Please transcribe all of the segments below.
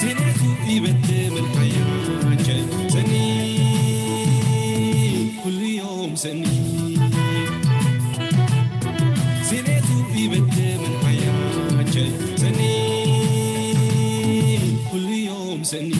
ዜናቱ ይበትም ሓያቸ ሰኒ ኩሉ ዮም ሰኒ ዜናቱ ይበትም ሓያቸ ሰኒ ኩሉ ዮም ሰኒ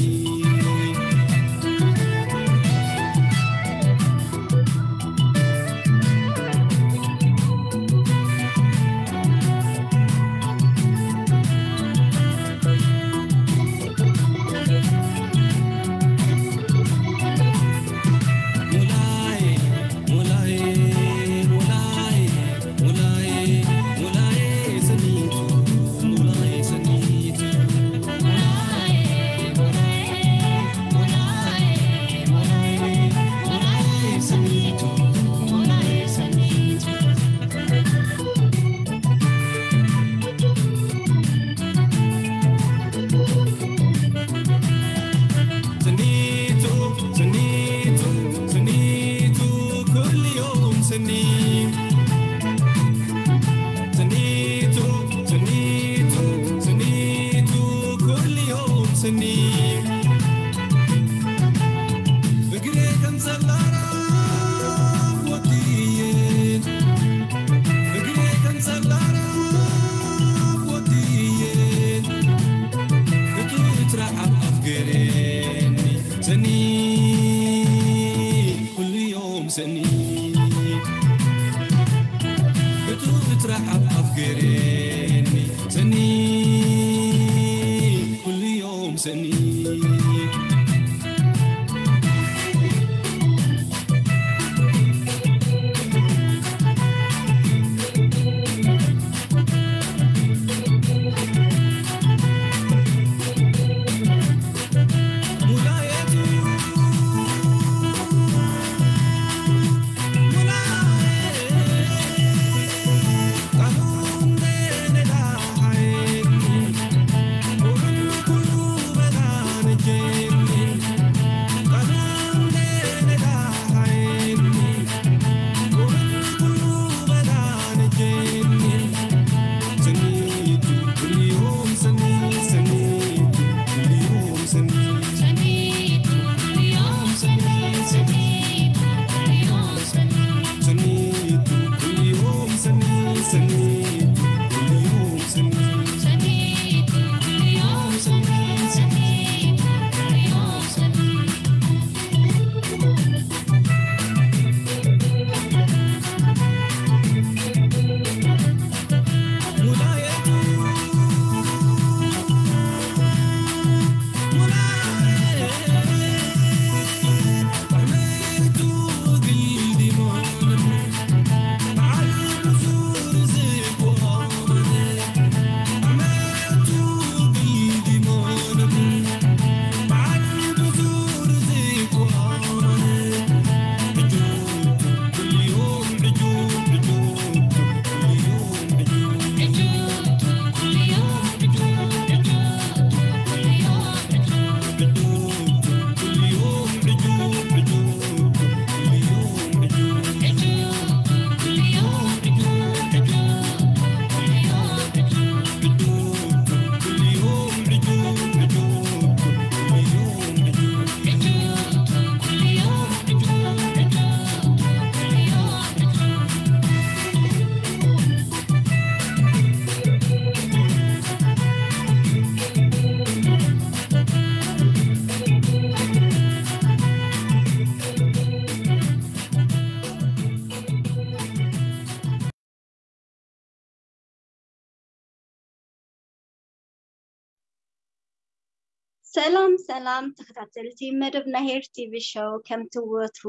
ሰላም ሰላም ተኸታተልቲ መደብ ናሄር ቲቪ ሾው፣ ከምቲ ወትሩ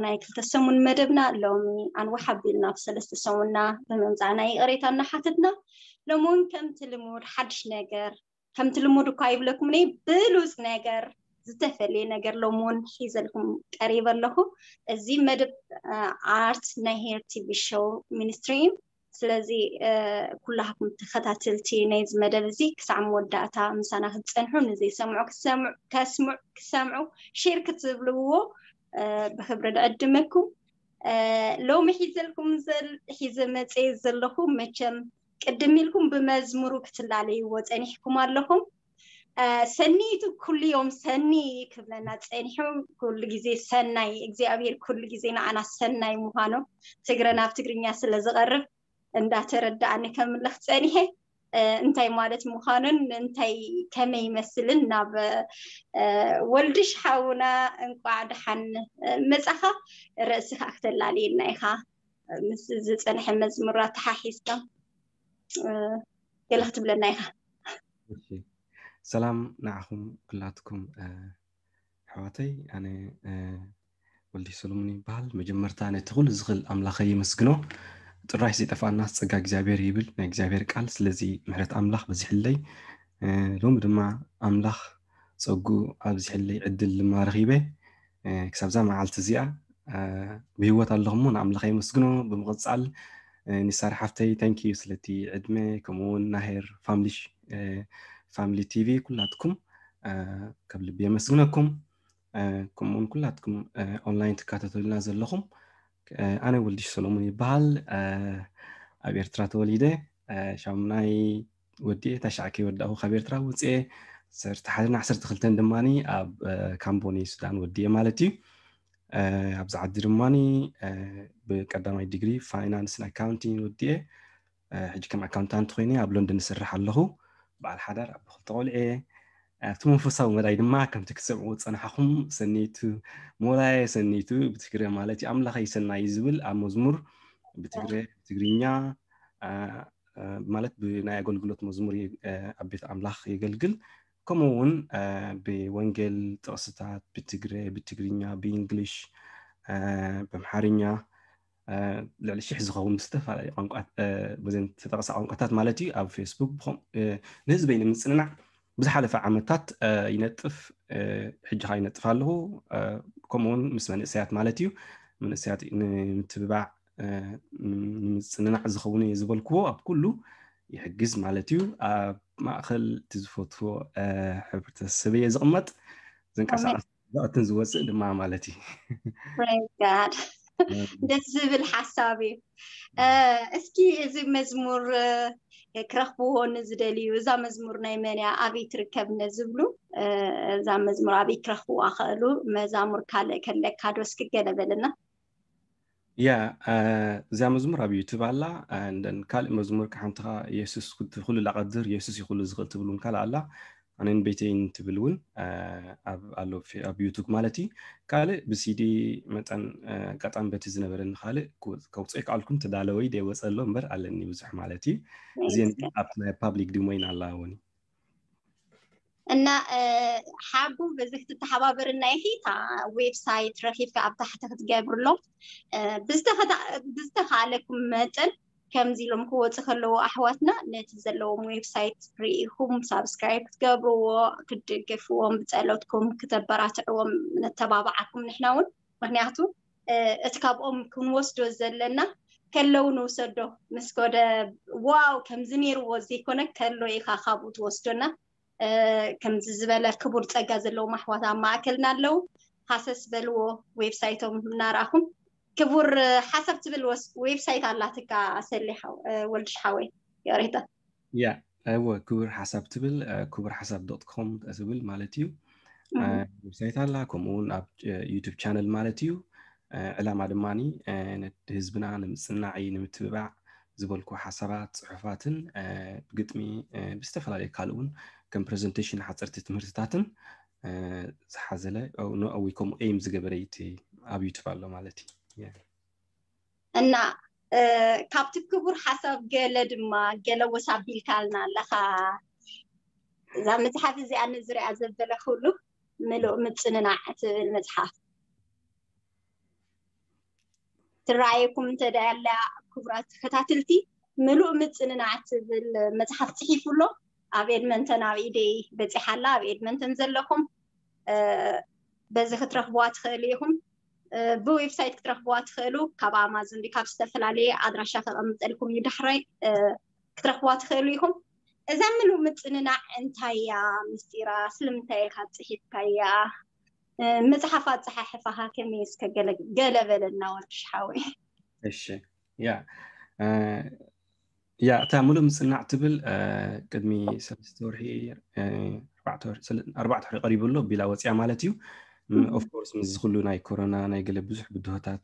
ናይ ክልተ ሰሙን መደብና ሎሚ ኣንዋሕ ኣቢልና ኣብ ሰለስተ ሰሙንና ብምምፃእና ይቕሬታ እናሓተትና፣ ሎሚ እውን ከምቲ ልሙድ ሓድሽ ነገር፣ ከምቲ ልሙድ እኳ ይብለኩም እኔ፣ ብሉፅ ነገር፣ ዝተፈለየ ነገር ሎሚ እውን ሒዘልኩም ቀሪበ ኣለኹ። እዚ መደብ ኣርት ናይ ሄር ቲቪ ሾው ሚኒስትሪ እዩ። ስለዚ ኩላኩም ተኸታተልቲ ናይዚ መደብ እዚ ክሳዕ መወዳእታ ምሳና ክትፀንሑ፣ ንዘይሰምዑ ክሰምዑ፣ ከስምዑ፣ ክሰምዑ ሼር ክትብልዎ ብክብሪ ንዕድመኩም። ሎሚ ሒዘልኩም ዘል ሒዘ መፀ ዘለኹ መቸም ቅድም ኢልኩም ብመዝሙሩ ክትላለይዎ ጸኒሕኩም ኣለኹም። ሰኒቱ ኩሉ ዮም ሰኒ ክብለና ጸኒሑ። ኩሉ ግዜ ሰናይ እግዚኣብሔር ኩሉ ግዜ ንዓና ሰናይ ምዃኑ ትግረ ናብ ትግርኛ ስለ ዝቐርብ እንዳተረዳእኒ ከምልኽ ጸኒሐ። እንታይ ማለት ምዃኑን እንታይ ከመይ ይመስልን ናብ ወልድሽ ሓውና እንቋዕ ደሓን መጻኻ። ርእሲ ከዓ ክተላልየና ኢኻ ምስ ዝጸንሐ መዝሙር ኣተሓሒዝካ ገለ ክትብለና ኢኻ። ሰላም ንዓኹም ኩላትኩም ኣሕዋተይ። ኣነ ወልዲ ሰሎሞን ይበሃል። መጀመርታ ነቲ ኩሉ ዝኽእል ኣምላኸ የመስግኖ። ጥራይ ዘይጠፋና ጸጋ እግዚኣብሔር ይብል ናይ እግዚኣብሔር ቃል። ስለዚ ምሕረት ኣምላኽ በዚሕለይ። ሎሚ ድማ ኣምላኽ ጸጉ ኣብዚሕለይ ዕድል ድማ ረኺበ። ክሳብዛ መዓልቲ እዚኣ ብህይወት ኣለኹ እሞ ንኣምላኸ የመስግኖ። ብምቕጻል ኒሳር ሓፍተይ ታንኪዩ ስለቲ ዕድመ፣ ከምኡ እውን ናሄር ፋምሊ ቲቪ ኩላትኩም ካብ ልቢ የመስግነኩም። ከምኡውን ኩላትኩም ኦንላይን ትካታተሉና ዘለኹም። ኣነ ወልድሽ ሰሎሙን ይበሃል። ኣብ ኤርትራ ተወሊደ ሻሙናይ ወዲኤ ታሽዓ ከይወዳእኹ ካብ ኤርትራ ውፅኤ ዓሰርተ ሓደን ዓሰርተ ክልተን ድማ ኣብ ካምቦኒ ሱዳን ወዲኤ ማለት እዩ። ኣብዚ ዓዲ ድማ ብቀዳማይ ዲግሪ ፋይናንስን ኣካውንቲንግ ወዲኤ ሕጂ ከም ኣካውንታንት ኮይነ ኣብ ሎንደን እሰርሕ ኣለኹ። በዓል ሓዳር ኣብ ክልተ ቆልዑ እየ። ኣብቲ መንፈሳዊ መዳይ ድማ ከምቲ ክትሰምዕዎ ዝፀናሕኹም ሰኒቱ ሞላየ ሰኒቱ ብትግረ ማለት እዩ ኣምላኸይ ሰናይ ዝብል ኣብ መዝሙር ብትግረ ብትግርኛ ማለት ብናይ ኣገልግሎት መዝሙር ኣብ ቤት ኣምላኽ የገልግል። ከምኡ እውን ብወንጌል ጥቕስታት ብትግረ ብትግርኛ ብእንግሊሽ ብኣምሓርኛ ልዕሊ ሽሕ ዝኸውን ብዝተፈላለዩ ቋንቋት በዘን ተጠቕሳ ቋንቋታት ማለት እዩ ኣብ ፌስቡክ ንህዝበይ ንምፅንናዕ ብዝሓለፈ ዓመታት ይነጥፍ ሕጂ ከዓ ይነጥፍ ኣለኹ። ከምኡውን ምስ መንእሰያት ማለት እዩ መንእሰያት ንምትብባዕ ንምፅንናዕ ዝኸውን እየ ዝበልክዎ ኣብ ኩሉ ይሕግዝ ማለት እዩ። ኣብ ማእኸል እቲ ዝፈትዎ ሕብረተሰብ እየ ዝቕመጥ። ዘንቀሳቐስ ዘእትን ዝወፅእ ድማ ማለት እዩ። ደስ ዝብል ሓሳብ እዩ። እስኪ እዚ መዝሙር ክረኽብዎ ንዝደልዩ እዛ መዝሙር ናይ መን እያ ኣበይ ትርከብ ነዝብሉ እዛ መዝሙር ኣበይ ክረኽብዋ ክእሉ መዛሙር ካልእ ከለካ ዶ እስኪ ገለ በለና። ያ እዚኣ መዝሙር ኣብ ዩቱብ ኣላ። እንደን ካልእ መዝሙር ሓንቲ ካ የሱስ ኩሉ ላቀድር የሱስ ይኩሉ ዝኽእል ትብል እውን ካልእ ኣላ። ኣነን ቤተይን ትብል እውን ኣብ ኣሎ ኣብ ዩቱብ ማለት እዩ። ካልእ ብሲዲ መጠን ኣጋጣሚ በቲ ዝነበረኒ ካልእ ከውፅኦ ይከኣልኩን ተዳለወይ ደይወፀ ኣሎ እምበር ኣለኒ ብዙሕ ማለት እዩ። እዚን ኣብቲ ናይ ፓብሊክ ዲሞይን ኣላ እውን እዩ። እና ሓቡ በዚ ክትተሓባበርና ኢኺ እታ ዌብሳይት ረኺብካ ኣብ ታሕቲ ክትገብርሎም ብዝተኸኣለኩም መጠን ከምዚ ኢሎም ክወፁ ከለዉ ኣሕዋትና ነቲ ዘለዎም ዌብሳይት ርኢኹም ሳብስክራይብ ክትገብርዎ ክትድግፍዎም ብፀሎትኩም ክተበራትዕዎም ነተባብዓኩም ንሕና እውን ምክንያቱ እቲ ካብኦም ክንወስዶ ዘለና ከለዉ ንውሰዶ ምስ ኮደ ዋው ከምዚ ነይርዎ ዘይኮነ ከሎ ኢኻ ካብኡ ትወስዶና። ከምዚ ዝበለ ክቡር ፀጋ ዘለዎም ኣሕዋት ኣብ ማእከልና ኣለዉ። ሃሰስ በልዎ ዌብሳይቶም እናረኣኹም ክቡር ሓሳብ ትብል ዌብሳይት ኣላትካ ሰሊሓ ወልድሽ ሓወይ ይቕሬታ። ያ እወ ክቡር ሓሳብ ትብል ክቡር ሓሳብ ዶት ኮም ትብል ማለት እዩ። ዌብሳይት ኣላ ከምኡ እውን ኣብ ዩቱብ ቻነል ማለት እዩ። ዕላማ ድማ ህዝብና ንምፅናዕ እዩ ንምትብባዕ ዝበልኩ ሓሳባት ፅሑፋትን ብግጥሚ ብዝተፈላለዩ ካልእ እውን ከም ፕሬዘንቴሽን ሓፀርቲ ትምህርትታትን ዝሓዘለ ወይ ከምኡ ኤም ዝገበረ እቲ ኣብ ዩቱብ ኣሎ ማለት እዩ። እና ካብቲ ክቡር ሓሳብ ገለ ድማ ገለ ወሳቢልካልና ኣለኻ። እዛ መፅሓፍ እዚኣ ንዝሪኣ ዘበለ ኩሉ ምሉእ ምፅንናዕ ትብል መፅሓፍ ትረኣየኩም እንተ ደኣ ኣላ ክቡራት ተኸታተልቲ ምሉእ ምፅንናዕ ትብል መፅሓፍ ፅሒፉ ኣሎ። ኣብ ኤድመንተን ኣብ ኢደይ በፂሓ ኣላ። ኣብ ኤድመንተን ዘለኹም በዚ ክትረኽብዋ ትኽእሉ ኢኹም። ብዌብሳይት ክትረኽብዋ ትኽእሉ ካብ ኣማዞን ዲ ካብ ዝተፈላለየ ኣድራሻ ከቐምጠልኩም እዩ። ዳሕራይ ክትረኽብዋ ትኽእሉ ኢኹም። እዛ ምሉእ ምፅንናዕ እንታይ እያ ምስጢራ? ስለምንታይ ኢኻ ፅሒፍካያ? መፅሓፍ ኣፀሓሕፋኻ ከመይ እስከ ገለ በለና ወርቅሽ ሓወይ። እሺ ያ ያ እታ ሙሉእ ምጽናዕ ትብል ቅድሚ ሰለስተ ወርሒ ኣርባዕተ ወርሒ ቀሪቡ ኣሎ ቢላ ወፅያ ማለት እዩ። ኦፍኮርስ ምስዚ ኩሉ ናይ ኮሮና ናይ ገለ ብዙሕ ብድሆታት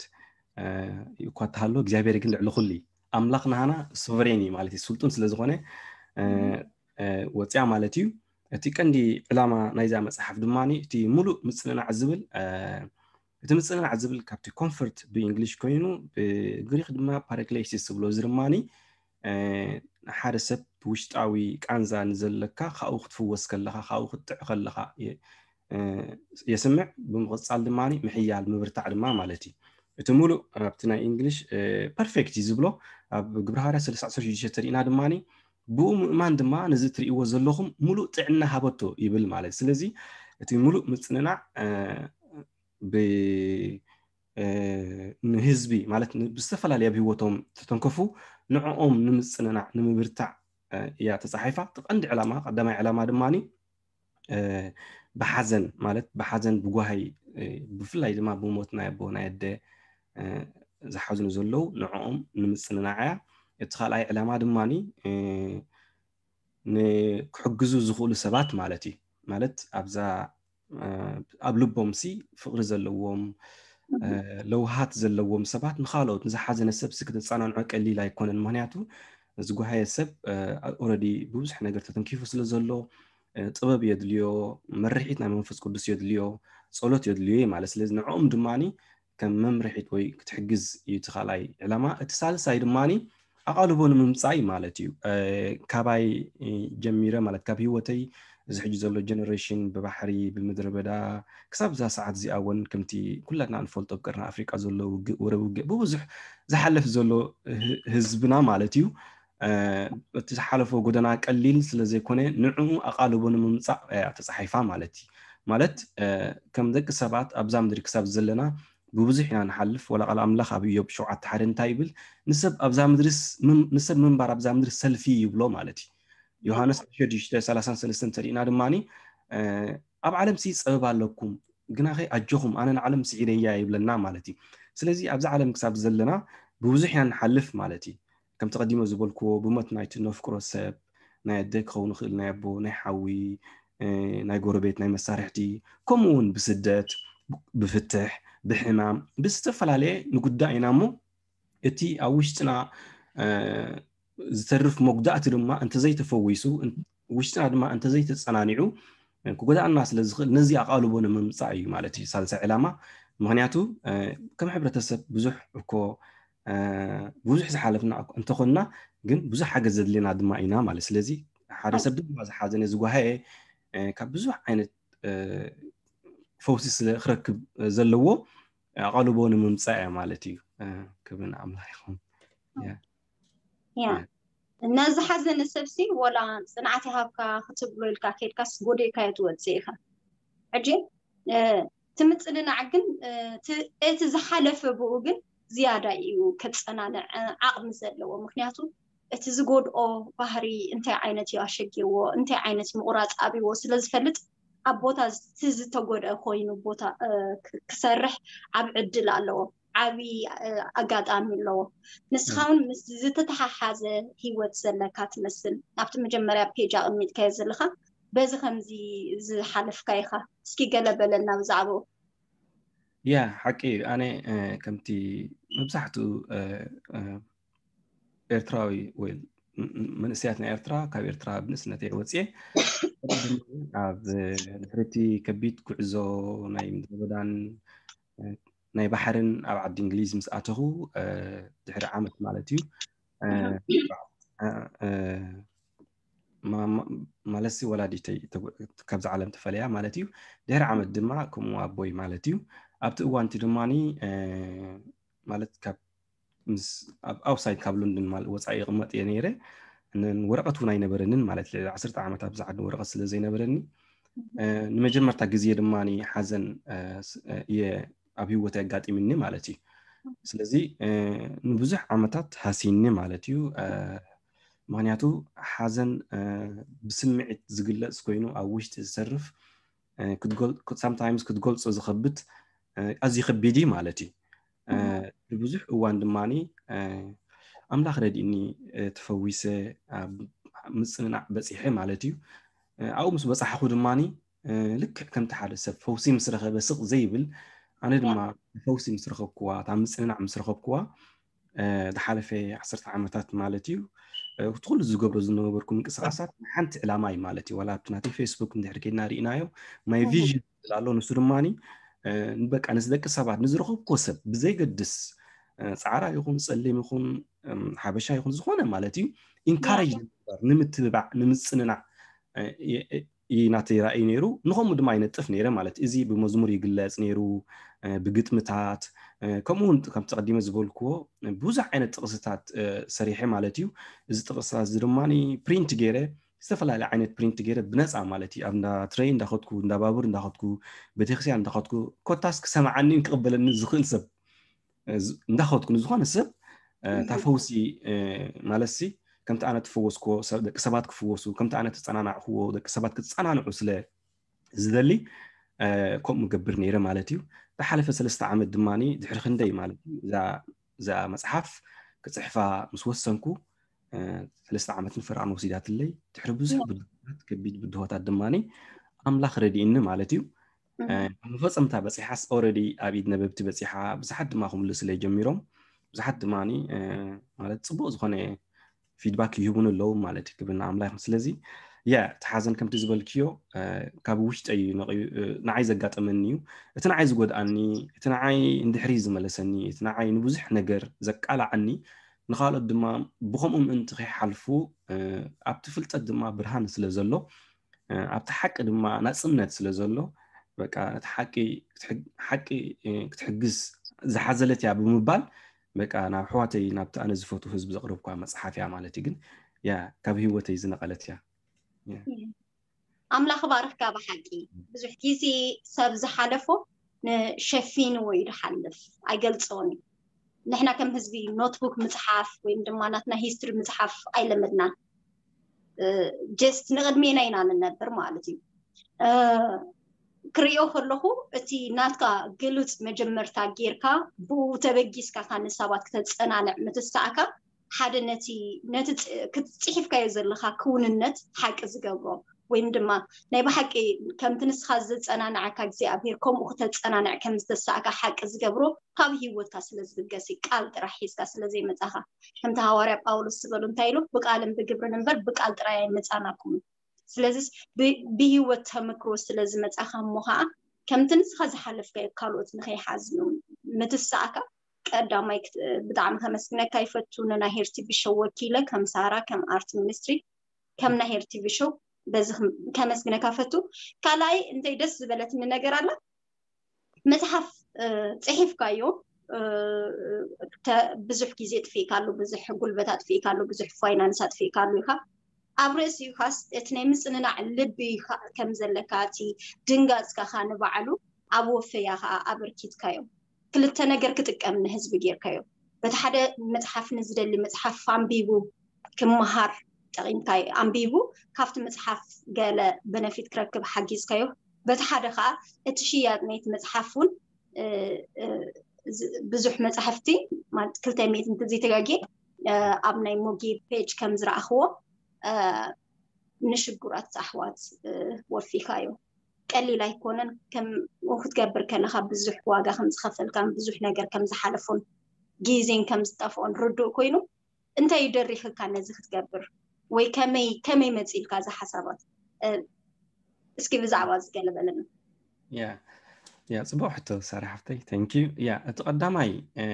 እኳ ተሃሎ እግዚኣብሔር ግን ልዕሊ ኩሉ ኣምላኽ ናሃና ሶቨሬን እዩ ማለት እዩ። ስልጡን ስለ ዝኾነ ወፅያ ማለት እዩ። እቲ ቀንዲ ዕላማ ናይዛ መፅሓፍ ድማ እቲ ሙሉእ ምፅንናዕ ዝብል እቲ ምፅንናዕ ዝብል ካብቲ ኮንፈርት ብእንግሊሽ ኮይኑ ብግሪክ ድማ ፓራክሌሲስ ዝብሎ እዚ ድማ ሓደ ሰብ ውሽጣዊ ቃንዛ ንዘለካ ካብኡ ክትፍወስ ከለኻ ካብኡ ክትጥዕ ከለኻ የስምዕ። ብምቕፃል ድማ ምሕያል ምብርታዕ ድማ ማለት እዩ። እቲ ሙሉእ ኣብቲ ናይ እንግሊሽ ፐርፌክት እዩ ዝብሎ ኣብ ግብረ ሃዋርያ ሰለስተ ዓሰርተ ሽዱሽተ ተሪእና ድማ ብኡ ምእማን ድማ ነዚ ትርእይዎ ዘለኹም ሙሉእ ጥዕና ሃበቶ ይብል ማለት። ስለዚ እቲ ሙሉእ ምፅንናዕ ብ ንህዝቢ ማለት ብዝተፈላለየ ኣብ ህይወቶም ዝተተንከፉ ንዕኦም ንምፅንናዕ ንምብርታዕ እያ ተፃሒፋ። እቲ ቀንዲ ዕላማ ቀዳማይ ዕላማ ድማ ብሓዘን ማለት ብሓዘን ብጓሃይ ብፍላይ ድማ ብሞት ናይ ኣቦ ናይ ኣደ ዝሓዝኑ ዘለዉ ንዕኦም ንምፅንናዕ እያ። እቲ ካልኣይ ዕላማ ድማ ንክሕግዙ ዝኽእሉ ሰባት ማለት እዩ። ማለት ኣብዛ ኣብ ልቦም ሲ ፍቕሪ ዘለዎም ለውሃት ዘለዎም ሰባት ንኻልኦት ንዝሓዘነ ሰብ ሲ ክተፃናንዖ ቀሊል ኣይኮነን። ምክንያቱ ዝጓሃየ ሰብ ኦረዲ ብብዙሕ ነገር ተተንኪፉ ስለ ዘሎ ጥበብ የድልዮ፣ መርሒት ናይ መንፈስ ቅዱስ የድልዮ፣ ጸሎት የድልዮ ማለት። ስለዚ ንዕኦም ድማ ከም መምርሒት ወይ ክትሕግዝ እዩ እቲ ካልኣይ ዕላማ። እቲ ሳልሳይ ድማ ኣቓልቦ ንምምጻእ ማለት እዩ። ካባይ ጀሚረ ማለት ካብ ህይወተይ እዚ ሕጂ ዘሎ ጀነሬሽን ብባሕሪ ብምድረ በዳ ክሳብ እዛ ሰዓት እዚኣ እውን ከምቲ ኩላትና ንፈልጦ ኣብ ቀርኒ ኣፍሪቃ ዘሎ ውግእ ወረ ውግእ ብብዙሕ ዝሓልፍ ዘሎ ህዝብና ማለት እዩ። እቲ ዝሓለፎ ጎደና ቀሊል ስለ ዘይኮነ ንዕኡ ኣቓልቦ ንምምጻእ እያ ተጻሒፋ ማለት እዩ። ማለት ከም ደቂ ሰባት ኣብዛ ምድሪ ክሳብ ዘለና ብብዙሕ ኢና ንሓልፍ። ወላ ቃል ኣምላኽ ኣብ ኢዮብ ሸውዓተ ሓደ እንታይ ይብል? ንሰብ ኣብዛ ምድርስ ንሰብ ምንባር ኣብዛ ምድሪ ሰልፊ ይብሎ ማለት እዩ። ዮሃንስ ሸዱሽተ ሰላሳን ሰለስተን እንተሪእና ድማ ኣብ ዓለም ሲ ጸበባ ኣለኩም ግናኸ ኣጆኹም ኣነ ንዓለም ስዒረያ ይብለና ማለት እዩ። ስለዚ ኣብዚ ዓለም ክሳብ ዘለና ብብዙሕ ኢና ንሓልፍ ማለት እዩ። ከምቲ ቀዲሞ ዝበልክዎ ብሞት ናይቲ ነፍቅሮ ሰብ ናይ ኣደ ክኸውን ይኽእል ናይ ኣቦ ናይ ሓዊ ናይ ጎረቤት ናይ መሳርሕቲ ከምኡ እውን ብስደት ብፍትሕ ብሕማም ብዝተፈላለየ ንጉዳእ ኢና እሞ እቲ ኣብ ውሽጥና ዝተርፍ መጉዳእቲ ድማ እንተዘይተፈዊሱ ውሽጥና ድማ እንተዘይተፀናኒዑ ክጎዳእና ስለ ዝኽእል ነዚ ኣቓልቦ ንምምፃእ እዩ ማለት እዩ ሳልሳይ ዕላማ። ምክንያቱ ከም ሕብረተሰብ ብዙሕ እኮ ብዙሕ ዝሓለፍና እንተኾንና ግን ብዙሕ ሓገዝ ዘድልየና ድማ ኢና ማለት። ስለዚ ሓደ ሰብ ድማ ዝሓዘነ ዝጓሃየ ካብ ብዙሕ ዓይነት ፈውሲ ስለ ክረክብ ዘለዎ ኣቓልቦ ንምምፃእ እያ ማለት እዩ። ክብሪ ንኣምላኽ ይኹን። ያ ነዚ ሓዘነ ሰብሲ ወላ ፅንዓት ይሃብካ ክትብሎ ኢልካ ከይድካስ ጎዲእካዮ ትወፅእ ኢኻ። ሕጂ እቲ ምፅንናዕ ግን እቲ ዝሓለፈ ብኡ ግን ዝያዳ እዩ ከፀናንዕ ዓቕሚ ዘለዎ። ምክንያቱ እቲ ዝጎድኦ ባህሪ እንታይ ዓይነት እዩ ኣሸጊርዎ እንታይ ዓይነት ምቑራፅ ኣብይዎ ስለ ዝፈልጥ ኣብ ቦታ እቲ ዝተጎድአ ኮይኑ ቦታ ክሰርሕ ዓብ ዕድል ኣለዎ። ዓብዪ ኣጋጣሚ ኣለዎ። ንስኻ እውን ምስ ዝተተሓሓዘ ህይወት ዘለካ ትመስል። ኣብቲ መጀመርያ ፔጅ ኣቐሚጥካዮ ዘለኻ በዚ ከምዚ ዝሓለፍካ ኢኻ። እስኪ ገለ በለና ብዛዕባኡ። ያ ሓቂ እዩ። ኣነ ከምቲ መብዛሕትኡ ኤርትራዊ ወይ መንእሰያት ናይ ኤርትራ ካብ ኤርትራ ብንእስነተይ ወፅየ ኣብ ድሕሪቲ ከቢድ ጉዕዞ ናይ ምድረ በዳን ናይ ባሕርን ኣብ ዓዲ እንግሊዝ ምስ ኣተኹ ድሕሪ ዓመት ማለት እዩ ማለትሲ ወላዲተይ ካብዚ ዓለም ተፈለያ ማለት እዩ። ድሕሪ ዓመት ድማ ከምኡ ኣቦይ ማለት እዩ። ኣብቲ እዋንቲ ድማ ማለት ካብ ምስ ኣብ ኣውሳይድ ካብ ሎንደን ማለት ወፃኢ ይቕመጥ እየ ነይረ። ወረቐት እውን ኣይነበረንን ማለት ልዕሊ ዓሰርተ ዓመት ኣብዚ ዓዲ ወረቐት ስለ ዘይነበረኒ ንመጀመርታ ግዜ ድማ ሓዘን እየ ኣብ ህይወት ኣጋጢምኒ ማለት እዩ። ስለዚ ንብዙሕ ዓመታት ሃሲኒ ማለት እዩ። ምክንያቱ ሓዘን ብስምዒት ዝግለፅ ኮይኑ ኣብ ውሽጢ ዝሰርፍ ሳምታይምስ ክትገልፆ ዝኸብድ ኣዝዩ ከቢድ እዩ ማለት እዩ። ብብዙሕ እዋን ድማ ኣምላኽ ረዲእኒ፣ እ፣ ተፈዊሰ፣ ኣብ ምጽንናዕ በጺሐ ማለት እዩ። እ፣ ኣብኡ ምስ በጻሕኹ ድማኒ፣ እ፣ ልክዕ ከምቲ ሓደ ሰብ ፈውሲ ምስ ረኸበ ስቕ ዘይብል፣ ኣነ ድማ ፈውሲ ምስ ረኸብኩዋ፣ እታ ምጽንናዕ ምስ ረኸብኩዋ፣ እ፣ ዝሓለፈ ዓሰርተ ዓመታት ማለት እዩ፣ እ፣ እቲ ኩሉ ዝገብሮ ዝነበርኩ ምንቅስቓሳት ንሓንቲ ዕላማ እዩ ማለት እዩ። ዋላ ኣብቲ ናተይ ፌስቡክ እንድሕር ከይድና ርኢናዮ፣ ማይ ቪዥን ዝብል ኣሎ። ንሱ ድማኒ፣ እ፣ በቃ ንስ ደቂ ሰባት ንዝረኸብኩዎ ሰብ ብዘይገድስ፣ እ፣ ጻዕራ ይኹን ጸሊም ይኹን፣ እም፣ ሓበሻ ይኹን ዝኾነ ማለት እዩ፣ ኢንካሬጅ ንምግባር፣ ንምትብባዕ፣ ንምጽንናዕ፣ እ፣ የ- እ፣ እዩ ናተይ ራእይ ነይሩ። ንኸምኡ ድማ ይነጥፍ ነይረ ማለት እዩ። እዚ ብመዝሙር ይግለጽ ነይሩ፣ እ፣ ብግጥምታት፣ እ፣ ከምኡ እውን ከምቲ ቀዲመ ዝበልክዎ፣ እ፣ ብዙሕ ዓይነት ጥቕስታት፣ እ፣ ሰሪሐ ማለት እዩ። እዚ ጥቕስታት እዚ ድማ ፕሪንት ገይረ፣ ዝተፈላለየ ዓይነት ፕሪንት ገይረ ብነፃ ማለት እዩ። ኣብ እንዳ ትሬን እንዳኸድኩ፣ እንዳ ባቡር እንዳኸድኩ፣ ቤተክርስትያን እንዳኸድኩ፣ ኮታስ ክሰምዓኒን ክቕበለኒ ዝኽእል ሰብ፣ እ፣ ዝ- እንዳኸድኩ ንዝኾነ ሰብ፣ እ፣ እታ ፈውሲ፣ እ፣ ማለት ሲ ከምቲ ኣነ ትፈወስክዎ ሰብ፣ ደቂ ሰባት ክፍወሱ፣ ከምቲ ኣነ ተጸናናዕክዎ ደቂ ሰባት ክጸናንዑ ስለ ዝደሊ፣ እ፣ ከምኡ ገብር ነይረ ማለት እዩ። ዝሓለፈ ሰለስተ ዓመት ድማ ድሕሪ ክንደይ ማለት እዩ፣ እዛ፣ እዛ መጽሓፍ ክጽሕፋ ምስ ወሰንኩ፣ እ፣ ሰለስተ ዓመትን ፈረቓን ወሲዳትለይ። ድሕሪ ብዙሕ ብድሆታት፣ ከቢድ ብድሆታት ድማ ኣምላኽ ረዲእኒ ማለት እዩ። እ፣ መፈጸምታ በጺሓስ ኦረዲ ኣብ ኢድ ነበብቲ በጺሓ፣ ብዙሓት ድማ ክምልስለይ ጀሚሮም። ብዙሓት ድማ፣ እ፣ ማለት ጽቡቕ ዝኾነ ፊድባክ ይህቡን ኣለዉ ማለት እዩ። ክብሪ ንኣምላኽ። ስለዚ ያ፣ እቲ ሓዘን ከምቲ ዝበልክዮ፣ እ፣ ካብ ውሽጠይ እዩ ነቒዩ፣ እ፣ ንዓይ ዘጋጠመኒ እዩ። እቲ ንዓይ ዝጎድኣኒ፣ እቲ ንዓይ እንድሕሪ ዝመለሰኒ፣ እቲ ንዓይ ንብዙሕ ነገር ዘቃላዓኒ፣ ንኻልኦት ድማ ብኸምኡ ምእንቲ ከይሓልፉ፣ እ፣ ኣብቲ ፍልጠት ድማ ብርሃን ስለ ዘሎ፣ እ፣ ኣብቲ ሓቂ ድማ ናጽነት ስለ ዘሎ፣ በቃ ነቲ ሓቂ ክትሕግ-፣ ሓቂ፣ እ፣ ክትሕግዝ ዝሓዘለት እያ ብምባል፣ በቃ ናብ ኣሕዋተይ፣ ናብቲ ኣነ ዝፈትዎ ህዝቢ ዘቕረብኳ መጽሓፍ እያ ማለት እዩ። ግን ያ፣ ካብ ህይወተይ ዝነቐለት እያ። ያ። ኣምላኽ ባርኽካ። ብሓቂ ብዙሕ ግዜ ሰብ ዝሓለፎ ንሸፊንዎ እዩ ዝሓልፍ፣ ኣይገልጾን እዩ። ንሕና ከም ህዝቢ ኖትቡክ ምጽሓፍ ወይም ድማ ናትና ሂስትሪ ምጽሓፍ ኣይለመድናን። እ፣ ጀስት ንቕድሜና ኢና ንነብር ማለት እዩ። እ፣ ክርእዮ ከለኹ እቲ ናትካ ግሉጽ መጀመርታ ጌርካ ብኡ ተበጊስካ ካን ሰባት ክተጸናንዕ ምትሳእካ ሓደ ነቲ፣ ነቲ ጽ-፣ ክት-፣ ጽሒፍካዮ ዘለኻ ክውንነት ሓቂ ዝገብሮ ወይም ድማ ናይ ብሓቂ ከምቲ ንስኻ ዘጸናንዓካ እግዚኣብሔር ከምኡ ክተጸናንዕ ከም ዝተሳእካ ሓቂ ዝገብሮ ካብ ህይወትካ ስለ ዝብገስ እዩ። ቃል ጥራሕ ሒዝካ ስለ ዘይመጻኻ። ከምቲ ሃዋርያ ጳውሎስ ዝበሉ እንታይ ኢሉ? "ብቃልን ብግብርን እምበር ብቃል ጥራይ ኣይመጻናኩምን።" ስለዚስ ብ-፣ ብህይወት ተመክሮ ስለ ዝመጻኻ እሞ ኸኣ ከምቲ ንስኻ ዝሓለፍካዮ ካልኦት ንኸይሓዝኑ ምትሳእካ ቀዳማይ ክት-፣ ብጣዕሚ ከመስግነካ ይፈቱ። ንናይ ሄር ቲቪ ሾው ወኪለ ከም ሳራ፣ ከም ኣርት ሚኒስትሪ፣ ከም ናይ ሄር ቲቪ ሾው በዚ ክም-፣ ከመስግነካ ፈቱ። ካልኣይ እንታይ ደስ ዝበለትኒ ነገር ኣላ፣ መጽሓፍ፣ እ፣ ጽሒፍካዮ፣ እ፣ ተ-፣ ብዙሕ ግዜ ኣጥፊእካሉ፣ ብዙሕ ጉልበት ኣጥፊእካሉ፣ ብዙሕ ፋይናንስ ኣጥፊእካሉ ኢኻ። ኣብ ርእሲኡ ኻስ እቲ ናይ ምጽንናዕ ልቢ ኻ-፣ ከም ዘለካ፣ እቲ ድንጋጽካ ኸኣ ንባዕሉ ኣብ ወፈያ ኸኣ ኣበርኪትካዮ። ክልተ ነገር ክጥቀም ንህዝቢ ጌርካዮ። በቲ ሓደ መጽሓፍ ንዝደሊ መጽሓፍ ኣንቢቡ ክመሃር ጠቒምካዮ። ኣንቢቡ ካብቲ መጽሓፍ ገለ በነፊት ክረክብ ሓጊዝካዮ። በቲ ሓደ ኸኣ እቲ ሽያጥ ናይቲ መጽሓፍ እውን፣ እ፣ እ፣ ዝ-፣ ብዙሕ መጻሕፍቲ ማለት ክልተ ሚእቲ እንተዘይተጋግየ፣ እ፣ ኣብ ናይ ሞጌ ፔጅ ከም ዝረኣኽዎ፣ እ፣ ንሽጉራት ኣሕዋት፣ እ፣ ወፊኻዮ። ቀሊል ኣይኮነን። ከምኡ ክትገብር ከለኻ ብዙሕ ዋጋ ከም ዝኸፈልካን ብዙሕ ነገር ከም ዝሓለፎን ግዜን ከም ዝጠፍኦን ርዱእ ኮይኑ፣ እንታይ እዩ ደሪኽካ ነዚ ክትገብር? ወይ ከመይ፣ ከመይ መጺእልካ እዚ ሓሳባት? እ፣ እስኪ ብዛዕባ እዚ ገለ በለና። ያ፣ ያ፣ ጽቡቕ ሕቶ ሳራ ሓፍተይ፣ ታንክ ዩ። ያ፣ እቲ ቀዳማይ፣ እ፣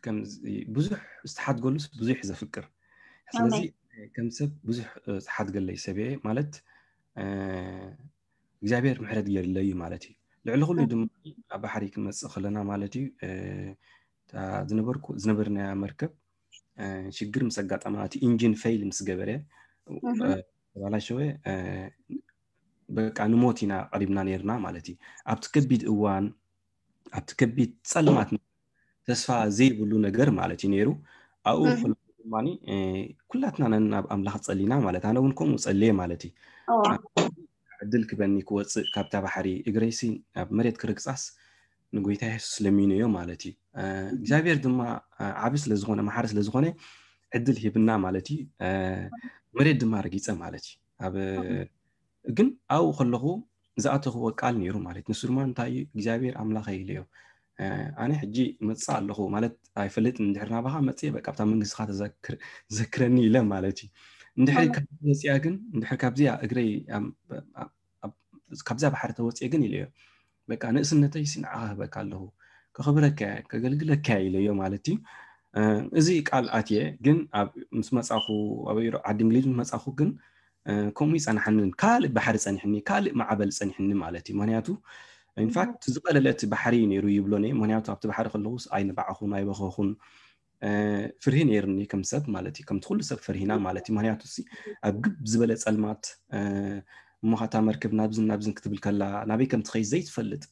ከምዚ ብዙሕ ዝተሓድገሉስ ብዙሕ ዘፍቅር። ስለዚ ኣሜን። ከም ሰብ ብዙሕ፣ እ፣ ዝተሓድገለይ ሰብ እየ ማለት፣ እ፣ እግዚኣብሔር ምሕረት ገይርለይ እዩ ማለት እዩ። ልዕሊ ኩሉ ኣሜን። ድማ ኣብ ባሕሪ ክንመጽእ ከለና ማለት እዩ፣ እ፣ እታ ዝነበርኩ-፣ ዝነበርናያ መርከብ፣ እ፣ ሽግር ምስ ኣጋጠማ፣ እቲ ኢንጂን ፌይል ምስ ገበረ፣ እህ። እ፣ ተባላሸወ፣ እ፣ በቃ ንሞት ኢና ቀሪብና ነይርና ማለት እዩ። ኣብቲ ከቢድ እዋን፣ ኣብቲ ከቢድ ጸልማት፣ ተስፋ ዘይብሉ ነገር ማለት እዩ ነይሩ። ኣብኡ እህ። ከለኹ ድማኒ፣ እ፣ ኩላትና ነናብ ኣምላኽ ጸሊና ማለት፣ ኣነ እውን ከምኡ ጸልየ ማለት እዩ። እዋ። ዕድል ክበኒ ክወጽእ ካብታ ባሕሪ፣ እግረይሲ ናብ መሬት ክርግጻስ ንጎይታ የሱስ ለሚነዮ ማለት እዩ። እ፣ እግዚኣብሔር ድማ፣ እ፣ ዓቢ ስለ ዝኾነ፣ መሓሪ ስለ ዝኾነ፣ ዕድል ሂብና ማለት እዩ። መሬት ድማ ረጊፀ ማለት እዩ። ኣብ ግን ኣብኡ ከለኹ ዝኣተኽዎ ቃል ነይሩ ማለት እዩ። ንሱ ድማ እንታይ እዩ? እግዚኣብሔር ኣምላኽ ኢለዮ። ኣነ ሕጂ መፅእ ኣለኹ ማለት ኣይፈልጥን። እንድሕር ናባኻ መፅእ በቃ ኣብታ መንግስትኻ ተዘክረኒ ኢለ ማለት እዩ። እንድሕር ካብ ወፅያ ግን እንድሕር ካብዚኣ እግረይ ካብዛ ባሕሪ ተወፅየ ግን ኢለዮ። በቃ ንእስነተይ ንዓኻ ክህበካ ኣለኹ፣ ከኽብረካ ከገልግለካ ኢለዮ ማለት እዩ። እዚ ቃል ኣትየ ግን ምስ መፃኹ ኣብ ዓዲ እንግሊዝ ምስ መፃኹ ግን ከምኡ ይፀናሓንን ካልእ ባሕሪ ፀኒሕኒ፣ ካልእ ማዕበል ፀኒሕኒ ማለት እዩ። ምክንያቱ ኢንፋክት ዝቐለለት ባሕሪ ነይሩ ይብሎ ነ። ምክንያቱ ኣብቲ ባሕሪ ከለኹስ ኣይነባዕኹን ኣይበኸኹን፣ ፍርሂ ነይርኒ ከም ሰብ ማለት እዩ። ከምቲ ኩሉ ሰብ ፈርሂና ማለት እዩ። ምክንያቱ ሲ ኣብ ግብ ዝበለ ፀልማት እሞ ኸታ መርከብ ናብዝን ናብዝን ክትብል ከላ ናበይ ከም ትኸይድ ዘይትፈልጥ፣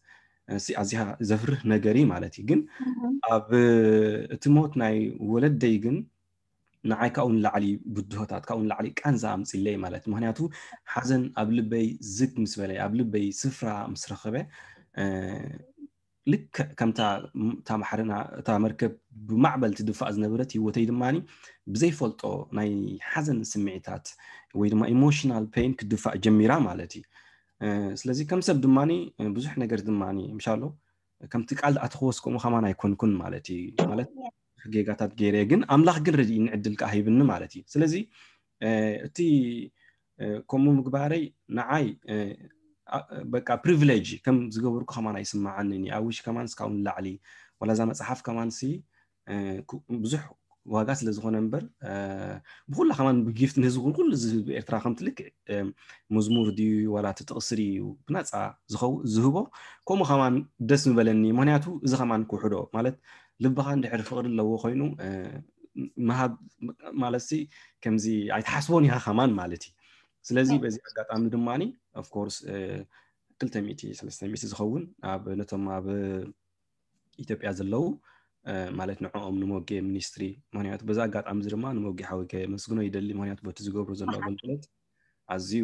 ኣዚኻ ዘፍርህ ነገር እዩ ማለት እዩ። ግን ኣብ እቲ ሞት ናይ ወለደይ ግን ንዓይ ካብኡ ንላዕሊ ብድሆታት ካብኡ ንላዕሊ ቃንዛ ኣምፅለይ ማለት። ምክንያቱ ሓዘን ኣብ ልበይ ዝግ ምስ በለ ኣብ ልበይ ስፍራ ምስ ረኸበ ልክዕ ከምታ እታ ማሕረና እታ መርከብ ብማዕበል ትድፋእ ዝነበረት ህይወተይ ድማ ብዘይፈልጦ ናይ ሓዘን ስምዒታት ወይ ድማ ኢሞሽናል ፔን ክድፋእ ጀሚራ ማለት እዩ። ስለዚ ከም ሰብ ድማ ብዙሕ ነገር ድማ ምሻሎ ከምቲ ቃል ኣትኸወስ ከምኡ ከማን ኣይኮንኩን ማለት እዩ። ማለት ጌጋታት ገይረ ግን ኣምላኽ ግን ረድእኒ ዕድል ከዓ ሂብኒ ማለት እዩ። ስለዚ እቲ ከምኡ ምግባረይ ንዓይ በቃ ፕሪቪሌጅ ከም ዝገበርኩ ከማን ኣይስማዓንን እዩ። ኣውሽ ከማን እስካውን ላዕሊ ዋላ እዛ መፅሓፍ ከማን ሲ ብዙሕ ዋጋ ስለ ዝኾነ እምበር ብኩላ ከማን ብጊፍት ንህዝቢ ኩሉ ህዝቢ ኤርትራ ከምቲ ልክዕ መዝሙር ድዩ ዋላ እቲ ጥቕሲ ድዩ ብናፃ ዝህቦ ከምኡ ከማን ደስ ምበለኒ። ምክንያቱ እዚ ከማን ክውሕዶ ማለት ልብኻ እንድሕር ፍቕሪ ኣለዎ ኮይኑ ምሃብ ማለት ሲ ከምዚ ኣይትሓስቦን ኢኻ ከማን ማለት እዩ። ስለዚ በዚ ኣጋጣሚ ድማ ኦፍኮርስ ክልተ ሚእቲ ሰለስተ ሚእቲ ዝኸውን ኣብ ነቶም ኣብ ኢትዮጵያ ዘለዉ ማለት ንዕኦም ንሞጌ ሚኒስትሪ ምክንያቱ በዚ ኣጋጣሚ እዚ ድማ ንሞጌ ሓወይ ከመስግኖ ይደሊ። ምክንያቱ በቲ ዝገብሮ ዘሎ ኣገልግሎት ኣዝዩ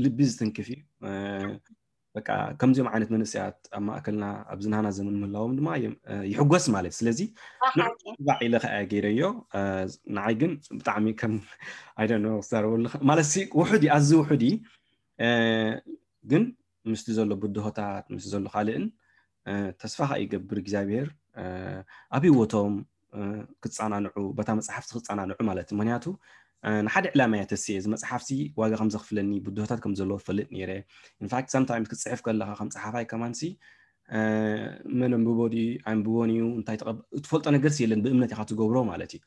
ልቢ ዝትንክፍ እዩ። በቃ ከምዚኦም ዓይነት መንእሰያት ኣብ ማእከልና ኣብዚ ናህና ዘመን ምህላዎም ድማ ይሕጎስ ማለት። ስለዚ ንባዕ ኢለ ከኣ ገይረዮ። ንዓይ ግን ብጣዕሚ ከም ኣይደኖ ክዛረበሉ ማለት ውሑድ እዩ፣ ኣዝዩ ውሑድ እዩ። ግን ምስቲ ዘሎ ብድሆታት ምስቲ ዘሎ ካልእን ተስፋ ከዓ ይገብር እግዚኣብሔር ኣብ ህይወቶም ክፀናንዑ በታ መፅሓፍቲ ክፀናንዑ ማለት እዩ። ምክንያቱ ንሓደ ዕላማ እያ ተስየ እዚ መፅሓፍሲ ዋጋ ከም ዘኽፍለኒ ብድሆታት ከም ዘለዎ ፈልጥ ነይረ። ኢንፋክት ሳምታይምስ ክትፅሕፍ ከለካ ከም ፀሓፋይ ከማንሲ መን ኣንብቦ ድዩ ኣንብቦን እዩ እንታይ ትፈልጦ ነገር የለን ብእምነት ኢካ ትገብሮ ማለት እዩ።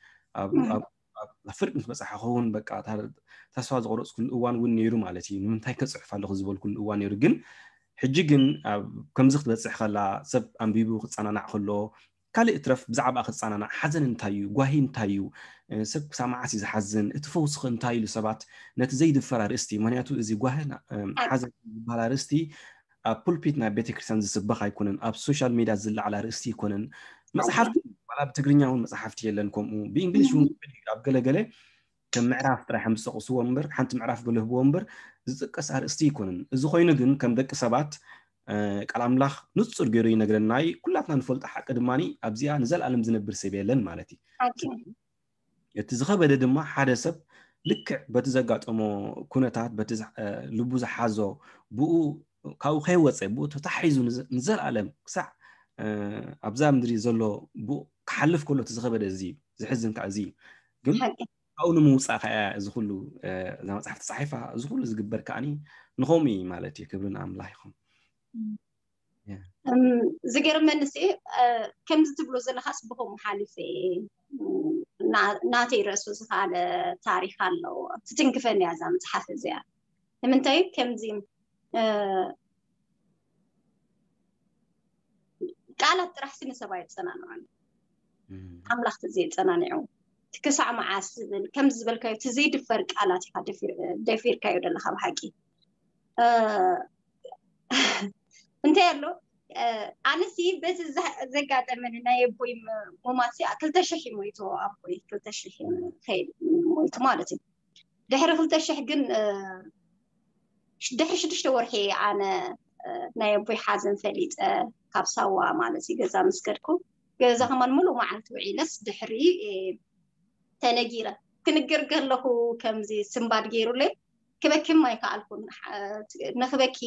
ፍርቂ ምስ በፃሓ ክኸውን በቃ ተስፋ ዝቆረፅኩሉ እዋን እውን ነይሩ ማለት እዩ። ንምንታይ ከፅሕፍ ኣለኹ ዝበልኩሉ እዋን ነይሩ። ግን ሕጂ ግን ከምዚ ክትበፅሕ ከላ ሰብ ኣንቢቡ ክፀናናዕ ከሎ ካልእ እትረፍ ብዛዕባ ክፀናናዕ ሓዘን እንታይ እዩ ጓሂ እንታይ እዩ ሰብ ክሳብ መዓስ እዩ ዝሓዝን እቲ ፈውስኸ እንታይ ኢሉ ሰባት ነቲ ዘይድፈር ኣርእስቲ ምክንያቱ እዚ ጓሂ ሓዘን ዝበሃል ኣርእስቲ ኣብ ፑልፒት ናይ ቤተክርስትያን ዝስበኽ ኣይኮነን ኣብ ሶሻል ሚድያ ዝለዓል ኣርእስቲ ኣይኮነን። መፅሓፍቲ ዋላ ብትግርኛ እውን መፅሓፍቲ የለን ከምኡ ብእንግሊሽ እውን ኣብ ገለገለ ከም ምዕራፍ ጥራይ ከም ዝጠቕስዎ እምበር ሓንቲ ምዕራፍ ገለ ህብዎ እምበር ዝጥቀስ ኣርእስቲ ኣይኮነን። እዚ ኮይኑ ግን ከም ደቂ ሰባት ቃል ኣምላኽ ንፁር ገይሩ ይነግረና እዩ። ኩላትና ንፈልጦ ሓቂ ድማ ኣብዚኣ ንዘለኣለም ዝነብር ሰብ የለን ማለት እዩ። እቲ ዝኸበደ ድማ ሓደ ሰብ ልክዕ በቲ ዘጋጠሞ ኩነታት በቲ ልቡ ዝሓዞ ብኡ ካብኡ ከይወፀ ብኡ ተታሒዙ ንዘለኣለም ክሳዕ ኣብዛ ምድሪ ዘሎ ብኡ ክሓልፍ ከሎ እቲ ዝኸበደ እዚ ዝሕዝን ከዓ እዚ ግን ካብኡ ንምውፃእ ከዓ እዚ ኩሉ እዛ መፅሓፍ ተፃሒፋ እዚ ኩሉ ዝግበር ከዓኒ ንኸምኡ እዩ ማለት እዩ። ክብሪ ንኣምላኽ ይኹን። ዝገርመኒ ሲ ከምዚ ትብሎ ዘለካስ ብከምኡ ሓሊፈ ናተይ ርእሱ ዝካለ ታሪክ ኣለዎ ትትንክፈኒ እያ እዛ መፅሓፍ እዚኣ። ንምንታይ ከምዚ ቃላት ጥራሕ ሲ ንሰብ ኣየፀናንዖን ኣምላኽ ተዘየፀናንዖ ክሳዕ መዓስ ዝብል ከምዚ ዝበልካዮ እቲ ዘይድፈር ቃላት ኢካ ደፊርካዮ ዘለካ ብሓቂ። እንታይ ኣሎ ኣነሲ በዚ ዘጋጠመኒ ናይ ኣቦይ ሞማት ክልተ ሽሕ ሞይቱ ኣቦይ ክልተ ሽሕ ሞይቱ ማለት እዩ። ድሕሪ ክልተ ሽሕ ግን ድሕሪ ሽዱሽተ ወርሒ ኣነ ናይ ኣቦይ ሓዘን ፈሊጠ ካብ ሳዋ ማለት እዩ ገዛ ምስ ከድኩ ገዛ ከማን ሙሉእ መዓልቲ ውዒለስ ድሕሪ ተነጊረ። ክንግር ከለኹ ከምዚ ስንባድ ገይሩለይ ክበክም ኣይከኣልኩን። ንኽበኪ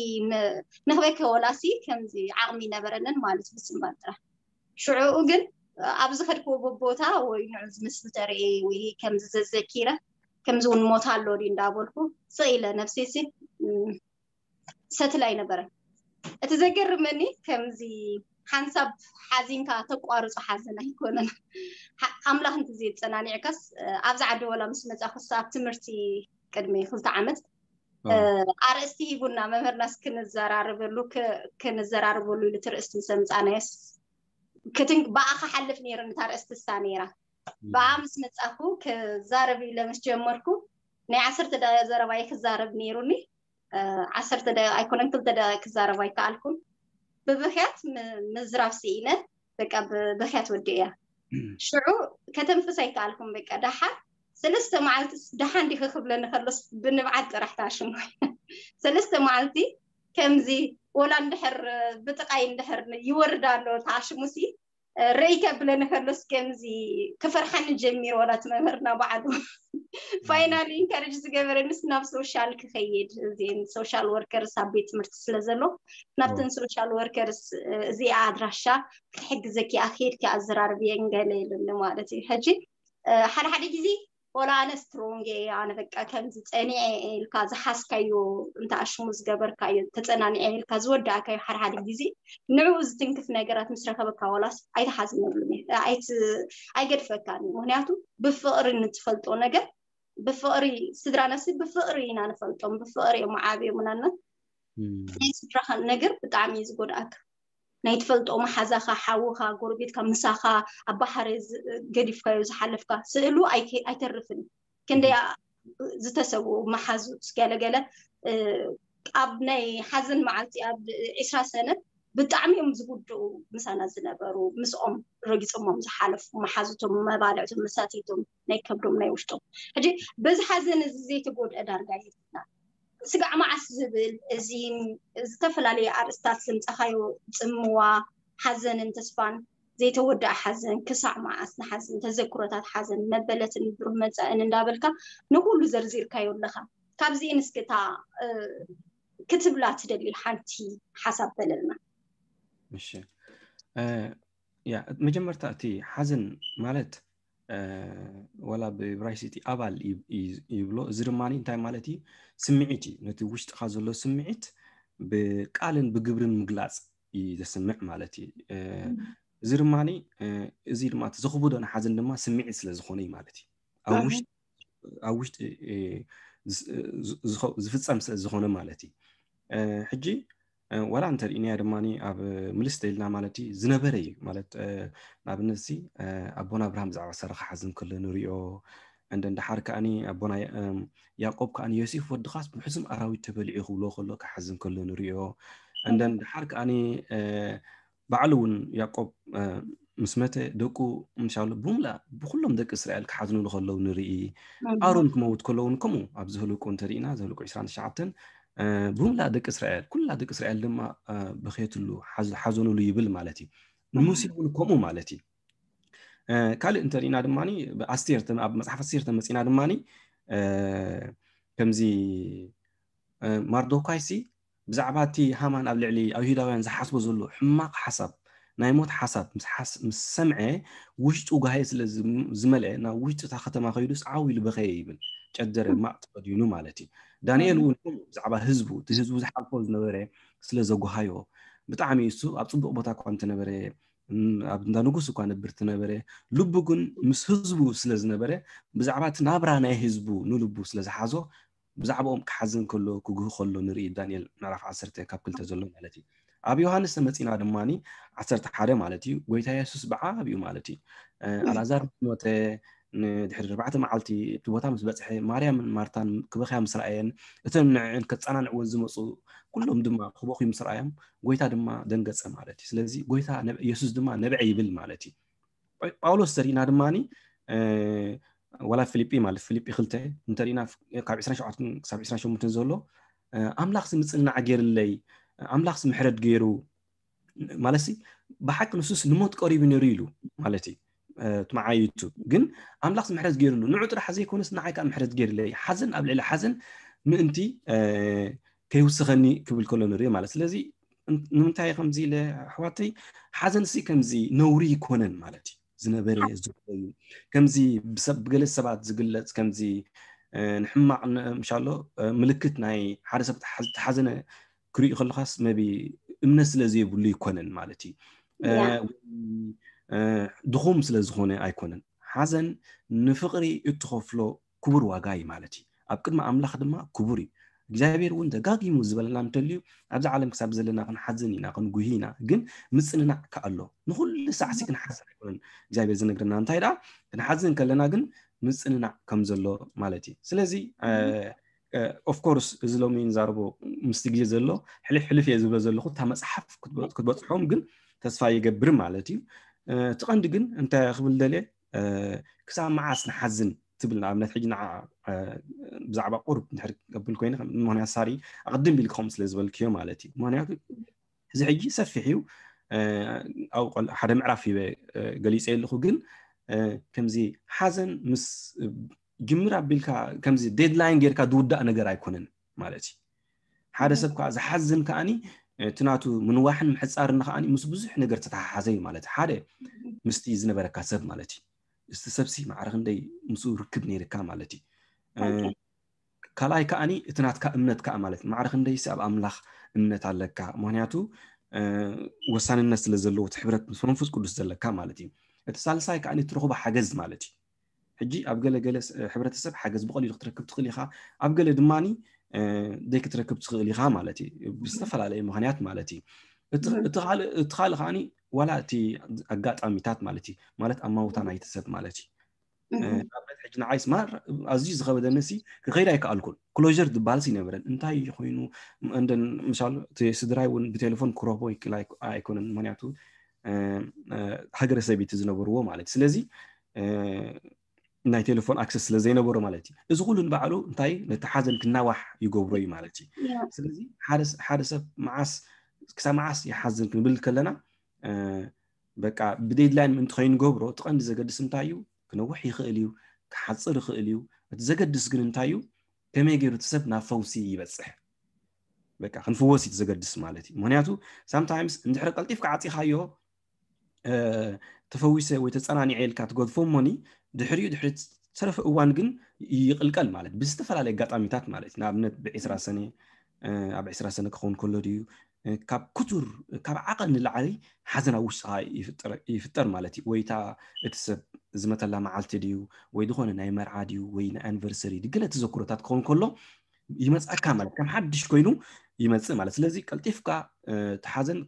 ንኽበኪ ወላሲ ከምዚ ዓቕሚ ነበረንን ማለት ብስንባድ ጥራሕ። ሽዑኡ ግን ኣብ ዝኸድክዎ ቦታ ወይ ንዑ ዝምስሊ ተርእየ ወይ ከምዚ ዘዘኪረ ከምዚ እውን ሞት ኣሎ ድዩ እንዳበልኩ ስቕ ኢለ ነብሰይሲ ሰትል ኣይነበረን። እቲ ዘገርመኒ ከምዚ ሓንሳብ ሓዚንካ ተቋርጾ ሓዘን ኣይኮነን። ኣምላኽ እንተ ዘየጸናኒዕካስ ኣብዚ ዓዲ ወላ ምስ መጻኹስ ኣብ ትምህርቲ ቅድሚ ክልተ ዓመት ኣርእስቲ ሂቡና መምህርናስ ክንዘራርበሉ ክንዘራርበሉ ኢሉ ትርእስቲ ምስ ኣምጻናዮስ ብኣ ክሓልፍ ነይሩ። ንታ ርእስቲ እሳ ነይራ። ብኣ ምስ መጻኹ ክዛረብ ኢለ ምስ ጀመርኩ ናይ ዓሰርተ ደቂቕ ዘረባይ ክዛረብ ነይሩኒ። ዓሰርተ ደቂቕ ኣይኮነን ክልተ ደቂቕ ክዛረብ ኣይከኣልኩን። ብብኽያት ምዝራብ ስኢነ በቃ ብብኽያት ወዲእያ። ሽዑ ከተንፍስ ኣይከኣልኩን። በቃ ደሓን ሰለስተ መዓልቲ ደሓን ዲኺ ክብለኒ ከሎስ ብንብዓት ጥራሕ ተኣሽሙ። ሰለስተ መዓልቲ ከምዚ ወላ እንድሕር ብጥቓይ እንድሕር ይወርድ ኣሎ ተኣሽሙሲ ረይ ከብለኒ ከሎስ ከምዚ ክፈርሓኒ ጀሚሩ። ወላ እቲ መምህርና ባዕሉ ፋይናሊ ኢንካሬጅ ዝገበረንስ ናብ ሶሻል ክኸይድ እዚን ሶሻል ወርከርስ ኣብ ቤት ትምህርቲ ስለ ዘሎ ናብተን ሶሻል ወርከርስ እዚኣ ኣድራሻ ክትሕግዘኪ ኣክየድኪ ኣዘራርብየን ገለ ኢሉኒ ማለት እዩ። ሕጂ ሓደ ሓደ ግዜ ወላ ኣነ ስትሮንግ እየ ኣነ በቃ ከምዚ ጸኒዐ ኢልካ ዝሓዝካዮ እንተ ኣሽሙ ዝገበርካዮ ተጸናኒዐ ኢልካ ዝወዳእካዮ ሓደ ሓደ ግዜ ንዕኡ ዝትንክፍ ነገራት ምስ ረኸበካ ወላስ ኣይትሓዝነሉን ኣይገድፈካን እዩ። ምክንያቱ ብፍቕሪ ንትፈልጦ ነገር ብፍቕሪ ስድራ ነፍሲ ብፍቕሪ ኢና ንፈልጦም ብፍቕሪ እዮም ዓብዮምናና ናይ ስድራኻ ነገር ብጣዕሚ እዩ ዝጎድኣካ። ናይ ትፈልጦ መሓዛኻ ሓውኻ ጎረቤትካ ምሳኻ ኣብ ባሕሪ ገዲፍካዮ ዝሓለፍካ ስእሉ ኣይተርፍን። ክንደይ ዝተሰብኡ መሓዙት ገለገለ ኣብ ናይ ሓዘን መዓልቲ ኣብ ዕስራ ሰነ ብጣዕሚ እዮም ዝጉድኡ ምሳና ዝነበሩ ምስኦም ረጊፆሞም ዝሓለፉ መሓዙቶም መባልዕቶም መሳትይቶም ናይ ከብዶም ናይ ውሽጦም ሕጂ በዚ ሓዘን እዚ ዘይተጎድአ ዳርጋ የብልና። ስጋዕ መዓስ ዝብል እዚ ዝተፈላለየ ኣርእስታት ዘምፀኻዮ ፅምዋ ሓዘንን ተስፋን ዘይተወደኣ ሓዘን ክሳዕ መዓስ ንሓዘን ተዘክሮታት ሓዘን መበለትን ብሩህ መፃእን እንዳበልካ ንኩሉ ዘርዚርካዮ ኣለካ። ካብዚኤን እስኪ እታ ክትብላ ትደሊ ሓንቲ ሓሳብ በለልና። እሺ ያ መጀመርታ እቲ ሓዘን ማለት ወላ ብብራይሲ እቲ ኣባል ይብሎ። እዚ ድማ እንታይ ማለት እዩ? ስምዒት እዩ። ነቲ ውሽጥኻ ዘሎ ስምዒት ብቃልን ብግብርን ምግላፅ እዩ ዘስምዕ ማለት እዩ። እዚ ድማ እዚ ድማ እቲ ዘኽብዶ ንሓዘን ድማ ስምዒት ስለ ዝኾነ እዩ ማለት እዩ። ኣብ ውሽጢ ዝፍፀም ስለ ዝኾነ ማለት እዩ። ሕጂ ዋላ እንተርኢናያ ድማ ኣብ ምልስ ተኢልና ማለት እዩ ዝነበረ እዩ ማለት ንኣብነት ሲ ኣቦና ኣብርሃም ብዛዕባ ሰረኻ ሓዝን ከሎ ንሪኦ እንደ እንድሓር ከኣኒ ኣቦና ያቆብ ከኣኒ ዮሴፍ ወድኻስ ብሕሱም ኣራዊት ተበሊዑ ክብሎ ከሎ ክሓዝን ከሎ ንሪኦ እንደ እንድሓር ከኣኒ ባዕሉ እውን ያቆብ ምስ መተ ደቁ ምሻሉ ብሙላ ብኩሎም ደቂ እስራኤል ክሓዝኑሉ ከለዉ ንርኢ። ኣሮን ክመውት ከለውን ከምኡ ኣብ ዘህልቁ እንተሪኢና ዘህልቁ ዕስራን ትሽዓተን ብሙላ ደቂ እስራኤል ኩላ ደቂ እስራኤል ድማ በኸየትሉ ሓዘኑሉ ይብል ማለት እዩ። ንሙሴ እውን ከምኡ ማለት እዩ። ካልእ እንተሪኢና ድማ ኣብ መፅሓፍ ኣስቴር ተመፂና ድማ ከምዚ ማርዶካይሲ ብዛዕባ እቲ ሃማን ኣብ ልዕሊ ኣይሁዳውያን ዝሓስቦ ዘሎ ሕማቕ ሓሳብ ናይ ሞት ሓሳብ ምስ ሰምዐ ውሽጡ ጋህየ ስለ ዝመልአ ናብ ውሽጢ እታ ከተማ ከይዱስ ዓው ኢሉ በኸየ ይብል። ጨደረ ማቕ ተኸዲኑ ማለት እዩ። ዳንኤል እውን ብዛዕባ ህዝቡ እቲ ህዝቡ ዝሓልፎ ዝነበረ ስለ ዘጓሃዮ ብጣዕሚ እሱ ኣብ ፅቡቕ ቦታ እኳ እንተነበረ ኣብ እንዳ ንጉስ እኳ ነብር ትነበረ ልቡ ግን ምስ ህዝቡ ስለ ዝነበረ ብዛዕባ እቲ ናብራ ናይ ህዝቡ ንልቡ ስለ ዝሓዞ ብዛዕባኦም ክሓዝን ከሎ ክጉህ ከሎ ንርኢ ዳንኤል ምዕራፍ ዓሰርተ ካብ ክልተ ዘሎ ማለት እዩ። ኣብ ዮሃንስ ተመፂና ድማ ዓሰርተ ሓደ ማለት እዩ። ጎይታ የሱስ ብዓብኡ ማለት እዩ ኣልኣዛር ምስ ሞተ ንድሕሪ ኣርባዕተ መዓልቲ እቲ ቦታ ምስ በፅሐ ማርያምን ማርታን ክበኽያ ምስ ረኣየን እተን ንዕን ከፀናንዕወን ዝመፁ ኩሎም ድማ ክበኽዩ ምስ ረኣዮም ጎይታ ድማ ደንገፀ ማለት እዩ። ስለዚ ጎይታ የሱስ ድማ ነብዐ ይብል ማለት እዩ። ጳውሎስ ተሪእና ድማ ዋላ ፊልጲ ማለት ፊልጲ ክልተ እንተሪእና ካብ ዕስራን ሸውዓተን ክሳብ ዕስራን ሸሞንተን ዘሎ ኣምላኽ ምፅናዕ ገይርለይ ኣምላኽ ምሕረት ገይሩ ማለት ብሓቂ ንሱስ ንሞት ቀሪቡ ነይሩ ኢሉ ማለት እዩ። እቲ መዓይቱ ግን ኣምላኽ ምሕረት ገይሩሉ ንዑ ጥራሕ ዘይኮነስ ንዓይ ከዓ ምሕረት ገይርለይ ሓዘን ኣብ ልዕሊ ሓዘን ምእንቲ ከይውስኸኒ ክብል ከሎ ንርኢ ማለት ስለዚ ንምንታይ ከምዚ ኢለ ኣሕዋተይ ሓዘን ሲ ከምዚ ነውሪ ይኮነን ማለት እዩ ዝነበረ ዝነበዩ ከምዚ ብሰብ ብገለ ሰባት ዝግለጽ ከምዚ ንሕማቕ ምሻሎ ምልክት ናይ ሓደ ሰብ ተሓዘነ ክርኢ ከለኻስ መቢ እምነት ስለ ዘይብሉ ይኮነን ማለት እዩ ድኹም ስለ ዝኾነ ኣይኮነን ሓዘን ንፍቕሪ እትኸፍሎ ክቡር ዋጋ እዩ ማለት እዩ ኣብ ቅድሚ ኣምላኽ ድማ ክቡር እዩ እግዚኣብሔር እውን ደጋጊሙ ዝበለና እንተልዩ ኣብዚ ዓለም ክሳብ ዘለና ክንሓዝን ኢና ክንጉሂ ኢና ግን ምፅንናዕ ከኣሎ ንኩሉ ሳዕሲ ክንሓዝን ኣይኮነን እግዚኣብሔር ዝነግርና እንታይ ደኣ ክንሓዝን ከለና ግን ምፅንናዕ ከም ዘሎ ማለት እዩ ስለዚ ኦፍኮርስ እዚ ሎሚ ንዛረቦ ምስቲ ግዜ ዘሎ ሕልፍ ሕልፍ እየ ዝብሎ ዘለኹ እታ መፅሓፍ ክትበፅሖም ግን ተስፋ ይገብር ማለት እዩ እቲ ቀንዲ ግን እንታይ ክብል ደልየ ክሳብ መዓስ ንሓዝን ትብል ንኣብነት ሕጂ ንዓ ብዛዕባ ቁርብ ንድሕር ክብል ኮይነ ምክንያት ሳሪ ኣቅድም ኢልክኹም ስለ ዝበልክዮ ማለት እዩ ምክንያቱ እዚ ሕጂ ሰፊሕ እዩ ኣብ ሓደ ምዕራፍ ሂበ ገሊፀ ኣለኹ ግን ከምዚ ሓዘን ምስ ጅምር ኣቢልካ ከምዚ ዴድላይን ጌርካ ዝውዳእ ነገር ኣይኮነን ማለት እዩ ሓደ ሰብ ከዓ ዝሓዝን ከዓኒ እቲ ናቱ ምንዋሕን ምሕፃርን ከዓኒ ምስ ብዙሕ ነገር ተተሓሓዘ እዩ ማለት ሓደ ምስቲ ዝነበረካ ሰብ ማለት እዩ እስቲ ሰብሲ ማዕረ ክንደይ ምስኡ ርክብ ነይርካ ማለት እዩ ካልኣይ ከዓኒ እቲ ናትካ እምነት ከዓ ማለት ማዕረ ክንደይሲ ኣብ ኣምላኽ እምነት ኣለካ ምክንያቱ ወሳንነት ስለ ዘለዎ እቲ ሕብረት ምስ መንፈስ ቅዱስ ዘለካ ማለት እዩ እቲ ሳልሳይ ከዓኒ እትረኽቦ ሓገዝ ማለት እዩ ሕጂ ኣብ ገለገለ ሕብረተሰብ ሓገዝ ብቐሊሉ ክትረክብ ትኽእል ኢኻ ኣብ ገለ ድማ ደይ ክትረክብ ትኽእል ኢኻ ማለት እዩ ብዝተፈላለየ ምክንያት ማለት እዩ እቲ ካልእ ከዓ ዋላ እቲ ኣጋጣሚታት ማለት እዩ ማለት ኣማውታ ናይቲ ሰብ ማለት እዩ ንኣብነት ሕጂ ንዓይስ ማር ኣዝዩ ዝኸበደኒ ሲ ክኸይድ ኣይከኣልኩን ክሎር ዝበሃል ይነበረን እንታይ ኮይኑ እንደን ምሳሉ እቲ ስድራይ እውን ብቴሌፎን ክረኽቦ ይክእል ኣይኮነን ምክንያቱ ሃገረ ሰበይቲ ዝነበርዎ ማለት ስለዚ ናይ ቴሌፎን ኣክሰስ ስለ ዘይነበሮ ማለት እዩ እዚ ኩሉ ንባዕሉ እንታይ ነቲ ሓዘን ክናዋሕ ይገብሮ እዩ ማለት እዩ ስለዚ ሓደ ሰብ መዓስ ክሳብ መዓስ ይሓዝን ክንብል ከለና በቃ ብዴድላይን ምእንቲ ከይንገብሮ እቲ ቀንዲ ዘገድስ እንታይ እዩ ክነውሕ ይኽእል እዩ ክሓፅር ይኽእል እዩ እቲ ዘገድስ ግን እንታይ እዩ ከመይ ገይሩ እቲ ሰብ ናብ ፈውሲ ይበፅሕ በቃ ክንፍወስ እዩ ዘገድስ ማለት እዩ ምክንያቱ ሳምታይምስ እንድሕሪ ቀልጢፍካ ዓፂኻዮ ተፈዊሰ ወይ ተፀናኒዐ ኢልካ ትገድፎ እሞኒ ድሕሪኡ ድሕሪ ዝተረፈ እዋን ግን ይቕልቀል ማለት ብዝተፈላለየ ኣጋጣሚታት ማለት እዩ ንኣብነት ብዒስራ ሰነ ኣብ ዕስራ ሰነ ክኸውን ከሎ ድዩ ካብ ክቱር ካብ ዓቐን ንላዕሊ ሓዘን ኣብ ውሽጥኻ ይፍጠር ማለት እዩ ወይታ እቲ ሰብ ዝመተላ መዓልቲ ድዩ ወይ ዝኾነ ናይ መርዓ ድዩ ወይ ናይ ኣኒቨርሰሪ ድገለ ተዘክሮታት ክኸውን ከሎ ይመፅኣካ ማለት ከም ሓድሽ ኮይኑ ይመፅእ ማለት ስለዚ ቀልጢፍካ እቲ ሓዘን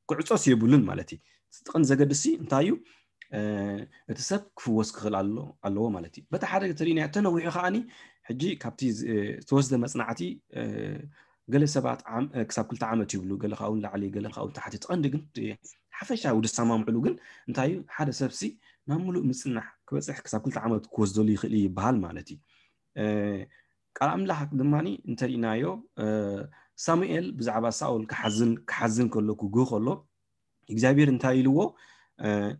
ክዕፆስ የብሉን ማለት እዩ እቲ ቀንዲ ዘገድሲ እንታይ እዩ እቲ ሰብ ክፍወስ ክኽእል ኣለዎ ማለት እዩ በቲ ሓደ ተሪእና ተነዊሑ ከዓኒ ሕጂ ካብቲ ዝተወስደ መፅናዕቲ ገለ ሰባት ክሳብ ክልተ ዓመት ይብሉ ገለ ካብኡ ንላዕሊ ገለ ካብኡ ታሕቲ ትቐንዲ ግን ሓፈሻዊ ዝሰማምዕሉ ግን እንታይ እዩ ሓደ ሰብሲ ናብ ሙሉእ ምፅናሕ ክበፅሕ ክሳብ ክልተ ዓመት ክወስደሉ ይኽእል ይበሃል ማለት እዩ ቃል ኣምላኽ ድማ እንተሪእናዮ ሳሙኤል ብዛዕባ ሳኦል ክሓዝን ክሓዝን ከሎ ክጉህ ከሎ እግዚኣብሔር እንታይ ኢልዎ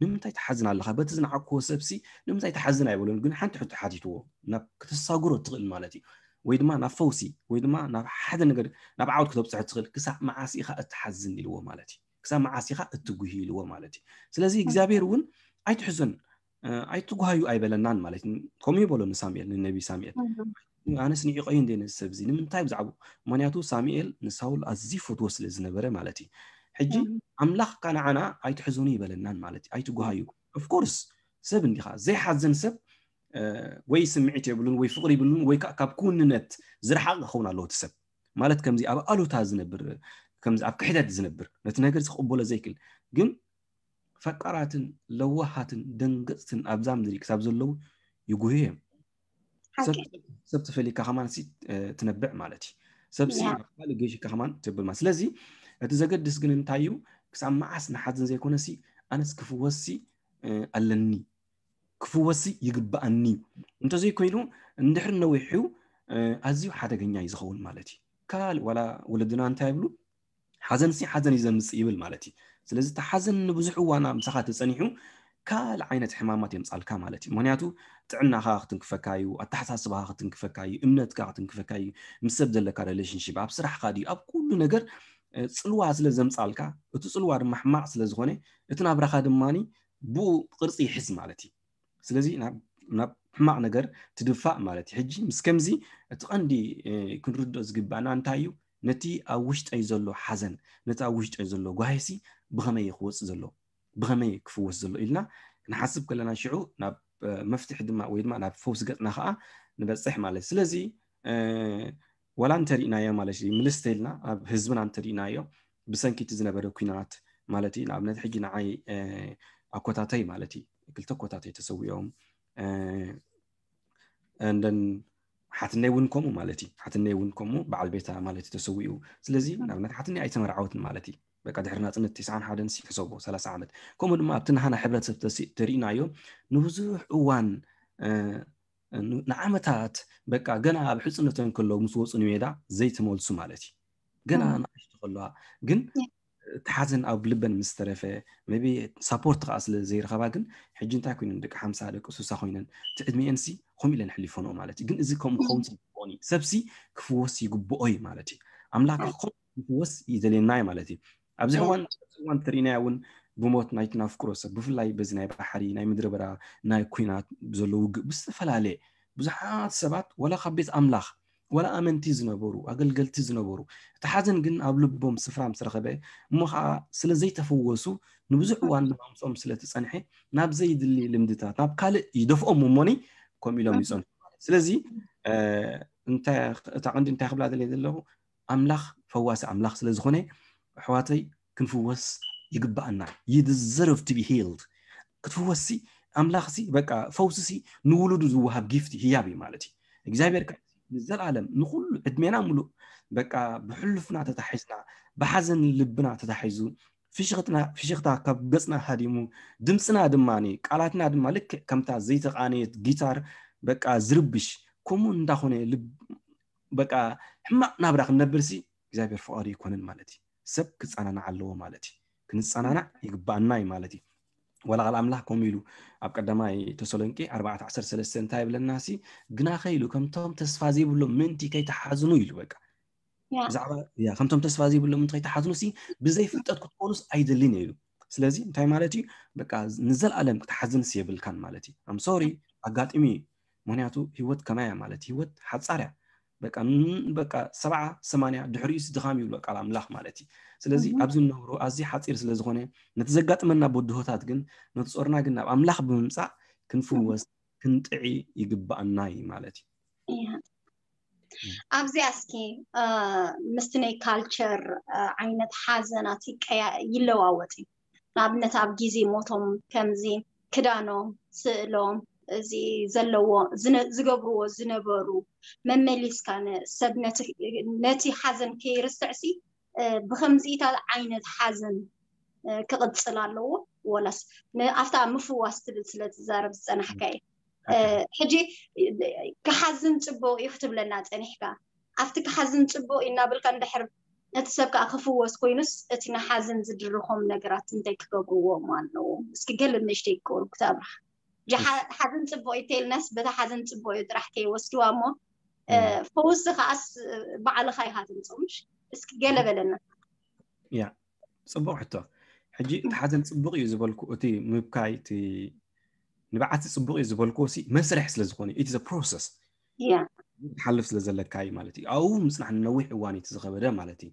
ንምንታይ ትሓዝን ኣለኻ በቲ ዝነዓቅዎ ሰብሲ ንምንታይ ትሓዝን ኣይበሎን ግን ሓንቲ ሕቶ ሓቲትዎ ናብ ክትሳግሮ ትኽእል ማለት እዩ ወይ ድማ ናብ ፈውሲ ወይ ድማ ናብ ሓደ ነገር ናብ ዓወት ክተብፅሐ ትኽእል ክሳብ መዓስ ኢኻ እትሓዝን ኢልዎ ማለት እዩ ክሳብ መዓስ ኢኻ እትጉሂ ኢልዎ ማለት እዩ ስለዚ እግዚኣብሔር እውን ኣይትሕዘን ኣይትጓሃዩ ኣይበለናን ማለት እዩ ከምኡ ይበሎ ንሳሙኤል ንነቢ ሳሙኤል ኣነስ ንዒቐዩ እንደ ነዚ ሰብ እዚ ንምንታይ ብዛዕባ ምክንያቱ ሳሙኤል ንሳውል ኣዝዩ ፈትዎ ስለ ዝነበረ ማለት እዩ ሕጂ ኣምላኽ ከ ንዓና ኣይትሕዘኑ ይበለናን ማለት እዩ ኣይትጓሃዩ ኦፍኮርስ ሰብ እንዲኻ ዘይሓዘን ሰብ ወይ ስምዒት የብሉን ወይ ፍቕሪ ይብሉን ወይ ካብ ክውንነት ዝረሓቕ ክኸውን ኣለዎ እቲ ሰብ ማለት ከምዚ ኣብ ኣሉታ ዝነብር ከምዚ ኣብ ክሕደት ዝነብር ነቲ ነገር ዝቕበሎ ዘይክእል ግን ፈቃራትን ለዋሃትን ደንገፅትን ኣብዛ ምድሪ ክሳብ ዘለዉ ይጉህ እዮም ሰብ ተፈሊካ ከማን ትነብዕ ማለት እዩ ሰብሲ ካልእ ገይሽካ ከማን ትብል ማለት ስለዚ እቲ ዘገድስ ግን እንታይ እዩ ክሳብ መዓስ ንሓዝን ዘይኮነሲ ኣነስ ክፍወስሲ ኣለኒ ክፍወስሲ ይግብኣኒ እንተዘይኮይኑ እንድሕር ነዊሑ ኣዝዩ ሓደገኛ እዩ ዝኸውን ማለት እዩ ካልእ ዋላ ወለድና እንታይ ይብሉ ሓዘንሲ ሓዘን እዩ ዘምፅእ ይብል ማለት እዩ ስለዚ እቲ ሓዘን ንብዙሕ እዋና ምሳኻ ተፀኒሑ ካልእ ዓይነት ሕማማት የምጻልካ ማለት እዩ። ምክንያቱ ጥዕናኻ ክትንክፈካ እዩ፣ ኣተሓሳስባኻ ክትንክፈካ እዩ፣ እምነትካ ክትንክፈካ እዩ፣ ምስ ሰብ ዘለካ ሪሌሽንሽፕ፣ ኣብ ስራሕካ ድዩ፣ ኣብ ኩሉ ነገር ጽልዋ ስለ ዘምጻልካ፣ እቲ ጽልዋ ድማ ሕማቕ ስለ ዝኾነ እቲ ናብራኻ ድማ ብኡ ቅርጺ ይሕዝ ማለት እዩ። ስለዚ ናብ ሕማቕ ነገር ትድፋእ ማለት እዩ። ሕጂ ምስ ከምዚ እቲ ቀንዲ ክንርድኦ ዝግባእና እንታይ እዩ? ነቲ ኣብ ውሽጠይ ዘሎ ሓዘን፣ ነቲ ኣብ ውሽጠይ ዘሎ ጓሂሲ ብኸመይ ክወጽእ ዘሎ፣ ብኸመይ ክፍወስ ዘሎ ኢልና ክንሓስብ ከለና ሽዑ ናብ መፍትሒ ድማ ወይ ድማ ናብ ፈውሲ ገጽና ከዓ ንበጽሕ ማለት እዩ። ስለዚ ወላ እንተሪእናዮ ማለት እዩ ምልስ ተልና ኣብ ህዝብና እንተሪእናዮ ብሰንኪ እቲ ዝነበረ ኲናት ማለት እዩ። ንኣብነት ሕጂ ንዓይ ኣኮታተይ ማለት እዩ ክልተ ኮታተይ ተሰዊኦም እንደን ሓትነይ እውን ከምኡ ማለት እዩ። ሓትነይ እውን ከምኡ በዓል ቤታ ማለት እዩ ተሰዊኡ። ስለዚ ንኣብነት ሓትነይ ኣይተመርዓወትን ማለት እዩ። በቃ ድሕሪ ናፅነት ትስዓን ሓደን ሲ ሕሰቦ ሰላሳ ዓመት። ከምኡ ድማ ኣብቲ ናሃና ሕብረተሰብ ተሪእናዮ ንብዙሕ እዋን ንዓመታት በቃ ገና ኣብ ሕፅነተን ከለዉ ምስ ወፁ ንሜዳ ዘይተመልሱ ማለት እዩ። ገና ንኣሽቱ ከለዋ ግን እቲ ሓዘን ኣብ ልበን ምስ ተረፈ ቢ ሳፖርት ከዓ ስለ ዘይረኸባ ግን ሕጂ እንታይ ኮይነን ደቂ ሓምሳ ደቂ ሱሳ ኮይነን እቲ ዕድሚኤን ሲ ከምኡ ኢለን ሕሊፈንኦ ማለት እዩ። ግን እዚ ከምኡ ክኸውን ስለ ዝግብኦን እዩ። ሰብሲ ክፍወስ ይግብኦ እዩ ማለት እዩ። ኣምላኽ ክፍወስ ይደልየና እዩ ማለት እዩ። ኣብዚ ሕዋን እዋን ትርኢናያ እውን ብሞት ናይቲ ናፍቅሮ ሰብ ብፍላይ በዚ ናይ ባሕሪ ናይ ምድረ በዳ ናይ ኩናት ዘሎ ውግእ ብዝተፈላለየ ብዙሓት ሰባት ወላ ካብ ቤት ኣምላኽ ወላ ኣመንቲ ዝነበሩ ኣገልገልቲ ዝነበሩ እቲ ሓዘን ግን ኣብ ልቦም ስፍራ ምስ ረኸበ እሞ ከዓ ስለ ዘይተፈወሱ ንብዙሕ እዋን ብማምፅኦም ስለ ትፀንሐ ናብ ዘይድሊ ልምድታት ናብ ካልእ ይደፍኦም እሞኒ ከምኡ ኢሎም ይፀንሑ ማለት ስለዚ እታ ቀንዲ እንታይ ክብላ ደልየ ዘለኹ ኣምላኽ ፈዋሲ ኣምላኽ ስለ ዝኾነ ኣሕዋተይ ክንፍወስ ይግባኣና you deserve to be healed ክትፍወስሲ ኣምላኽሲ በቃ ፈውስሲ ንውሉዱ ዝወሃብ ጊፍት ህያብ እዩ ማለት እዩ እግዚኣብሔር ንዘለኣለም ንኩሉ ዕድሜና ሙሉእ በቃ ብሕሉፍና ተታሒዝና ብሓዘን ልብና ተታሒዙ ፍሽኽታ ካብ ገፅና ሃዲሙ ድምፅና ድማ ቃላትና ድማ ልክዕ ከምታ ዘይተቃነየት ጊታር በቃ ዝርብሽ ከምኡ እንዳኾነ በቃ ሕማቅ ናብራ ክንነብርሲ እግዚኣብሔር ፍቃዱ ይኮነን ማለት እዩ ሰብ ክፀናናዕ ኣለዎ ማለት እዩ ክንፀናናዕ ይግባኣና እዩ ማለት እዩ ወላ ቃል ኣምላኽ ከምኡ ኢሉ ኣብ ቀዳማይ ተሰሎንቄ ኣርባዕተ ዓሰርተ ሰለስተ እንታይ ይብለና ሲ ግና ከይሉ ከምቶም ተስፋ ዘይብሎም ምእንቲ ከይተሓዝኑ ኢሉ በቃ ብዛዕባ ከምቶም ተስፋ ዘይብሎም ምእንቲ ከይተሓዝኑ ሲ ብዘይ ፍልጠት ክትኮኑስ ኣይደልን ኢሉ ስለዚ እንታይ ማለት እዩ በቃ ንዘለኣለም ክትሓዝንስ የብልካን ማለት እዩ ኣም ሶሪ ኣጋጢሙ እዩ ምክንያቱ ህይወት ከማያ ማለት ህይወት ሓፃር እያ በቃ በቃ ሰብዓ ሰማንያ ድሕሪኡስ ድኻም ይብሎ ቃል ኣምላኽ ማለት እዩ ስለዚ ኣብዚ ንነብሮ ኣዝዩ ሓፂር ስለ ዝኾነ ነቲ ዘጋጥመና በድሆታት ግን ነቲ ጾርና ግን ናብ ኣምላኽ ብምምፃእ ክንፍወስ ክንጥዒ ይግባኣና እዩ ማለት እዩ ኣብዚኣ እስኪ ምስቲ ናይ ካልቸር ዓይነት ሓዘናት ይለዋወጥ እዩ ንኣብነት ኣብ ግዜ ሞቶም ከምዚ ክዳኖም ስእሎም እዚ ዘለዎ ዝገብርዎ ዝነበሩ መመሊስካ ሰብ ነቲ ሓዘን ከይርስዕሲ ብከምዚኢታት ዓይነት ሓዘን ክቕፅል ኣለዎ ወላስ ኣብታ ምፍዋስ ትብል ስለ ትዛረብ ዝፀናሕካ እዩ ሕጂ ክሓዝን ፅቡቅ እዩ ክትብለና ፀኒሕካ ኣብቲ ክሓዝን ፅቡቅ እዩ እናበልካ እንድሕር እቲ ሰብ ከዓ ክፍወስ ኮይኑስ እቲ ንሓዘን ዝድርኾም ነገራት እንታይ ክገብርዎም ኣለዎም እስኪ ገለ ንእሽተይ ክገብሩ ክተብርሃ ሓዘን ፅቡቅ እዩ ተልናስ በታ ሓዘን ፅቡቅ እዩ ጥራሕ ከይወስድዋ እሞ ፈውሲ ከዓስ ባዕልኻ ኢኻ ትምፅምሽ እስኪ ገለ በለና ያ ፅቡቅ ሕቶ ሕጂ እቲ ሓዘን ፅቡቅ እዩ ዝበልኩ እቲ ምብካይ እቲ ንብዓቲ ፅቡቅ እዩ ዝበልኩ ሲ መስርሕ ስለ ዝኾነ እቲ ፕሮሰስ ትሓልፍ ስለ ዘለካ እዩ ማለት እዩ ኣብኡ ምፅናሕ ንነዊሕ እዋን እቲ ዝኸበደ ማለት እዩ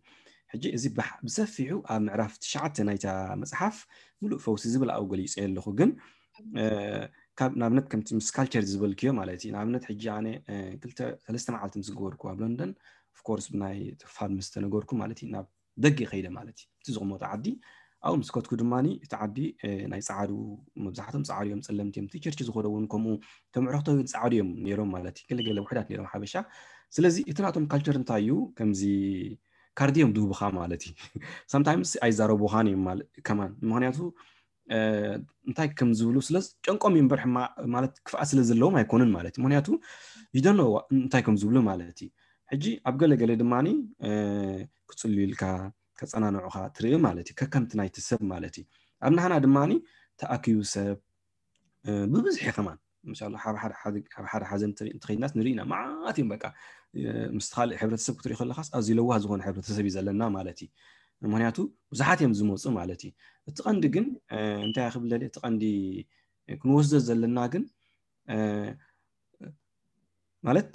ሕጂ እዚ ብሰፊሑ ኣብ ምዕራፍ ትሽዓተ ናይታ መፅሓፍ ሙሉእ ፈውሲ ዝብል ኣብኡ ገሊፀ ኣለኹ ግን ካብ ንኣብነት ከምቲ ምስ ካልቸር ዝበልክዮ ማለት እዩ ንኣብነት ሕጂ ኣነ ክልተ ሰለስተ መዓልቲ ምስ ገበርኩ ኣብ ለንደን ኦፍኮርስ ብናይ ፋል ምስ ተነገርኩ ማለት እዩ ናብ ደገ ከይደ ማለት እዩ እቲ ዝቕመጦ ዓዲ ኣብኡ ምስ ከትኩ ድማ እቲ ዓዲ ናይ ፀዓዱ መብዛሕቶም ፀዓዱ እዮም ፀለምቲ እዮም እቲ ቸርች ዝኸደ እውን ከምኡ ተምዕርክቶ እውን ፀዓዱ እዮም ነይሮም ማለት እዩ ገለገለ ውሕዳት ነይሮም ሓበሻ ስለዚ እቲ ናቶም ካልቸር እንታይ እዩ ከምዚ ካርድ እዮም ድህቡኻ ማለት እዩ ሳምታይምስ ኣይዛረቡኻን እዮም ከማን ምክንያቱ እንታይ ከም ዝብሉ ስለ ጨንቆም እዩ እምበር ማለት ክፍኣት ስለ ዘለዎም ኣይኮኑን ማለት እዩ ምክንያቱ ይደኖ እንታይ ከም ዝብሉ ማለት እዩ ሕጂ ኣብ ገለገለ ድማ ክፅልዩልካ ከፀናንዑካ ትርኢ ማለት እዩ ከከምቲ ናይቲ ሰብ ማለት እዩ ኣብ ናህና ድማ ተኣኪቡ ሰብ ብብዝሒ ከማን ምሻሎ ሓብ ሓደ ሓዘን እንተኸይድናስ ንርኢ ኢና። መዓት እዮም በቃ ምስ ካልእ ሕብረተሰብ ክትሪኢ ከለኻስ ኣዝዩ ለዋህ ዝኾነ ሕብረተሰብ እዩ ዘለና ማለት እዩ። ምክንያቱ ብዙሓት እዮም ዝመፁ ማለት እዩ። እቲ ቀንዲ ግን እንታይ ክብል እቲ ቀንዲ ክንወስዶ ዘለና ግን ማለት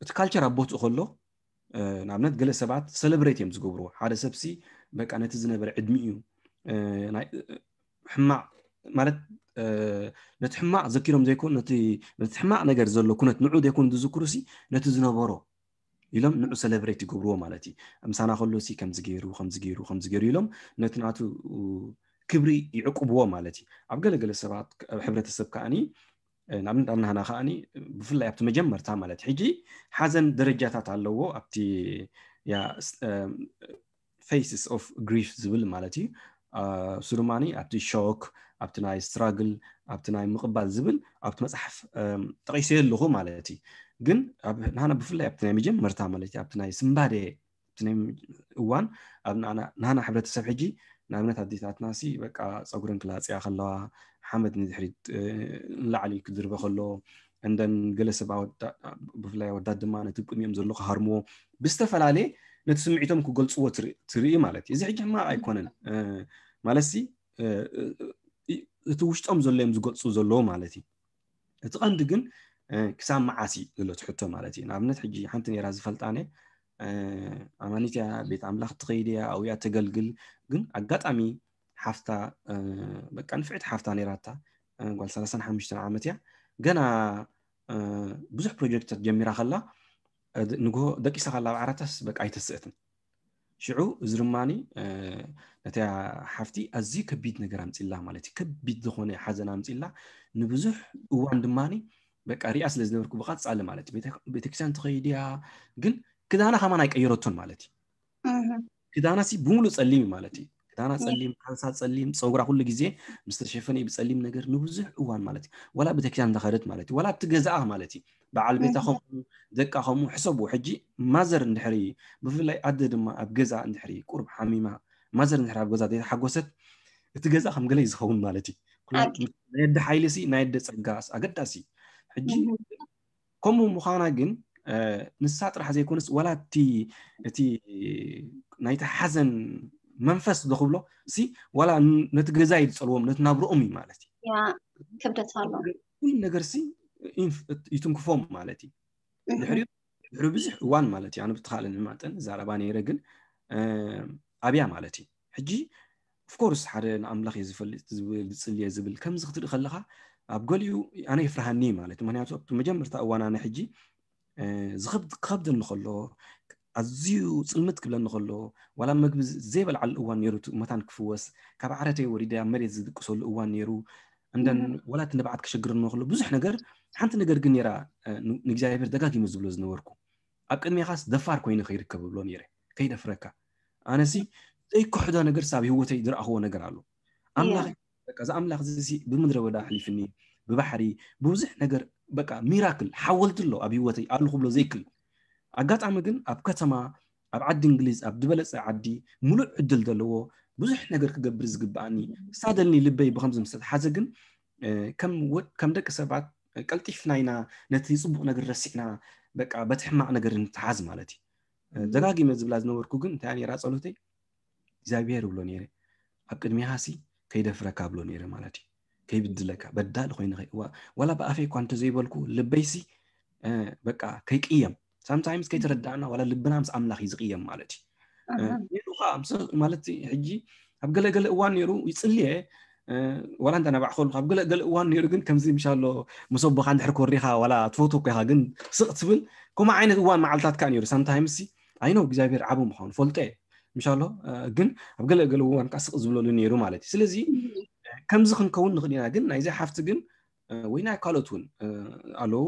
እቲ ካልቸር ኣብ ቦትኡ ከሎ ንኣብነት ገለ ሰባት ሰለብሬት እዮም ዝገብርዎ። ሓደ ሰብሲ በቃ ነቲ ዝነበረ ዕድሚኡ ሕማቕ ማለት ነቲ ሕማቕ ዘኪሮም ዘይኮኑ ነቲ ሕማቕ ነገር ዘሎ ኩነት ንዑ ዘይኮኑ ዝዝክሩ ሲ ነቲ ዝነበሮ ኢሎም ንዑ ሰለብሬት ይገብርዎ ማለት እዩ። ምሳና ከሎ ሲ ከምዚ ገይሩ ከምዚ ገይሩ ከምዚ ገይሩ ኢሎም ነቲ ናቱ ክብሪ ይዕቁብዎ ማለት እዩ። ኣብ ገለገለ ሰባት ኣብ ሕብረተሰብ ከዓኒ ንኣብነት ኣብ ናህና ከዓኒ ብፍላይ ኣብቲ መጀመርታ ማለት ሕጂ ሓዘን ደረጃታት ኣለዎ ኣብቲ ያ phases of grief ዝብል ማለት እዩ። እሱ ድማ ኣብቲ ሾክ ኣብቲ ናይ ስትራግል ኣብቲ ናይ ምቕባል ዝብል ኣብቲ መፅሓፍ ጠቂሰ ኣለኹ ማለት እዩ። ግን ናህና ብፍላይ ኣብቲ ናይ መጀመርታ ማለት ኣብቲ ናይ ስንባደ እዋን ኣብ ናህና ሕብረተሰብ ሕጂ ንኣብነት ኣዴታትና ሲ በቃ ፀጉረን ክላፅያ ከለዋ ሓመድ ንድሕሪት ንላዕሊ ክድርበ ከሎ እንደን ገለ ሰብ ብፍላይ ኣወዳት ድማ ነቲ ቅድሚኦም ዘሎ ክሃርምዎ ብዝተፈላለየ ነቲ ስምዒቶም ክገልፅዎ ትርኢ ማለት እዩ። እዚ ሕጂ ሕማቕ ኣይኮነን ማለት ሲ እቲ ውሽጦም ዘሎ እዮም ዝገልፁ ዘለዉ ማለት እዩ። እቲ ቀንዲ ግን ክሳብ መዓስ እዩ ዘሎ እቲ ሕቶ ማለት እዩ። ንኣብነት ሕጂ ሓንቲ ነራ ዝፈልጣነ ኣማኒት እያ፣ ቤት ኣምላኽ ትኸይድ እያ፣ ኣብኡ እያ ተገልግል። ግን ኣጋጣሚ ሓፍታ በቃ ንፍዕቲ ሓፍታ ነራታ ጓል ሰላሳን ሓሙሽተን ዓመት እያ። ገና ብዙሕ ፕሮጀክትታት ጀሚራ ከላ ንግሆ ደቂሳ ከላ ኣብ ዓራታስ በቃ ኣይተስእትን። ሽዑ እዚ ድማ ነታ ሓፍቲ ኣዝዩ ከቢድ ነገር ኣምፅላ ማለት እዩ። ከቢድ ዝኾነ ሓዘን ኣምፅላ ንብዙሕ እዋን ድማ በቃ ሪኣ ስለ ዝነበርኩ ብቐፃሊ ማለት እዩ ቤተክርስትያን ትኸይድ እያ። ግን ክዳና ከማን ኣይቀየረቶን ማለት እዩ። ክዳና ሲ ብምሉእ ፀሊም ማለት እዩ። ክዳና ፀሊም፣ ካልሳ ፀሊም፣ ፀጉራ ኩሉ ግዜ ምስ ተሸፈነ ብፀሊም ነገር ንብዙሕ እዋን ማለት እዩ። ዋላ ቤተክርስትያን እንዳኸደት ማለት እዩ። ዋላ ኣብቲ ገዛኣ ማለት እዩ። በዓል ቤታ ከምኡ፣ ደቃ ከምኡ ሕሰቡ። ሕጂ ማዘር እንድሕሪ ብፍላይ ኣደ ድማ ኣብ ገዛ እንድሕሪ ቁሩብ ሓሚማ ማዘር እንድሕሪ ኣብ ገዛ ዘይተሓጎሰት እቲ ገዛ ከም ገለ እዩ ዝኸውን ማለት እዩ። ናይ ኣደ ሓይሊ ሲ ናይ ኣደ ፀጋ ኣገዳሲ። ሕጂ ከምኡ ምዃና ግን ንሳ ጥራሕ ዘይኮነስ ዋላ እቲ እቲ ናይቲ ሓዘን መንፈስ ዶ ክብሎ ሲ ዋላ ነቲ ገዛ እዩ ዝፀልዎም ነቲ ናብርኦም እዩ ማለት እዩ። ክብደት ኣሎ። ኩሉ ነገር ሲ ይትንክፎም ማለት እዩ። ድሕሪኡ ድሕሪ ብዙሕ እዋን ማለት እዩ ኣነ ብትኻእለኒ መጠን ዛረባ ነይረ ግን ኣብያ ማለት እዩ። ሕጂ ኦፍኮርስ ሓደ ንኣምላኽ እየ ዝፈልጥ ዝብል ዝፅልየ ዝብል ከምዚ ክትርኢ ከለኻ ኣብ ገሊኡ ኣነ ይፍርሃኒ ማለት እዩ። ምክንያቱ ኣብቲ መጀመርታ እዋን ኣነ ሕጂ ዝኸብድ ክኸብደኒ ከሎ ኣዝዩ ፅልምት ክብለኒ ከሎ ዋላ መግቢ ዘይበልዓሉ እዋን ነይሩ እቲ መታን ክፍወስ ካብ ዓረተይ ወሪደ ኣብ መሬት ዝድቅሰሉ እዋን ነይሩ። እንደን ወላ እቲ ንብዓት ክሸግረኒ ከሎ ብዙሕ ነገር ሓንቲ ነገር ግን ነይራ ንእግዚኣብሔር ደጋጊመ ዝብሎ ዝነበርኩ ኣብ ቅድሜኻስ ደፋር ኮይነ ከይርከብ እብሎ ነይረ። ከይደፍረካ ኣነሲ ዘይክሕዶ ነገር ኣብ ህይወተይ ዝረኣኽዎ ነገር ኣሎ። ኣምላኽ በቃ እዚ ኣምላኽ እዚ ብምድረ በዳ ኣሕሊፍኒ ብባሕሪ ብብዙሕ ነገር በቃ ሚራክል ሓወልቲ ኣሎ ኣብ ህይወተይ ኣሉ ክብሎ ዘይክል ኣጋጣሚ ግን ኣብ ከተማ ኣብ ዓዲ እንግሊዝ ኣብ ዝበለፀ ዓዲ ሙሉእ ዕድል ዘለዎ ብዙሕ ነገር ክገብር ዝግብኣኒ ሳደልኒ ልበይ ብከምዚ ምስ ተተሓዘ ግን ከም ደቂ ሰባት ቀልጢፍና ኢና ነቲ ፅቡቅ ነገር ረሲዕና በቃ በቲ ሕማቅ ነገር ንተሓዝ ማለት እዩ። ደጋጊመ ዝብላ ዝነበርኩ ግን እንታይ ነራ ፀሎተይ እግዚኣብሔር እብሎ ነይረ ኣብ ቅድሚኻ ሲ ከይደፍረካ እብሎ ነይረ ማለት እዩ። ከይብድለካ በዳሊ ኮይነ ዋላ ብኣፈይ እኳ እንተዘይበልኩ ልበይሲ በቃ ከይቅየም ሳምታይምስ ከይተረዳእና ዋላ ልብና ምስ ኣምላኽ እዩ ዝቅየም ማለት እዩ። ሌሉ ከዓ ማለት ሕጂ ኣብ ገለገለ እዋን ነይሩ ይፅልየ ዋላ እንተ ናባዕ ከሉ ኣብ ገለገለ እዋን ነይሩ ግን ከምዚ ምሻሎ መሰቦኻ እንድሕር ኮሪኻ ዋላ ትፈትወ እኮ ኢኻ ግን ስቕ ትብል ከምኡ ዓይነት እዋን መዓልታት ከዓ ነይሩ ሳምታይምስ ኣይ ነው እግዚኣብሔር ዓቡ ምዃኑ ፈልጦ እየ ምሻሎ ግን ኣብ ገለገለ እዋን ከዓ ስቕ ዝብለሉ ነይሩ ማለት እዩ። ስለዚ ከምዚ ክንከውን ንኽእል ኢና ግን ናይዚ ሓፍቲ ግን ወይ ናይ ካልኦት እውን ኣለዉ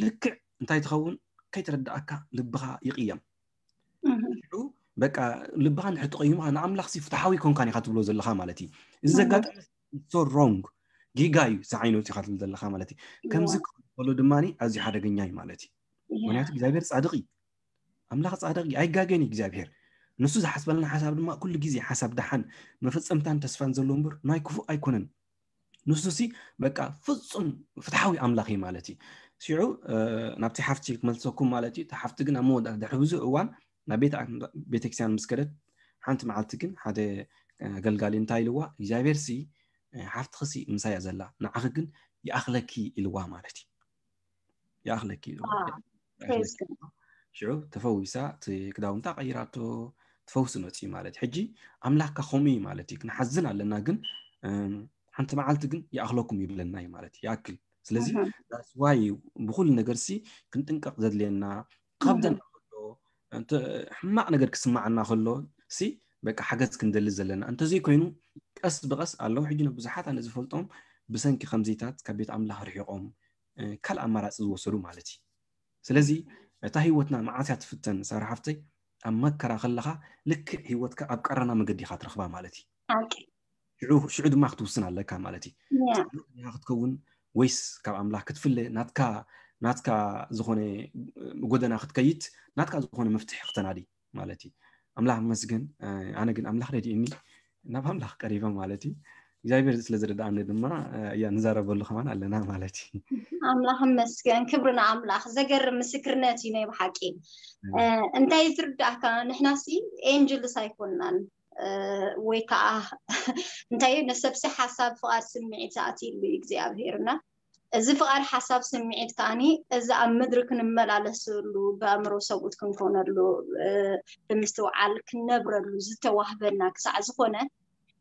ልክዕ እንታይ ትኸውን ከይተረዳእካ ልብኻ ይቕየም። ሽዑ በቃ ልብኻ እንድሕር ተቐይሙ ንኣምላኽ ሲ ፍትሓዊ ኮንካን ኢኻ ትብሎ ዘለኻ ማለት እዩ። እዚ ዘጋጠመ so wrong ጌጋ እዩ ዝዓይነቱ ኢኻ ትብል ዘለኻ ማለት እዩ። ከምዚ ከሎ ድማ ኣዝዩ ሓደገኛ እዩ ማለት እዩ። ምክንያቱ እግዚኣብሔር ፃድቕ እዩ። ኣምላኽ ፃድቕ እዩ፣ ኣይጋገን እዩ እግዚኣብሔር። ንሱ ዝሓስበልና ሓሳብ ድማ ኩሉ ግዜ ሓሳብ ደሓን መፈፀምታን ተስፋን ዘለዎ እምበር ናይ ክፉእ ኣይኮነን። ንሱ ሲ በቃ ፍጹም ፍትሓዊ ኣምላኽ እዩ ማለት እዩ። ሽዑ ናብቲ ሓፍቲ ክመልሰኩም ማለት እዩ። እቲ ሓፍቲ ግን ኣብ መወዳእታ ድሕሪ ብዙሕ እዋን ናብ ቤተ ቤተክርስትያን ምስ ከደት፣ ሓንቲ መዓልቲ ግን ሓደ ኣገልጋሊ እንታይ ኢልዋ፣ እግዚኣብሔር ሲ ሓፍትኺ ሲ ምሳያ ዘላ፣ ንዓኺ ግን ይኣኽለኪ ኢልዋ ማለት እዩ። ይኣኽለኪ ኢልዋ። ሽዑ ተፈዊሳ፣ እቲ ክዳውንታ ቀይራቶ፣ ትፈውሲ መፅዩ ማለት እዩ። ሕጂ ኣምላኽካ ከምኡ እዩ ማለት እዩ። ክንሓዝን ኣለና፣ ግን ሓንቲ መዓልቲ ግን ይኣኽለኩም ይብለና እዩ ማለት እዩ። ይኣክል። ስለዚ ዋይ ብኩሉ ነገር ሲ ክንጥንቀቕ ዘድልየና፣ ከብደና ከሎ፣ ሕማቕ ነገር ክስማዓና ከሎ ሲ በቃ ሓገዝ ክንደሊ ዘለና። እንተዘይኮይኑ ቀስ ብቐስ ኣለዉ። ሕጂ ብዙሓት ኣነ ዝፈልጦም ብሰንኪ ከምዚታት ካብ ቤት ኣምላኽ ርሒቖም ካልእ ኣማራፂ ዝወሰዱ ማለት እዩ። ስለዚ እታ ህይወትና መዓስ እያ ትፍተን ሳራ ሓፍተይ? ኣብ መከራ ከለኻ ልክዕ ህይወትካ ኣብ ቀረና መገዲ ኢኻ ትረኽባ ማለት እዩ። ሽዑ ድማ ክትውስን ኣለካ ማለት እዩ። ክትከውን ወይስ ካብ ኣምላኽ ክትፍለ፣ ናትካ ናትካ ዝኾነ ጎደና ክትከይድ፣ ናትካ ዝኾነ መፍትሒ ክተናዲ ማለት እዩ። ኣምላኽ መስገን። ኣነ ግን ኣምላኽ ረድእኒ ናብ ኣምላኽ ቀሪበ ማለት እዩ። እግዚኣብሔር ስለ ዝረዳእኒ ድማ እያ ንዛረበሉ ከማን ኣለና ማለት እዩ። ኣምላኽ መስገን፣ ክብሪ ንኣምላኽ። ዘገርም ምስክርነት እዩ ናይ ብሓቂ። እንታይ ዝርዳእካ፣ ንሕናሲ ኤንጅልስ ኣይኮንናን፣ ወይ ከዓ እንታይ እዩ፣ ንሰብሲ ሓሳብ ፍቓድ ስምዒት ኣትይሉ እዩ እግዚኣብሔር። እና እዚ ፍቓድ ሓሳብ ስምዒት ከዓኒ እዚ ኣብ ምድሪ ክንመላለሰሉ፣ ብኣእምሮ ሰብኡት ክንኮነሉ፣ ብምስትውዓል ክንነብረሉ ዝተዋህበና ክሳዕ ዝኾነ፣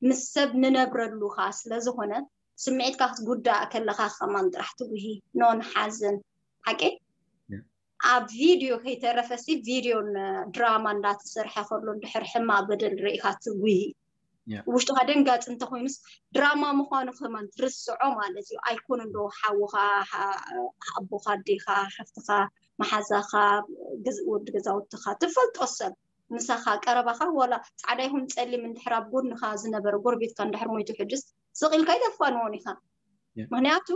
ምስ ሰብ ንነብረሉ ከዓ ስለ ዝኾነ፣ ስምዒትካ ክትጉዳእ ከለካ ከማን ጥራሕ ትጉሂ፣ ኖን ሓዘን። ሓቂ ኣብ ቪድዮ ከይተረፈሲ ቪድዮን ድራማ እንዳተሰርሐ ከሎ እንድሕር ሕማቅ በደል ርኢካ ትጉሂ። ውሽጥካ ደንጋፂ እንተኮይኑስ ድራማ ምኳኑ ከማን ትርስዖ ማለት እዩ። ኣይኮነ እንዶ ሓውካ፣ ኣቦካ፣ ኣዴካ፣ ሓፍትካ፣ መሓዛካ፣ ወዲ ገዛውትካ፣ ትፈልጦ ሰብ ምሳካ ቀረባካ ዋላ ፃዕዳ ይኹን ፀሊም እንድሕር ኣብ ጎንካ ዝነበረ ጎረቤትካ እንድሕር ሞይቱ ሕጅስ ስቕ ኢልካ ኣይተፋንዎን ኢካ። ምክንያቱ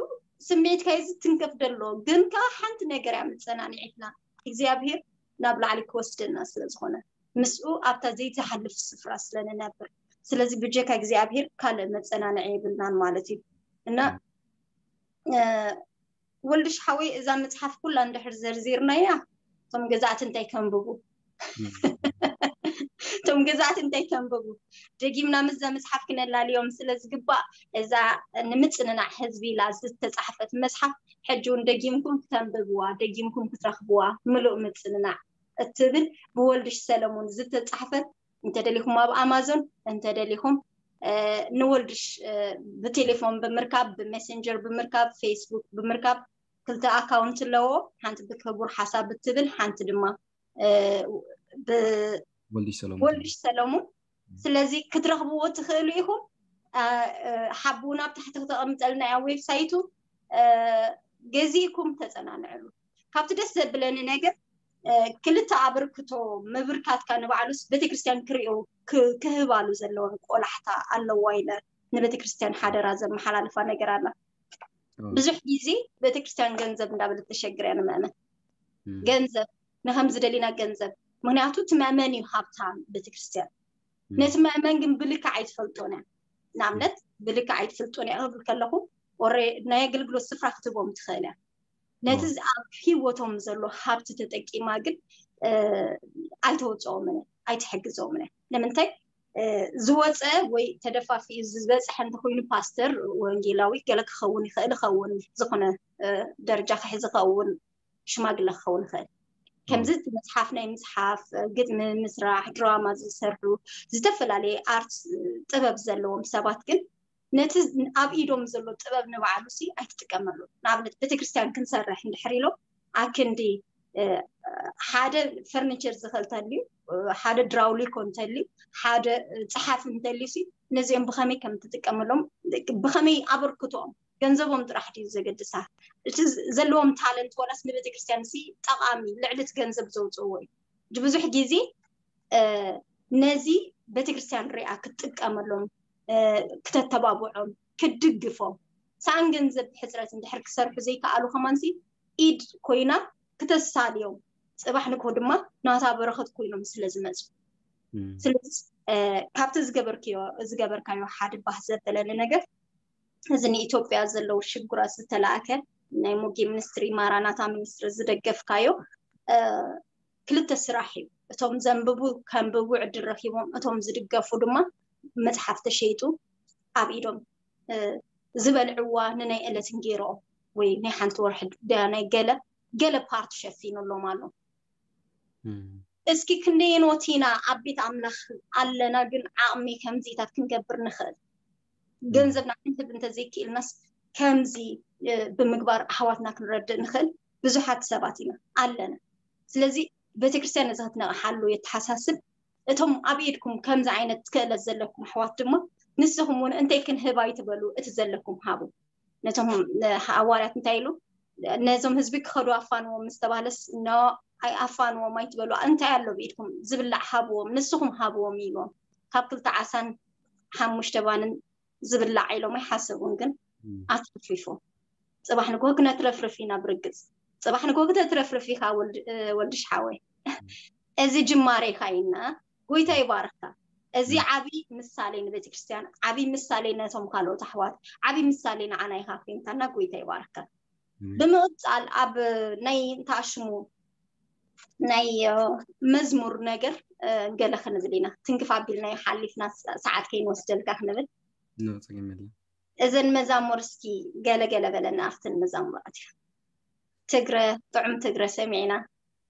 ስምዒትካ እዩ ዝትንከፍ ደሎ፣ ግን ከዓ ሓንቲ ነገር እያ መፀናንዒትና እግዚኣብሔር ናብ ላዕሊ ክወስደና ስለ ዝኾነ ምስኡ ኣብታ ዘይትሓልፍ ስፍራ ስለ ንነብር። ስለዚ ብጀካ እግዚኣብሔር ካልእ መፀናንዒ የብልናን ማለት እዩ። እና ወልድሽ ሓወይ እዛ መፅሓፍ ኩላ እንድሕር ዘርዚርናያ እቶም ገዛእቲ እንታይ ከንብቡ እቶም ገዛእቲ እንታይ ከንብቡ ደጊምና ምስዛ መፅሓፍ ክነላልዮም ስለ ዝግባእ እዛ ንምፅንናዕ ህዝቢ ኢላ ዝተፃሕፈት መፅሓፍ ሕጂ እውን ደጊምኩም ክተንብብዋ ደጊምኩም ክትረኽብዋ ምሉእ ምፅንናዕ እትብል ብወልድሽ ሰለሙን ዝተፃሕፈት እንተደሊኹም ኣብ ኣማዞን እንተደሊኹም ንወልድሽ ብቴሌፎን ብምርካብ ብሜሴንጀር ብምርካብ ፌስቡክ ብምርካብ ክልተ ኣካውንት ኣለዎ። ሓንቲ ብክቡር ሓሳብ ብትብል ሓንቲ ድማ ወልድሽ ሰለሙን። ስለዚ ክትረኽብዎ ትኽእሉ ኢኹም። ሓቡ ናብ ታሕቲ ክተቐምጠልና እያ ዌብሳይቱ ገዚእኩም ተፀናንዕሉ። ካብቲ ደስ ዘብለኒ ነገር ክልተ ኣበርክቶ ምብርካትካ ንባዕሉስ ቤተክርስትያን ክሪኦ ክህባሉ ዘለወን ቆላሕታ ኣለዋ ኢለ ንቤተክርስትያን ሓደራ ዘመሓላልፋ ነገር ኣላ። ብዙሕ ግዜ ቤተክርስትያን ገንዘብ እንዳበለት ተሸግር እያ ንምእመን። ገንዘብ ንከም ዝደሊና ገንዘብ ምክንያቱ እቲ መእመን እዩ ሃብታም ቤተክርስትያን። ነቲ መእመን ግን ብልክዕ ኣይትፈልጦን እያ። ንኣብነት ብልክዕ ኣይትፈልጦን እያ ክብል ከለኹ ናይ ኣገልግሎት ስፍራ ክትቦም ትኽእል እያ። ነቲ ኣብ ሂወቶም ዘሎ ሃብቲ ተጠቂማ ግን ኣይተወፅኦምን እያ ኣይትሕግዘኦምን እያ። ንምንታይ ዝወፀ ወይ ተደፋፊኡ ዝበፅሐ እንተኮይኑ ፓስተር ወንጌላዊ ገለ ክኸውን ይኽእል ይኸውን ዝኾነ ደረጃ ክሕዝ ይኸውን ሽማግለ ክኸውን ይኽእል። ከምዚ እቲ መፅሓፍ ናይ ምፅሓፍ ግጥሚ ምስራሕ ድራማ ዝሰርሑ ዝተፈላለየ ኣርት ጥበብ ዘለዎም ሰባት ግን ነቲ ኣብ ኢዶም ዘሎ ጥበብ ንባዕሉ ሲ ኣይትጥቀመሉ። ንኣብነት ቤተክርስትያን ክንሰርሕ እንድሕር ኢሎም ኣክንዲ ሓደ ፈርኒቸር ዝኽእል እንተልዩ ሓደ ድራውሊኮ እንተልዩ ሓደ ፀሓፊ እንተልዩ ሲ ነዚኦም ብኸመይ ከም ትጥቀመሎም ብኸመይ ኣበርክቶኦም ገንዘቦም ጥራሕ ድዩ ዘገድሳ? እቲ ዘለዎም ታለንት ዋላስ ንቤተክርስትያን ሲ ጠቓሚ ልዕሊ እቲ ገንዘብ ዘውፅእዎ እዩ። ብዙሕ ግዜ ነዚ ቤተክርስትያን ሪኣ ክትጥቀመሎም ክተተባብዖም ክትድግፎም ሰኣን ገንዘብ ሕፅረት እንድሕር ክሰርሑ ዘይከኣሉ ከማንሲ ኢድ ኮይና ክተሳልዮም ፅባሕ ንግሆ ድማ ናታ በረኸት ኮይኖም ስለ ዝመፁ ስለዚ ካብቲ ዝገበርክዮ ዝገበርካዮ ሓደ ባህ ዘበለኒ ነገር እዚ ንኢትዮጵያ ዘለዉ ሽጉራት ዝተላእከ ናይ ሞጌ ሚኒስትሪ፣ ማራናታ ሚኒስትሪ ዝደገፍካዮ፣ እ፣ ክልተ ስራሕ እዩ። እቶም ዘንብቡ ከንብቡ ዕድል ረኪቦም፣ እቶም ዝድገፉ ድማ መጽሓፍ ተሸይጡ ኣብ ኢዶም፣ እ፣ ዝበልዕዋ ንናይ ዕለት እንጌሮኦም ወይ ናይ ሓንቲ ወርሒ ዳ ናይ ገለ ገለ ፓርት ሸፊኑሎም ኣሎ። እም፣ እስኪ ክንደየኖት ኢና ኣብ ቤት ኣምላኽ ኣለና፣ ግን ዓቕሚ ከምዚታት ክንገብር ንኽእል? ገንዘብና ክንህብ እንተዘይክኢልናስ ከምዚ፣ እ፣ ብምግባር ኣሕዋትና ክንረድእ ንኽእል ብዙሓት ሰባት ኢና ኣለና። ስለዚ ቤተክርስትያን ነዚ ክትነቕሓሉ የተሓሳስብ። እቶም ኣብ ኢድኩም ከምዚ ዓይነት ክእለት ዘለኩም ኣሕዋት ድማ ንስኹም እውን እንታይ ክንህብ ኣይትበሉ፣ እቲ ዘለኩም ሃቡ። ነቶም፣ እ፣ ሃዋርያት እንታይ ኢሉ? ነዞም ህዝቢ ክኸዱ ኣፋንዎም ምስ ተባህለስ፣ ኖ፣ ኣይ ኣፋንዎም ኣይትበሉ፣ እንታይ ኣሎ ብኢድኩም ዝብላዕ ሃብዎም፣ ንስኹም ሃብዎም ኢልዎም። ካብ ክልተ ዓሳን ሓሙሽተ ባንን ዝብላዕ ኢሎም ኣይሓሰቡን፣ ግን እም፣ ኣትርፊፎም። ጽባሕ ንግሆ ክነትረፍርፍ ኢና ብርግጽ። ጽባሕ ንግሆ ክተትረፍርፍ ኢኻ ወልድ-፣ እ፣ ወልድሽ ሓወይ። እዚ ጅማሬ ኢኻ ኢልና፣ ጎይታ ይባርኽካ። እዚ እም፣ ዓቢ ምሳሌ ንቤተ ክርስቲያን፣ ዓቢ ምሳሌ ነቶም ካልኦት ኣሕዋት፣ ዓቢ ምሳሌ ንዓና ኢኻ ኮይንካና፣ ጎይታ ይባርኽካ። እም፣ ብምቕጻል ኣብ ናይ እንተኣሽሙ ናይ፣ እ፣ መዝሙር ነገር፣ እ፣ ገለ ክንብል ኢና። ትንክፍ ኣቢልናዮ ሓሊፍና፣ ሰ-፣ ሰዓት ከይንወስደልካ ክንብል። ኖ፣ ጸገም የለን። እዘን መዛሙር እስኪ ገለ ገለ በለና ኣብተን መዛሙራት። ትግረ፣ ጥዑም ትግረ ሰሚዕና።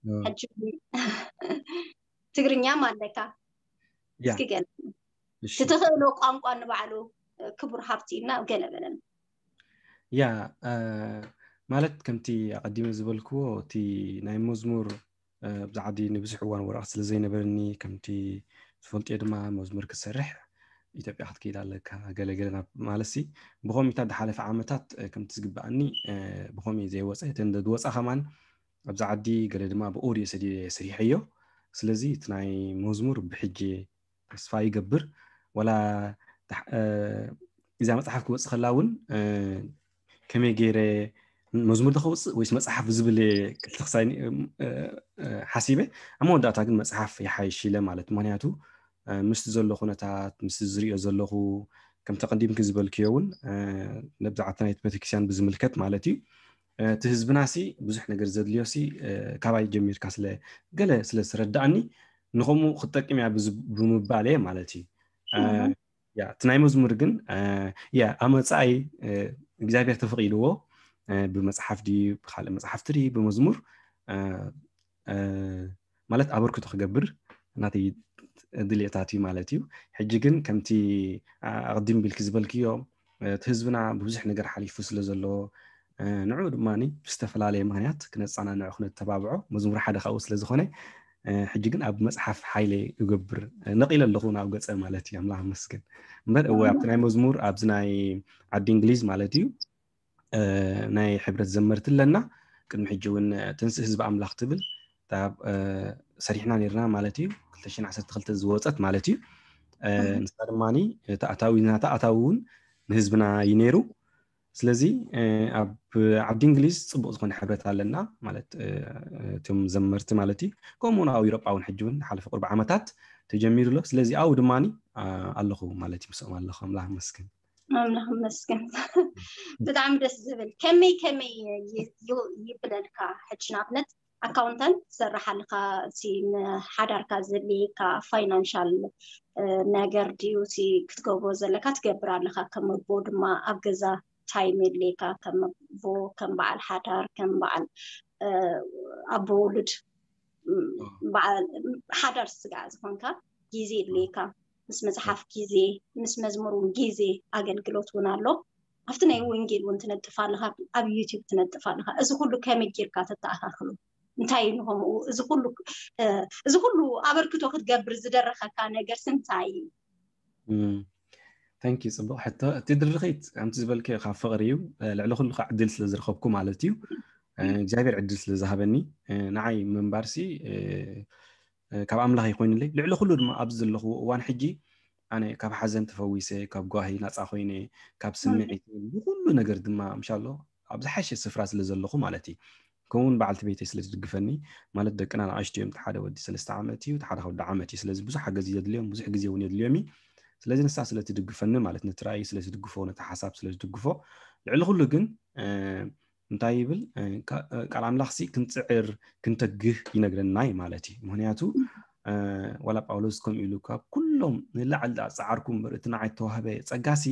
ኖ። ሕጂ ትግርኛም ኣለካ። ያ፣ እስኪ ገለ እሺ። ትትኽእሎ ቋንቋ ንባዕሉ፣ እ፣ ክቡር ሃብቲ እና ገለ በለና። ያ፣ እ፣ ማለት ከምቲ ኣቐዲመ ዝበልክዎ፣ እቲ ናይ መዝሙር፣ እ፣ ኣብዚ ዓዲ ንብዙሕ እዋን ወረቐት ስለ ዘይነበረኒ፣ ከምቲ ትፈልጥዮ ድማ መዝሙር ክትሰርሕ ኢትዮጵያ ክትከይድ ኣለካ፣ ገለ ገለ ናብ ማለት ሲ፣ ብኸምኢታት ዝሓለፈ ዓመታት፣ እ፣ ከምቲ ዝግበኣኒ፣ እ፣ ብኸምኡ ዘይወፀ፣ እተን ዝወፃ ከማን ኣብዚ ዓዲ ገለ ድማ ብኦድዮ ሰዲደ ሰሪሐዮ። ስለዚ እቲ ናይ መዝሙር ብሕጂ ተስፋ ይገብር። ዋላ ዳሕ-፣ እ፣ እዛ መጽሓፍ ክወጽእ ከላ እውን፣ እ፣ ከመይ ገይረ መዝሙር ዶ ከውጽእ ወይስ መጽሓፍ ዝብል ክልተ ክሳይ፣ እ፣ እ፣ ሓሲበ። ኣብ መወዳእታ ግን መጽሓፍ ይሓይሽ ኢለ ማለት፣ ምኽንያቱ፣ እ፣ ምስቲ ዘሎ ኩነታት፣ ምስቲ ዝሪኦ ዘለኹ፣ ከምቲ ቀዲምኪ ዝበልክዮ እውን፣ እ፣ ነብዛዕታ ናይቲ ቤተክርስትያን ብዝምልከት ማለት እዩ። እ፣ እቲ ህዝብና ሲ ብዙሕ ነገር ዘድልዮ ሲ፣ እ፣ ካባይ ጀሚርካ ስለ ገለ ስለ ዝረዳእኒ፣ ንኸምኡ ክትጠቅም እያ ብዝ-፣ ብምባል እየ ማለት እዩ። እ፣ እህ። ያ፣ እቲ ናይ መዝሙር ግን፣ እ፣ ያ፣ ኣብ መጻኢ፣ እ፣ እግዚኣብሔር ተፈቒድዎ፣ እ፣ ብመጽሓፍ ድዩ፣ ብኻልእ መጽሓፍቲ ድዩ፣ ብመዝሙር፣ እ፣ እ፣ ማለት ኣበርክቶ ክገብር ናተይ ድልየታት እዩ ማለት እዩ። ሕጂ ግን ከምቲ፣ እ፣ ኣቕዲም ቢልኪ ዝበልክዮ፣ እ፣ እቲ ህዝብና ብብዙሕ ነገር ሓሊፉ ስለ ዘሎ፣ እ፣ ንዑ ድማ ብዝተፈላለየ ምኽንያት ክነጸናንዖ ክነተባብዖ መዝሙር ሓደ ካብኡ ስለ ዝኾነ፣ እ፣ ሕጂ ግን ኣብ መጽሓፍ ሓይለ ይገብር፣ እ፣ ነቒለ ኣለኹ ናብ ገጸ ማለት እዩ። ኣምላኽ ይመስገን። እምበር እወ፣ ኣብቲ ናይ መዝሙር ኣብዚ ናይ ዓዲ እንግሊዝ ማለት እዩ፣ እ፣ ናይ ሕብረት ዘመርቲ ኣለና። ቅድሚ ሕጂ እውን፣ እ፣ ትንስእ ህዝቢ ኣምላኽ ትብል እታ፣ እ፣ ሰሪሕና ነርና ማለት እዩ። ክልተ ሽሕን ዓሰርተ ክልተ ዝወጸት ማለት እዩ። እ፣ እህ። ንሳ ድማኒ እቲ ኣታዊ፣ ናታ ኣታዊ እውን ንህዝብና እዩ ነይሩ። ስለዚ፣ እ፣ ኣብ ዓዲ እንግሊዝ ጽቡቕ ዝኾነ ሕብረት ኣለና ማለት፣ እ፣ እቶም ዘመርቲ ማለት እዩ። ከምኡ እውን ኣብ ኤውሮጳ እውን ሕጂ እውን ሓለፈ ቁርቢ ዓመታት ተጀሚሩ ኣሎ። ስለዚ ኣብኡ ድማኒ፣ እ፣ ኣለኹ ማለት እዩ፣ ምስኦም ኣለኹ። ኣምላኽ ይመስገን። ኣምላኽ ይመስገን። ብጣዕሚ ደስ ዝብል። ከመይ ከመይ ይ-፣ ይ-፣ ይብለልካ? ሕጂ ንኣብነት ኣካውንታንት ትሰርሕ ኣለኻ፣ እቲ ንሓዳርካ ዘድልየካ ፋይናንሻል፣ እ፣ ነገር ድዩ እቲ ክትገብሮ ዘለካ? ትገብር ኣለኻ። ከም ኣቦ ድማ ኣብ ገዛ ታይም የድልየካ፣ ከም ኣቦ፣ ከም በዓል ሓዳር፣ ከም በዓል፣ እ፣ ኣቦ ውሉድ፣ ም፣ ኦ። በዓል ሓዳር ስጋዕ ዝኾንካ ግዜ የድልየካ። ምስ መጽሓፍ ግዜ፣ ምስ መዝሙር እውን ግዜ፣ ኣገልግሎት እውን ኣሎ። ኣብቲ ናይ ወንጌል እውን ትነጥፍ ኣለኻ፣ ኣብ ዩቲዩብ ትነጥፍ ኣለኻ። እዚ ኩሉ ከመይ ጌርካ ተተኣኻኽሎ? እንታይ እዩ ንኸምኡ? እዚ ኩሉ፣ እ፣ እዚ ኩሉ ኣበርክቶ ክትገብር ዝደረኸካ ነገርስ እንታይ እዩ? እም፣ ታንኪ፣ ጽቡቕ ሕቶ። እቲ ድርኺት ከምቲ ዝበልክዮ ካብ ፍቕሪ እዩ። እ፣ ልዕሊ ኩሉ ከዓ ዕድል ስለ ዝረኸብኩ ማለት እዩ። እ፣ እግዚኣብሔር ዕድል ስለ ዝሃበኒ፣ እ፣ ንዓይ ምንባርሲ፣ እ፣ እ፣ ካብ ኣምላኽ ይኮይኑለይ። ልዕሊ ኩሉ ድማ ኣብዚ ዘለኹዎ እዋን ሕጂ ኣነ ካብ ሓዘን ተፈዊሰ፣ ካብ ጓሂ ናጻ ኮይነ፣ ካብ ስምዒት፣ ብኩሉ ነገር ድማ ምሻሎ ኣብ ዝሓሸ ስፍራ ስለ ዘለኹ ማለት እዩ። ከምኡውን በዓልቲ ቤተይ ስለ ትድግፈኒ፣ ማለት ደቅና ንኣሽቱ እዮም። እቲ ሓደ ወዲ ሰለስተ ዓመት እዩ፣ እቲ ሓደ ከወዲ ዓመት እዩ። ስለዚ ብዙሕ ሓገዝ እዩ ዘድልዮም፣ ብዙሕ ግዜ እውን የድልዮም እዩ። ስለዚ ንሳ ስለ ትድግፈኒ ማለት ነቲ ራእይ ስለ ትድግፎ ነቲ ሓሳብ ስለ ትድግፎ ልዕሊ ኩሉ ግን እንታይ ይብል ቃል ኣምላኽሲ ክንፅዕር ክንተግህ ይነግረና እዩ ማለት እዩ። ምክንያቱ ዋላ ጳውሎስ ከምኡ ኢሉ ካብ ኩሎም ንላዕሊ ፃዓርኩም እምበር እቲ ንዓይ ተዋህበ ፀጋሲ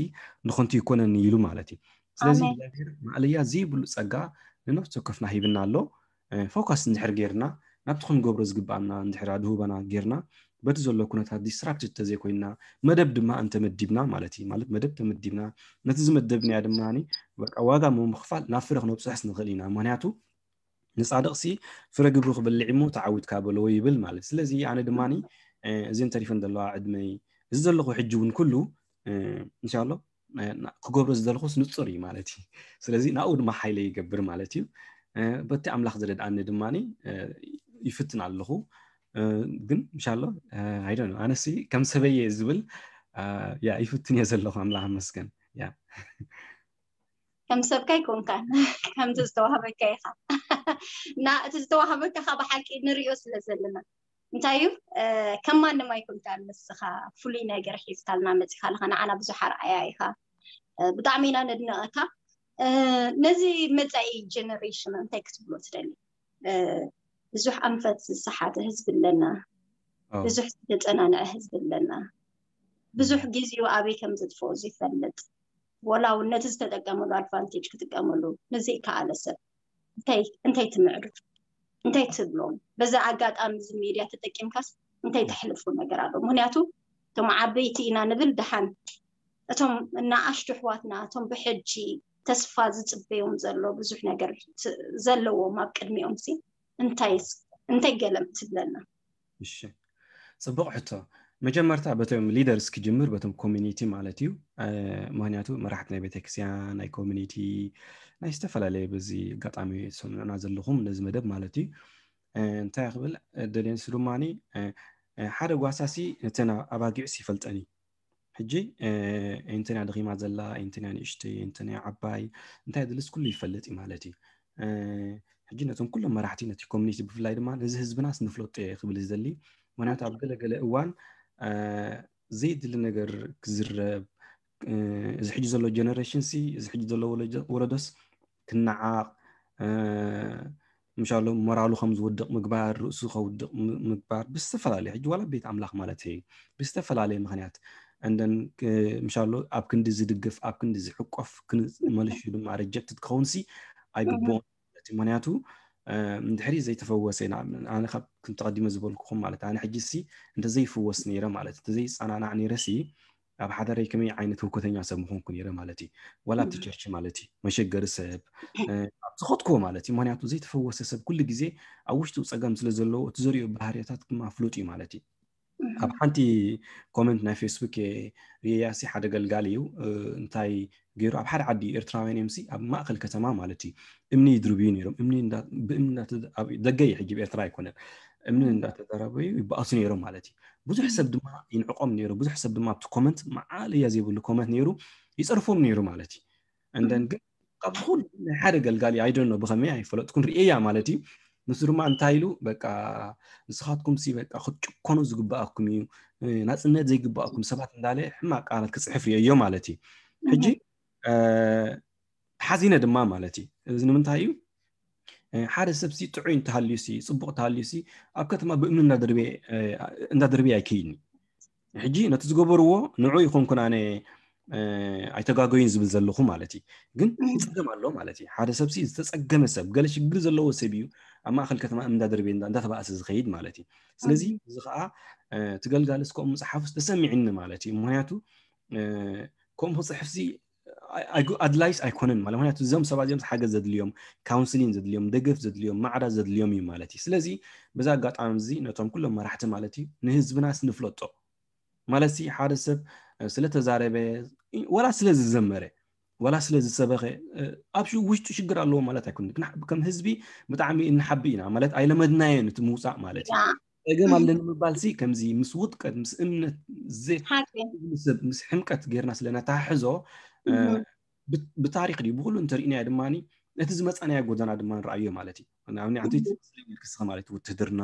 ንኸንቱ ይኮነኒ ኢሉ ማለት እዩ። ስለዚ እግዚኣብሔር ማእለያ ዘይብሉ ፀጋ ንነፍሲ ወከፍና ሂብና ኣሎ። ፎካስ እንድሕር ጌርና ናብቲ ክንገብሮ ዝግባኣና እንድሕር ኣድህበና ጌርና በቲ ዘሎ ኩነታት ዲስትራክትድ ተዘይኮይና መደብ ድማ እንተመዲብና ማለት እዩ። ማለት መደብ ተመዲብና ነቲ ዝመደብናያ ድማ ዋጋ ምምኽፋል ናብ ፍረ ክነብፅሕስ ንኽእል ኢና። ምክንያቱ ንፃድቕሲ ፍረ ግብሩ ክበልዕ እሞ ተዓዊትካ በልዎ ይብል ማለት። ስለዚ ኣነ ድማ እዚን ተሪፈን ዘለዋ ዕድመይ እዚ ዘለኹ ሕጂ እውን ኩሉ እንሻሎ ክገብሮ ዝደለኹስ ንፁር እዩ ማለት እዩ። ስለዚ ናብኡ ድማ ሓይለ ይገብር ማለት እዩ። በቲ ኣምላኽ ዝረድኣኒ ድማ ይፍትን ኣለኹ። ግን እንሻሎ ኣይደ ኣነሲ ከም ሰበየ ዝብል ያ ይፍትን እየ ዘለኹ። ኣምላኽ ኣመስገን። ያ ከም ሰብካ ይኮንካን ከምቲ ዝተዋህበካ ኢኻ እና እቲ ዝተዋህበካ ካ ብሓቂ ንሪኦ ስለ ዘለና እንታይ እዩ ከም ማንም ኣይኮንካን። ንስኻ ፍሉይ ነገር ሒዝካልና መፂኻለኻ ንዓና ብዙሕ ኣርኣያ ኢኻ። ብጣዕሚ ኢና ነድንቐካ። ነዚ መፃኢ ጀነሬሽን እንታይ ክትብሎ ትደሊ? ብዙሕ ኣንፈት ዝሰሓተ ህዝቢ ኣለና። ብዙሕ ዝተፀናንዐ ህዝቢ ኣለና። ብዙሕ ግዚኡ ኣበይ ከም ዝጥፍኦ ዝፈልጥ ወላ እውን ነቲ ዝተጠቀመሉ ኣድቫንቴጅ ክጥቀመሉ ንዘይከኣለ ሰብ እንታይ ትምዕዱ? እንታይ ትብሎም? በዛ ኣጋጣሚ እዚ ሚድያ ተጠቂምካስ እንታይ ተሕልፎ ነገር ኣሎ? ምክንያቱ እቶም ዓበይቲ ኢና ንብል ደሓን እቶም እናኣሽቱ ኣሕዋትና እቶም ብሕጂ ተስፋ ዝፅበዮም ዘሎ ብዙሕ ነገር ዘለዎም ኣብ ቅድሚኦም ሲ እንታይ ገለም ትብለና? እሺ ፅቡቕ ሕቶ። መጀመርታ በቶም ሊደርስ ክጅምር በቶም ኮሚኒቲ ማለት እዩ። ምክንያቱ መራሕቲ ናይ ቤተክርስትያን ናይ ኮሚኒቲ ናይ ዝተፈላለየ በዚ ኣጋጣሚ ሰምዑና ዘለኹም ነዚ መደብ ማለት እዩ። እንታይ ክብል ደልየንሱ ድማ ሓደ ጓሳሲ ነተን ኣባጊዑስ ይፈልጠን እዩ። ሕጂ እንተንያ ደኺማ ዘላ እንተንያ ንእሽተይ እንተንያ ዓባይ እንታይ ድልስ ኩሉ ይፈልጥ እዩ ማለት እዩ። ሕጂ ነቶም ኩሎም መራሕቲ ነቲ ኮሚኒቲ ብፍላይ ድማ ነዚ ህዝብናስ ንፍለጦ እየ ክብል ዝደሊ። ምክንያቱ ኣብ ገለገለ እዋን ዘይድሊ ነገር ክዝረብ እዚ ሕጂ ዘሎ ጀነሬሽን ሲ እዚ ሕጂ ዘሎ ወለዶስ ክነዓቕ ምሻሎ ሞራሉ ከም ዝወድቕ ምግባር ርእሱ ከውድቕ ምግባር ብዝተፈላለየ ሕጂ ዋላ ቤት ኣምላኽ ማለት እዩ ብዝተፈላለየ ምክንያት እንደን ምሻሎ ኣብ ክንዲ ዝድግፍ ኣብ ክንዲ ዝሕቆፍ ክንመልሹ ድማ ሪጀክትድ ክኸውን ሲ ኣይግብኦን። ምክንያቱ እንድሕሪ ዘይተፈወሰ ኣነ ካብ ክንተቐዲመ ዝበልኩኹም ማለት ኣነ ሕጂ ሲ እንተዘይፍወስ ነይረ ማለት እንተዘይፀናናዕ ነይረ ሲ ኣብ ሓዳረይ ከመይ ዓይነት ህውከተኛ ሰብ ምኾንኩ ነይረ ማለት እዩ። ዋላ ኣብቲ ቸርች ማለት እዩ መሸገሪ ሰብ ኣብ ዝኸድክዎ ማለት እዩ። ምክንያቱ ዘይተፈወሰ ሰብ ኩሉ ግዜ ኣብ ውሽጡ ፀገም ስለ ዘለዎ እቲ ዘሪኦ ባህርያታት ድማ ፍሉጥ እዩ ማለት እዩ። ኣብ ሓንቲ ኮመንት ናይ ፌስቡክ ሪያሲ ሓደ ገልጋሊ እዩ እንታይ ገይሩ ኣብ ሓደ ዓዲ ኤርትራውያን እዮም ሲ ኣብ ማእከል ከተማ ማለት እዩ እምኒ ይድርብዩ ነይሮም። እምኒ ብእምኒ ደገ እዩ ሕጂ ኤርትራ ኣይኮነን። እምኒ እንዳተደረበዩ ይበኣሱ ነይሮም ማለት እዩ። ብዙሕ ሰብ ድማ ይንዕቆም ነይሩ። ብዙሕ ሰብ ድማ ኣብቲ ኮመንት መዓለያ ዘይብሉ ኮመንት ነይሩ ይፀርፎም ነይሩ ማለት እዩ። እንደን ግን ካብ ኩሉ ናይ ሓደ ገልጋሊ ኣይደኖ ብኸመይ ኣይፈለጥኩን ርእያ ማለት እዩ። ንሱ ድማ እንታይ ኢሉ በቃ ንስኻትኩም ሲ በቃ ክትጭኮኑ ዝግባኣኩም እዩ ናፅነት ዘይግባኣኩም ሰባት እንዳለ ሕማቅ ቃላት ክፅሕፍ ርእዮ ማለት እዩ። ሕጂ ሓዚነ ድማ ማለት እዩ። እዚ ንምንታይ እዩ ሓደ ሰብ ሲ ጥዑይ እንተሃልዩ ሲ ፅቡቅ እንተሃልዩ ሲ ኣብ ከተማ ብእምኒ እንዳደርበየ ኣይከይድን እዩ። ሕጂ ነቲ ዝገበርዎ ንዑ ይኮንኩን ኣነ ኣይተጋገዩን ዝብል ዘለኹ ማለት እዩ። ግን ፀገም ኣሎ ማለት እዩ። ሓደ ሰብ ሲ ዝተፀገመ ሰብ ገለ ሽግር ዘለዎ ሰብ እዩ ኣብ ማእከል ከተማ እምኒ እንዳደርበየ እንዳተባእሰ ዝኸይድ ማለት እዩ። ስለዚ እዚ ከዓ ትገልጋልስ ከምኡ ምፅሓፉስ ተሰሚዕኒ ማለት እዩ። ምክንያቱ ከምኡ ክፅሕፍ ሲ ኣድላይስ ኣይኮነን ማለት ምክንያቱ እዞም ሰባት እዚኦም ሓገዝ ዘድልዮም ካውንስሊን ዘድልዮም ደገፍ ዘድልዮም ማዕዳ ዘድልዮም እዩ ማለት እዩ። ስለዚ በዛ ኣጋጣሚ እዚ ነቶም ኩሎም መራሕቲ ማለት እዩ ንህዝብናስ ንፍለጦ ማለት ሲ ሓደ ሰብ ስለተዛረበ ወላ ስለ ዝዘመረ ወላ ስለ ዝሰበኸ ኣብ ውሽጡ ሽግር ኣለዎ ማለት ኣይኮነ። ከም ህዝቢ ብጣዕሚ እንሓቢ ኢና ማለት ኣይለመድናየን እቲ ምውፃእ ማለት እዩ። ፀገም ኣለኒ ምባል ሲ ከምዚ ምስ ውጥቀት ምስ እምነት ሰብ ምስ ሕምቀት ጌርና ስለነታሕዞ ብታሪክ ድዩ ብኩሉ እንተርኢናዮ ድማ እቲ ዝመፃናዮ ጎደና ድማ ንረኣዮ ማለት እዩ። ንኣብነት ክስኻ ማለት ውትህድርና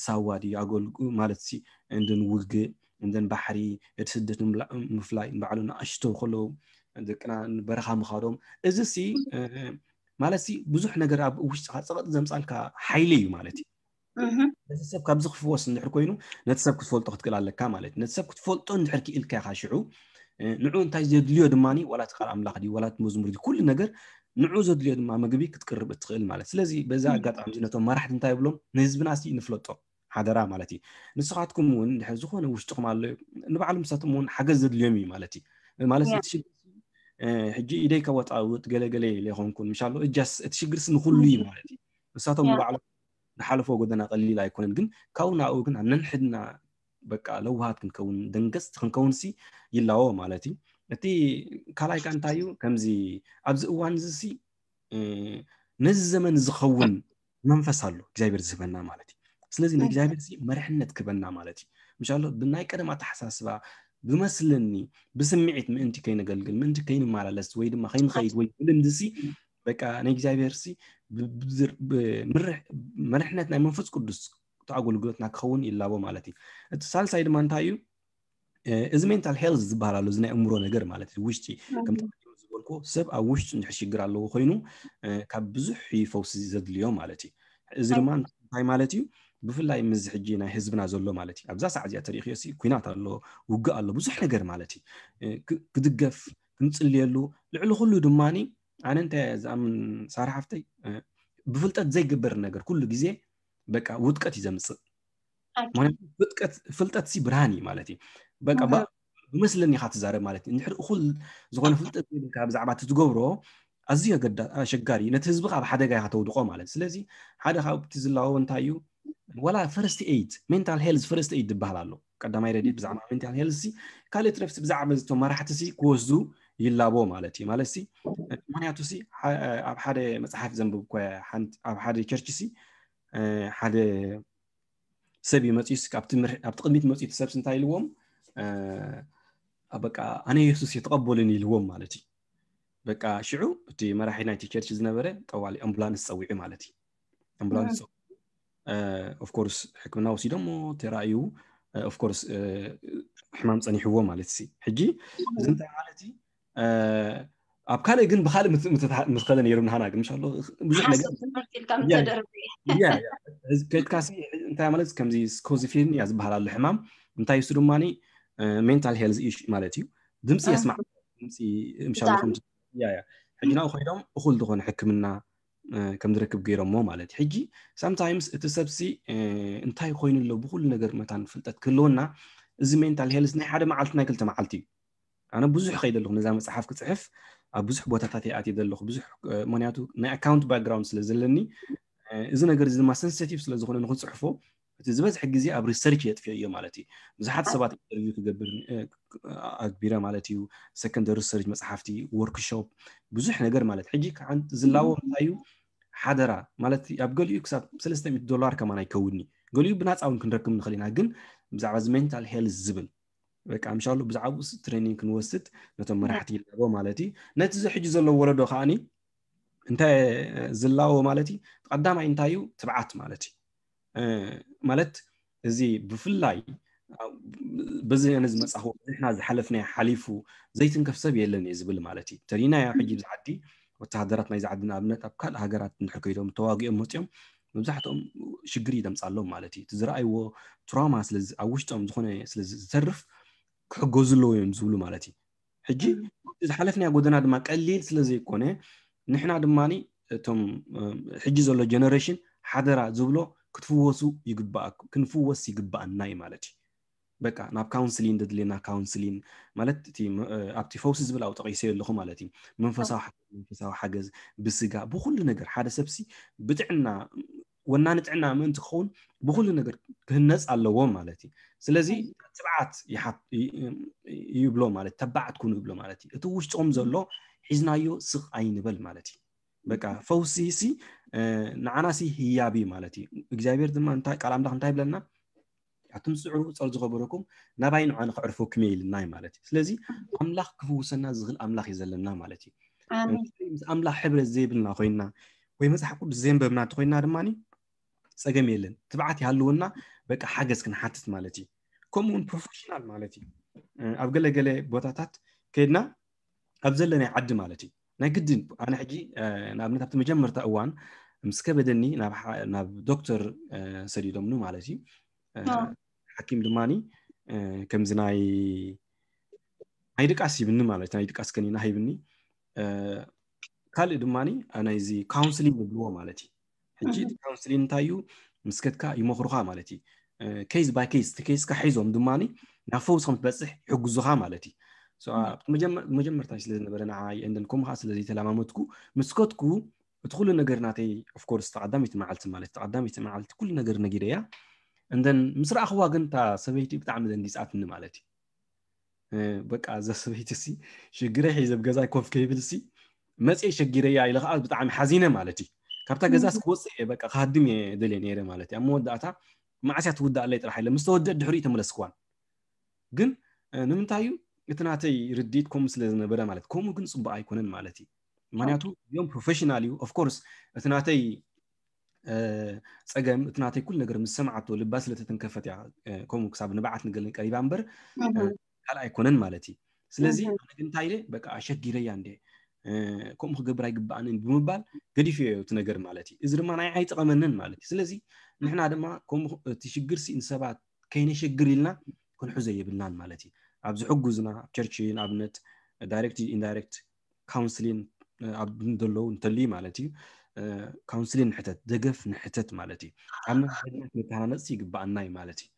ሳዋ ድዩ ኣገልጉ ማለት ሲ እንድን ውግእ እንደን ባሕሪ እቲ ስደት ምፍላይ ንባዕሉ ንኣሽቶ ከለዉ ደቅና በረኻ ምኻዶም እዚ ሲ ማለት ሲ ብዙሕ ነገር ኣብ ውሽጥኻ ፀቐጥ ዘምፃልካ ሓይሊ እዩ ማለት እዩ። ነቲ ሰብ ካብዚ ክፍወስ እንድሕር ኮይኑ ነቲ ሰብ ክትፈልጦ ክትክእል ኣለካ ማለት እዩ። ነቲ ሰብ ክትፈልጦ እንድሕር ክኢልካ ኢኻ ሽዑ ንዑ እንታይ ዘድልዮ ድማ ዋላ እቲ ቃል ኣምላኽ ድዩ ዋላ እቲ መዝሙር ድዩ ኩሉ ነገር ንዑ ዘድልዮ ድማ ምግቢ ክትቅርብ እትኽእል ማለት። ስለዚ በዚ ኣጋጣሚ ነቶም መራሕቲ እንታይ ይብሎም ንህዝብና ሲ ንፍለጦ ሓደራ ማለት እዩ። ንስኻትኩም እውን ድሕር ዝኾነ ውሽጥኹም ኣሎ ንባዕሎም ንሳቶም እውን ሓገዝ ዘድልዮም እዩ ማለት እዩ። ማለት እቲ ሽግር ሕጂ ኢደይ ከወጣውጥ ገለገለ ኢለ ይኾንኩን ምሻሎ እጃስ እቲ ሽግርስ ንኩሉ እዩ ማለት እዩ። ንሳቶም ንባዕሎም ዝሓለፎ ጎደና ቀሊል ኣይኮነን፣ ግን ካብኡ ናብኡ ግን ኣብ ነንሕድና በቃ ለውሃት ክንከውን ደንገፅቲ ክንከውን ሲ ይላዎ ማለት እዩ። እቲ ካልኣይ ካ እንታይ እዩ ከምዚ ኣብዚ እዋን እዚ ሲ ነዚ ዘመን ዝኸውን መንፈስ ኣሎ እግዚኣብሔር ዝህበና ማለት እዩ። ስለዚ ንእግዚኣብሔር ሲ መርሕነት ክበና ማለት እዩ። ምሻሎ ብናይ ቀደም ኣተሓሳስባ ብመስለኒ ብስምዒት ምእንቲ ከይነገልግል ምእንቲ ከይንመላለስ ወይ ድማ ከይንኸይድ ወይ ብልምዲ ሲ በቃ ንእግዚኣብሔር ሲ መርሕነት ናይ መንፈስ ቅዱስ ኣገልግሎትና ክኸውን ይላቦ ማለት እዩ። እቲ ሳልሳይ ድማ እንታይ እዩ እዚ ሜንታል ሄልዝ ዝበሃል ኣሎ እዚ ናይ እምሮ ነገር ማለት እዩ። ውሽጢ ከምቲ ዝበልኮ ሰብ ኣብ ውሽጡ እንድሕር ሽግር ኣለዎ ኮይኑ ካብ ብዙሕ ፈውሲ ዘድልዮ ማለት እዩ። እዚ ድማ እንታይ ማለት እዩ? ብፍላይ ምዚ ሕጂ ናይ ህዝብና ዘሎ ማለት እዩ። ኣብዛ ሰዓት እዚኣ ተሪእክዮ ኩናት ኣሎ፣ ውግእ ኣሎ፣ ብዙሕ ነገር ማለት እዩ። ክድገፍ ክንፅልየሉ ልዕሊ ኩሉ ድማ ኣነ እንታይ ዝኣምን ሳራ ሓፍተይ ብፍልጠት ዘይግበር ነገር ኩሉ ግዜ በቃ ውድቀት እዩ ዘምፅእ። ምክንያቱ ፍልጠት ሲ ብርሃን እዩ ማለት እዩ። በቃ ብመስለኒ ኢኻ ትዛረብ ማለት እዩ። እንድሕር እኹል ዝኾነ ፍልጠት ዘይብልካ ብዛዕባ እቲ ትገብሮ ኣዝዩ ኣሸጋሪ እዩ። ነቲ ህዝቢ ኣብ ሓደጋ ኢኻ ተውድቆ ማለት እዩ። ስለዚ ሓደ ካብቲ ዝላወ እንታይ እዩ ዋላ ፈርስት ኤይድ ሜንታል ሄልዝ ፈርስት ኤይድ ዝበሃል ኣሎ። ቀዳማይ ረድኤት ብዛዕባ ሜንታል ሄልዝ ሲ ካልእ ትረፍሲ ብዛዕባ ዝቶም መራሕቲ ሲ ክወስዱ ይላቦ ማለት እዩ። ማለት ሲ ምክንያቱ ሲ ኣብ ሓደ መፅሓፍ ዘንብብ ኮ ኣብ ሓደ ቸርች ሲ ሓደ ሰብ እዩ መፅዩስ ኣብቲ ቅድሚት መፅዩ እቲ ሰብስ እንታይ ኢልዎም በቃ ኣነ የሱስ እየ ተቐበሉኒ ኢልዎም ማለት እዩ። በቃ ሽዑ እቲ መራሒ ናይቲ ቸርች ዝነበረ ጠዋሊ ኣምቡላንስ ፀዊዑ ማለት እዩ። ኣምቡላንስ ፀዊዑ ኦፍኮርስ ሕክምና ወሲዶሞ ተራእዩ ኦፍኮርስ ሕማም ፀኒሕዎ ማለት ሲ ሕጂ እዚ እንታይ ማለት እዩ ኣብ ካልእ ግን ብካልእ ምትኸለ ነይሩ ንሃና ግን ምሻሎ ብዙሕ ነገር ከድካሲ እንታይ ማለት ከምዚ ስኮዚፊን እያ ዝበሃል ኣሎ ሕማም እንታይ እሱ ድማ ሜንታል ሄልዝ ኢሹ ማለት እዩ። ድምፂ የስማዕ ድምፂ ምሻሎ ሕጂ ናብኡ ኮይዶም እኹል ዝኾነ ሕክምና ከም ዝረክብ ገይሮሞ ማለት እዩ። ሕጂ ሳምታይምስ እቲ ሰብሲ እንታይ ኮይኑ ኣሎ ብኩሉ ነገር መታን ፍልጠት ክህልወና እዚ ሜንታል ሄልዝ ናይ ሓደ መዓልቲ ናይ ክልተ መዓልቲ እዩ። ኣነ ብዙሕ ከይደ ኣለኹ ነዛ መፅሓፍ ክፅሕፍ ኣብ ብዙሕ ቦታታት ይኣትየ ዘለኹ ብዙሕ ምክንያቱ ናይ ኣካውንት ባክግራውንድ ስለ ዘለኒ እዚ ነገር እዚ ድማ ሰንሲቲቭ ስለ ዝኾነ ንክፅሕፎ እቲ ዝበዝሐ ግዜ ኣብ ሪሰርች የጥፍዮ እዮ ማለት እዩ። ብዙሓት ሰባት ኢንተርቪው ክገብር ኣግቢረ ማለት እዩ። ሰከንደሪ ሪሰርች መፅሓፍቲ ወርክሾፕ ብዙሕ ነገር ማለት ሕጂ ዝላቦ እንታይ እዩ ሓደራ ማለት ኣብ ገሊኡ ክሳብ ሰለስተ ሚእቲ ዶላር ከማን ኣይከውድኒ ገሊኡ ብናፃ እውን ክንረክብ ንኽእል ኢና ግን ብዛዕባ እዚ ሜንታል ሄልዝ ዝብል በቃ ምሻሉ ብዛዕባኡ ትሬኒንግ ክንወስድ ነቶም መራሕቲ ይላቦ ማለት እዩ። ነቲ እዚ ሕጂ ዘሎ ወለዶ ከዓኒ እንታይ ዝላቦ ማለት እዩ ቀዳማይ እንታይ እዩ ትብዓት ማለት እዩ። ማለት እዚ ብፍላይ በዚ ኣነ ዝመፃኹ ንሕና ዝሓለፍናዮ ሓሊፉ ዘይትንከፍ ሰብ የለን እየ ዝብል ማለት እዩ። ተሪናዮ ሕጂ ብዚ ዓዲ ወተሃደራት ናይዚ ዓዲ ንኣብነት ኣብ ካልእ ሃገራት እንድሕር ከይዶም ተዋጊኦም መፅኦም መብዛሕትኦም ሽግር እዩ ዘምፃሎም ማለት እዩ። እቲ ዝረኣይዎ ትራውማ ኣብ ውሽጦም ዝኾነ ስለ ዝተርፍ ክሕገዙ ኣለዎ እዮም ዝብሉ ማለት እዩ። ሕጂ ዝሓለፍናዮ ጎደና ድማ ቀሊል ስለ ዘይኮነ ንሕና ድማ እቶም ሕጂ ዘሎ ጀነሬሽን ሓደራ ዝብሎ ክትፍወሱ ይግባኣኩም ክንፍወስ ይግባኣና እዩ ማለት እዩ። በቃ ናብ ካውንስሊን ደድልየና ካውንስሊን ማለት እቲ ኣብቲ ፈውሲ ዝብል ኣብ ጠቂሰዮ ኣለኹ ማለት እዩ። መንፈሳዊ ሓገዝ መንፈሳዊ ሓገዝ ብስጋ ብኩሉ ነገር ሓደ ሰብሲ ብጥዕና ወናኒ ጥዕና ምእንቲ ክኸውን ብኩሉ ነገር ክህነፅ ኣለዎ ማለት እዩ። ስለዚ ትብዓት ይብሎ ማለት ተባዓት ኩኑ ይብሎ ማለት እዩ። እቲ ውሽጥኹም ዘሎ ሒዝናዮ ስቕ ኣይንበል ማለት እዩ። በቃ ፈውሲ ሲ ንዓና ሲ ህያብ እዩ ማለት እዩ። እግዚኣብሔር ድማ እንታይ ቃል ኣምላኽ እንታይ ይብለና ኣቱም ስዑሩ ጸር ዝኸበረኩም ናባይ ንዓ ንኽዕርፈኩም እየ ኢልና እዩ ማለት እዩ። ስለዚ ኣምላኽ ክፍውሰና ዝኽእል ኣምላኽ እዩ ዘለና ማለት እዩ። ምስ ኣምላኽ ሕብረት ዘይብልና ኮይንና ወይ መጽሓፍ ቅዱስ ዘየንበብና እንተኮይንና ድማ ጸገም የለን። ትብዓት ይሃልወና በቃ ሓገዝ ክንሓትት ማለት እዩ። ከምኡ እውን ፕሮፌሽናል ማለት እዩ። ኣብ ገለገለ ቦታታት ከይድና ኣብ ዘለናይ ዓዲ ማለት እዩ ናይ ግድን ኣነ ሕጂ ንኣብነት ኣብቲ መጀመርታ እዋን ምስ ከበደኒ ናብ ዶክተር ሰዲዶምኒ ማለት እዩ። ሓኪም ድማ ከምዚ ናይ ናይ ድቃስ ሂብኒ ማለት ናይ ድቃስ ከኒና ሂብኒ። ካልእ ድማ ናይዚ ካውንስሊንግ ዝብልዎ ማለት እዩ። ሕጂ እቲ ካውንስሊንግ እንታይ እዩ? ምስ ከድካ ይመኽሩኻ ማለት እዩ። ኬዝ ባይ ኬዝ እቲ ኬዝካ ሒዞም ድማ ናብ ፈውስ ከም ትበፅሕ ይሕግዙኻ ማለት እዩ። ኣብቲ መጀመርታ ስለ ዝነበረ ንዓይ እንደን ከምኡ ከዓ ስለ ዘይተለማመድኩ ምስ ከድኩ እቲ ኩሉ ነገር ናተይ ኦፍኮርስ ተቐዳሚቲ መዓልቲ ማለት ተቐዳሚቲ መዓልቲ ኩሉ ነገር ነጊረያ እንደን ምስ ረኣኽዋ ግን እታ ሰበይቲ ብጣዕሚ ደንጊፃትኒ ማለት እዩ። በቃ እዛ ሰበይቲ ሲ ሽግረይ ሒዘ ኣብ ገዛይ ኮፍ ከይብል ሲ መፅየ ሸጊረያ ኢለ ከዓ ብጣዕሚ ሓዚነ ማለት እዩ። ካብታ ገዛ ክወፅእ እየ በቃ ክሃድም እየ ደልየ ነይረ ማለት እዩ። ኣብ መወዳእታ መዓስያ ትውዳእ ኣለይ ጥራሕ ኢለ ምስ ተወደእ ድሕሪኡ ተመለስክዋን። ግን ንምንታይ እዩ እቲ ናተይ ርድኢት ከምኡ ስለ ዝነበረ ማለት ከምኡ ግን ፅቡቅ ኣይኮነን ማለት እዩ። ምክንያቱ እዮም ፕሮፌሽናል እዩ ኦፍኮርስ እቲ ናተይ ፀገም እቲ ናተይ ኩሉ ነገር ምስ ሰማዓቶ ልባ ስለተተንከፈት እያ ከምኡ ክሳብ ንባዓት ንገልን ቀሪባ እምበር ካልእ ኣይኮነን ማለት እዩ። ስለዚ ኣነ ግን እንታይ ኢለ በቃ ኣሸጊረያ እንደ ከምኡ ክገብር ኣይግባኣንን ብምባል ገዲፍዮ እቲ ነገር ማለት እዩ። እዚ ድማ ናይ ኣይጠቐመንን ማለት እዩ። ስለዚ ንሕና ድማ ከምኡ እቲ ሽግር ሲ ንሰባት ከይነሸግር ኢልና ክንሕዞ የብልናን ማለት እዩ። ኣብ ዝሕጉዝና ኣብ ቸርች ንኣብነት ዳይሬክት ኢንዳይሬክት ካውንስሊን ኣብ ዘለዉ እንተልዩ ማለት እዩ። ካውንስሊን ንሕተት ደገፍ ንሕተት ማለት እዩ። ኣብ መንነት መተሃናነፅቲ ይግባኣና እዩ ማለት እዩ።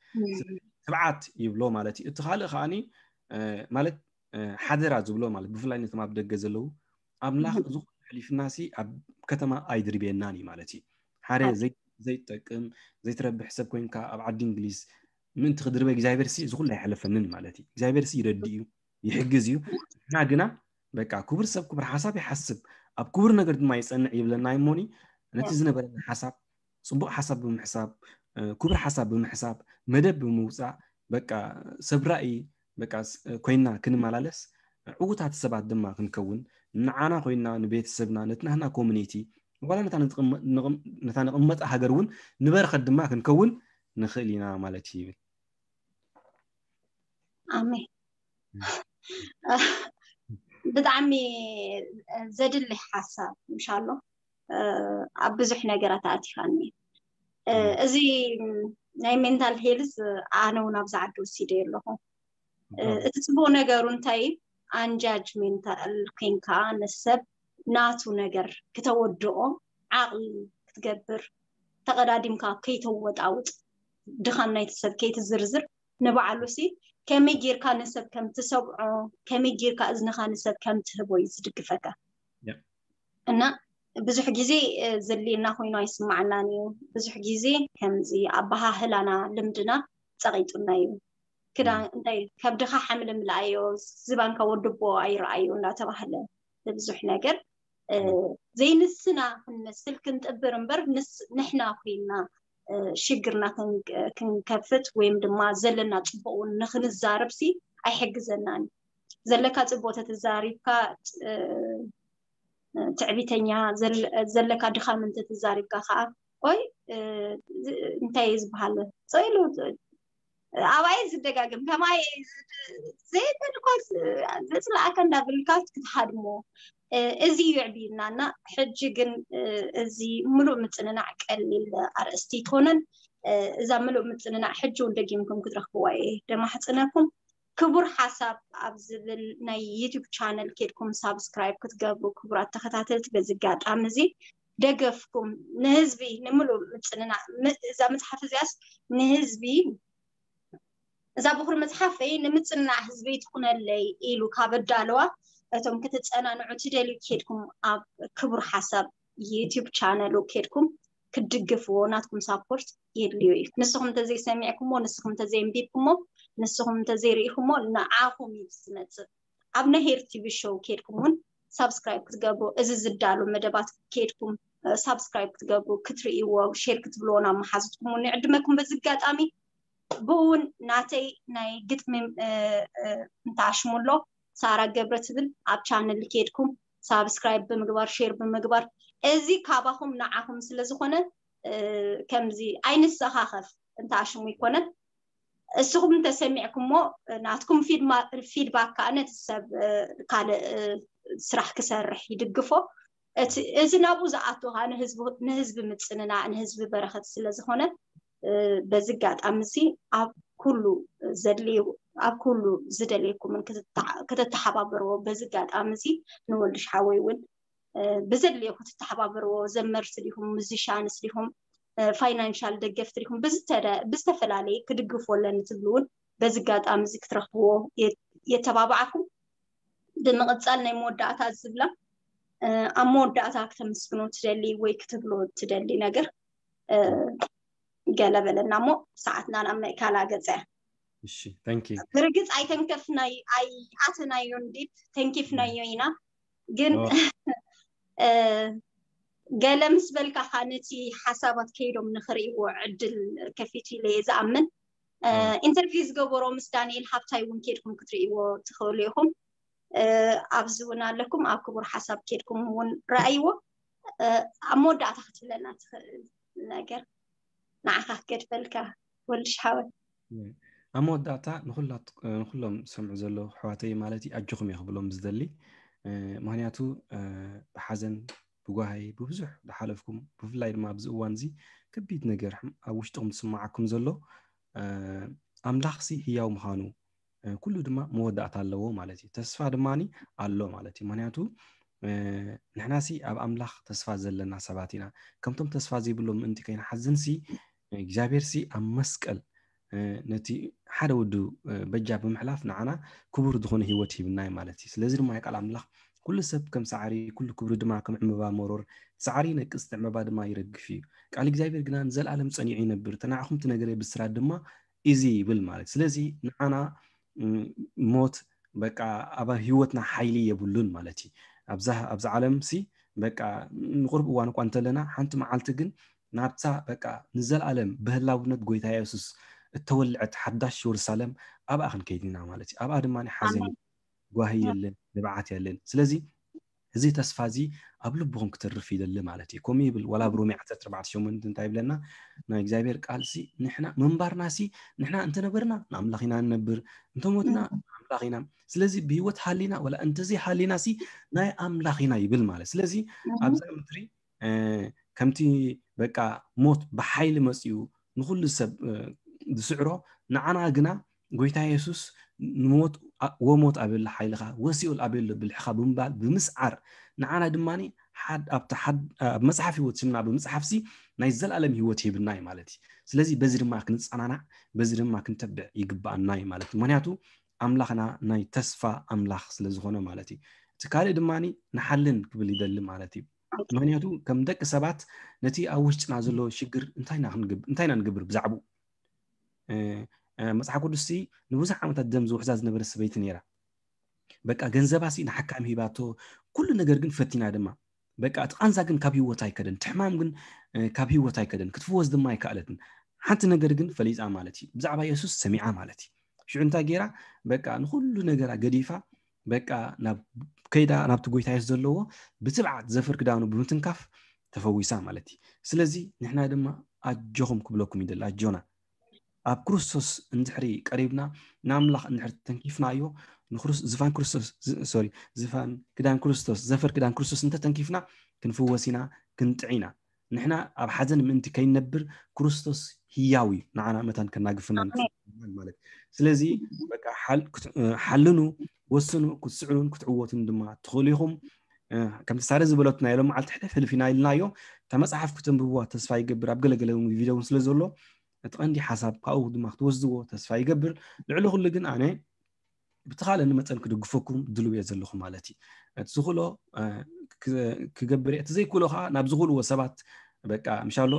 ትብዓት ይብሎ ማለት እዩ። እቲ ካልእ ከዓኒ ማለት ሓደራ ዝብሎ ማለት ብፍላይ ነቶም ኣብ ደገ ዘለዉ ኣምላኽ እዚ ኩሉ ሕሊፍናሲ ኣብ ከተማ ኣይድርብየናን እዩ ማለት እዩ። ሓደ ዘይጠቅም ዘይትረብሕ ሰብ ኮይንካ ኣብ ዓዲ እንግሊዝ ምእንቲ ክድርበ እግዚኣብሔር ሲ እዚ ኩሉ ኣይሓለፈንን ማለት እዩ። እግዚኣብሔር ሲ ይረድእ እዩ ይሕግዝ እዩ። ንሕና ግና በቃ ክቡር ሰብ ክቡር ሓሳብ ይሓስብ ኣብ ክቡር ነገር ድማ ይፀንዕ ይብለና እሞኒ ነቲ ዝነበረና ሓሳብ ፅቡቅ ሓሳብ ብምሕሳብ ክቡር ሓሳብ ብምሕሳብ መደብ ብምውፃእ በቃ ሰብ ራእይ በቃ ኮይና ክንመላለስ ዕዉታት ሰባት ድማ ክንከውን ንዓና ኮይና ንቤተሰብና ነቲ ናህና ኮሚኒቲ ዋላ ነታ ንቕመጣ ሃገር እውን ንበረኸት ድማ ክንከውን ንኽእል ኢና ማለት እዩ ይብል። ኣሜን። ብጣዕሚ ዘድሊ ሓሳብ ምሻሎ ኣብ ብዙሕ ነገራት ኣእቲኻኒ። እዚ ናይ ሜንታል ሄልዝ ኣነ እውን ኣብዚ ዓዲ ወሲደ ኣለኹ። እቲ ፅቡቅ ነገሩ እንታይ ኣንጃጅሜንታል ኮይንካ ንሰብ ናቱ ነገር ክተወድኦ ዓቕሊ ክትገብር ተቐዳዲምካ ከይተወጣውጥ ድኻም ናይቲ ሰብ ከይትዝርዝር ንባዕሉ ሲ ከመይ ጌርካ ንሰብ ከም ትሰብዖ ከመይ ጌርካ እዝንኻ ንሰብ ከም ትህቦ እዩ ዝድግፈካ። እና ብዙሕ ግዜ ዘድልየና ኮይኑ ኣይስማዓናን እዩ። ብዙሕ ግዜ ከምዚ ኣበሃህላና ልምድና ፀቒጡና እዩ። ክዳን እንታይ ከብድኻ ሓምሊ ምልኣዮ ዝባንካ ወድቦ ኣይረኣዮ እንዳተባህለ ብብዙሕ ነገር ዘይንስና ክንመስል ክንጥብር እምበር ንሕና ኮይና ሽግርና ክንከፍት ወይም ድማ ዘለና ፅቡቅ እውን ንክንዛረብ ሲ ኣይሕግዘናን እዩ። ዘለካ ፅቡቅ ተተዛሪብካ ትዕቢተኛ ዘለካ ድኻም እንተተዛሪብካ ከዓ ቆይ እንታይ እዩ ዝበሃል ፀኢሉ ኣባይ ዝደጋግም ከማይ ዘይበልኳ ዘፅላእካ እንዳበልካ ክትሃድሞ እዚ እዩ ዕብይና እና ሕጂ ግን እዚ ምሉእ ምፅንናዕ ቀሊል ኣርእስቲ ይትኮነን። እዛ ምሉእ ምፅንናዕ ሕጂ እውን ደጊምኩም ክትረክብዋ እየ ደማሕፅነኩም። ክቡር ሓሳብ ኣብ ዝብል ናይ ዩቱብ ቻነል ኬድኩም ሳብስክራይብ ክትገብሩ ክቡራት ተኸታተልቲ በዚ ኣጋጣሚ እዚ ደገፍኩም ንህዝቢ ንምሉእ ምፅንና እዛ መፅሓፍ እዚኣስ ንህዝቢ እዛ ብኩር መፅሓፈይ ንምፅንናዕ ህዝበይ ትኹነለይ ኢሉ ካብ ኣዳለዋ እቶም ክትፀናንዑ ትደልዩ ኬድኩም ኣብ ክቡር ሓሳብ ዩቱብ ቻነሉ ኬድኩም ክትድግፍዎ ናትኩም ሳፖርት የድልዮ እዩ። ንስኹም እንተዘይሰሚዕኩሞ ንስኹም እንተዘይንቢብኩሞ ንስኹም እንተዘይርኢኹሞ ንዓኹም እዩ ዝመፅእ። ኣብ ናይ ሄር ቲቪ ሾው ኬድኩም እውን ሳብስክራይብ ክትገብሩ እዚ ዝዳሎ መደባት ኬድኩም ሳብስክራይብ ክትገብሩ ክትርእይዎ ሼር ክትብልዎ ናብ መሓዙትኩም እውን ይዕድመኩም። በዚ ኣጋጣሚ ብእውን ናተይ ናይ ግጥሚ እንተኣሽሙ ኣሎ ሳራ ገብረ ትብል ኣብ ቻነል ኬድኩም ሳብስክራይብ ብምግባር ሼር ብምግባር እዚ ካባኹም ንዓኹም ስለ ዝኾነ ከምዚ ኣይንሰኻኸፍ እንተኣሽሙ ይኮነን እስኹም እንተሰሚዕኩሞ ናትኩም ፊድባክ ከዓ ነቲ ሰብ ካልእ ስራሕ ክሰርሕ ይድግፎ። እዚ ናብኡ ዝኣቱ ከዓ ንህዝቢ ምፅንናዕ ንህዝቢ በረኸት ስለዝኾነ በዚ ኣጋጣሚ እዚ ኣብ ኩሉ ዘድልዩ ኣብ ኩሉ ዝደልየኩምን ከተተሓባበርዎ በዚ ኣጋጣሚ እዚ ንወልድሽ ሓወይ እውን ብዘድልዮ ክትተሓባበርዎ ዘመርቲ ዲኹም ሙዚሻንስ ዲኹም ፋይናንሻል ደገፍቲ ዲኹም ብዝተፈላለየ ክድግፎ ኣለኒ ትብሉ እውን በዚ ኣጋጣሚ እዚ ክትረኽብዎ የተባባዓኩም። ብምቕፃል ናይ መወዳእታ ዝብላ ኣብ መወዳእታ ክተመስግኖ ትደሊ ወይ ክትብሎ ትደሊ ነገር ገለ በለና እሞ ሰዓትና ናብ ምእካላ ገፀ። እሺ፣ thank you። ብርግፅ ኣይተንከፍናይ ኣይኣተናዮ እንዴት ተንኪፍናዮ ኢና ግን ገለ ምስ በልካ ካ ነቲ ሓሳባት ከይዶም ንክርእይዎ ዕድል ከፊቱ ኢለ እየ ዝኣምን። ኢንተርቪው ዝገበሮ ምስ ዳንኤል ሃብታይ እውን ከድኩም ክትርእይዎ ትኽእሉ ኢኹም። ኣብዚ እውን ኣለኩም ኣብ ክቡር ሓሳብ ከድኩም እውን ረኣይዎ። ኣብ መወዳእታ ክትብለና ትኽእል ነገር ንዓኻ ክገድፈልካ ወልድሽ ሓወይ። ኣብ መወዳእታ ንኩሎም ዝሰምዑ ዘለዉ ኣሕዋተይ ማለት እዩ ኣጆኹም እየ ክብሎም ዝደሊ። ምክንያቱ ብሓዘን ብጓሂ ብብዙሕ ዝሓለፍኩም ብፍላይ ድማ ኣብዚ እዋን እዚ ከቢድ ነገር ኣብ ውሽጥኹም ዝስማዓኩም ዘሎ ኣምላኽ ሲ ህያው ምዃኑ ኩሉ ድማ መወዳእታ ኣለዎ ማለት እዩ። ተስፋ ድማ ኣሎ ማለት እዩ። ምክንያቱ ንሕናሲ ኣብ ኣምላኽ ተስፋ ዘለና ሰባት ኢና። ከምቶም ተስፋ ዘይብሎም ምእንቲ ከይንሓዝንሲ እግዚኣብሔር ሲ ኣብ መስቀል ነቲ ሓደ ወዱ በጃ ብምሕላፍ ንዓና ክቡር ዝኾነ ህይወት ሂብናይ ማለት እዩ። ስለዚ ድማ ቃል ኣምላኽ ኩሉ ሰብ ከም ሳዕሪ ኩሉ ክብሪ ድማ ከም ዕምበባ መሮር ሳዕሪ ነቅጽቲ ዕምበባ ድማ ይረግፍ እዩ። ቃል እግዚኣብሔር ግና ንዘለኣለም ጸኒዑ ይነብር። ተናዕኹም ትነገረ ብስራት ድማ እዚ ይብል ማለት ስለዚ ንዓና ሞት በቃ ኣብ ህይወትና ሓይሊ የብሉን ማለት እዩ። ኣብዛ ዓለም ሲ በቃ ንቁርብ እዋን እኳ እንተለና ሓንቲ መዓልቲ ግን ናብታ በቃ ንዘለኣለም ብህላውነት ጎይታ የሱስ እተወልዐት ሓዳሽ የሩሳሌም ኣብኣ ክንከይድ ኢና ማለት እዩ። ኣብኣ ድማ ሓዘን ጓሂ የለን፣ ንብዓት የለን። ስለዚ እዚ ተስፋ እዚ ኣብ ልብኹም ክተርፍ ይደሊ ማለት እዩ። ከምኡ ይብል ዋላ ኣብ ሮሜ ዓሰርተ ኣርባዕተ ሸሞንተ እንታይ ይብለና? ናይ እግዚኣብሔር ቃል ሲ ንሕና ምንባርና ሲ ንሕና እንተነበርና ንኣምላኽ ኢና ንነብር፣ እንተሞትና ንኣምላኽ ኢና። ስለዚ ብህይወት ሃሊና ወላ እንተዘይ ሃሊና ሲ ናይ ኣምላኽ ኢና ይብል ማለት። ስለዚ ኣብዛ ምድሪ ከምቲ በቃ ሞት ብሓይሊ መፅኡ ንኩሉ ሰብ ዝስዕሮ ንዓና ግና ጎይታ የሱስ ንሞት ወሞት ኣበሎ ሓይልኻ ወሲኦል ኣበሎ ብልሕኻ ብምባል ብምስዓር ንዓና ድማ ኣብ መፅሓፍ ህይወት ስምና ብምፅሓፍሲ ናይ ዘለኣለም ህይወት ሂብና እዩ ማለት እዩ። ስለዚ በዚ ድማ ክንፀናናዕ በዚ ድማ ክንተብዕ ይግባኣና እዩ ማለት እዩ። ምክንያቱ ኣምላኽና ናይ ተስፋ ኣምላኽ ስለዝኾነ ማለት እዩ። እቲ ካልእ ድማ ንሓልን ክብል ይደሊ ማለት እዩ። ምክንያቱ ከም ደቂ ሰባት ነቲ ኣብ ውሽጥና ዘሎ ሽግር እንታይ ኢና ንገብር ብዛዕባኡ? መፅሓፍ ቅዱስ ንብዙሕ ዓመታት ደም ዝውሕዛ ዝነበረ ሰበይቲ ነይራ። በቃ ገንዘባ ሲ ንሓካሚ ሂባቶ ኩሉ ነገር ግን ፈቲና ድማ በቃ እቲ ቃንዛ ግን ካብ ህይወት ኣይከደን፣ ትሕማም ግን ካብ ህይወት ኣይከደን፣ ክትፍወስ ድማ ኣይከኣለትን። ሓንቲ ነገር ግን ፈሊጣ ማለት እዩ፣ ብዛዕባ የሱስ ሰሚዓ ማለት እዩ። ሽዑ እንታይ ገይራ? በቃ ንኩሉ ነገራ ገዲፋ በቃ ናብ ከይዳ ናብቲ ጎይታ የሱስ ዘለዎ ብትብዓት ዘፈር ክዳኑ ብምትንካፍ ተፈዊሳ ማለት እዩ። ስለዚ ንሕና ድማ ኣጆኹም ክብለኩም ይደሊ፣ ኣጆና ኣብ ክርስቶስ እንድሕሪ ቀሪብና ንኣምላኽ እንድሕሪ ተንኪፍናዮ ዝፋን ክርስቶስ ሶሪ ዝፋን ክዳን ክርስቶስ ዘፈር ክዳን ክርስቶስ እንተተንኪፍና ክንፍወስ ኢና ክንጥዒ ኢና። ንሕና ኣብ ሓዘን ምእንቲ ከይነብር ክርስቶስ ህያው እዩ ንዓና መታን ከናግፍና ማለት። ስለዚ በቃ ሓልኑ ወስኑ ክትስዕኑን ክትዕወቱን ድማ ትኽእሉ ኢኹም። ከምቲ ሳረ ዝበለቱ ናይ ሎም መዓልቲ ሕልፍ ሕልፍ ኢና ኢልናዮ። እታ መፅሓፍ ክትንብብዋ ተስፋ ይገብር ኣብ ገለገለ ቪድዮ እውን ስለ ዘሎ እቲ ቀንዲ ሓሳብ ካብኡ ድማ ክትወስድዎ ተስፋ ይገብር። ልዕሊ ኩሉ ግን ኣነ ብተኻለኒ መጠን ክድግፈኩም ድልው እየ ዘለኹ ማለት እዩ። እቲ ዝኽእሎ ክገብር እየ፣ እቲ ዘይክእሎ ከዓ ናብ ዝኽእልዎ ሰባት በቃ ምሻሎ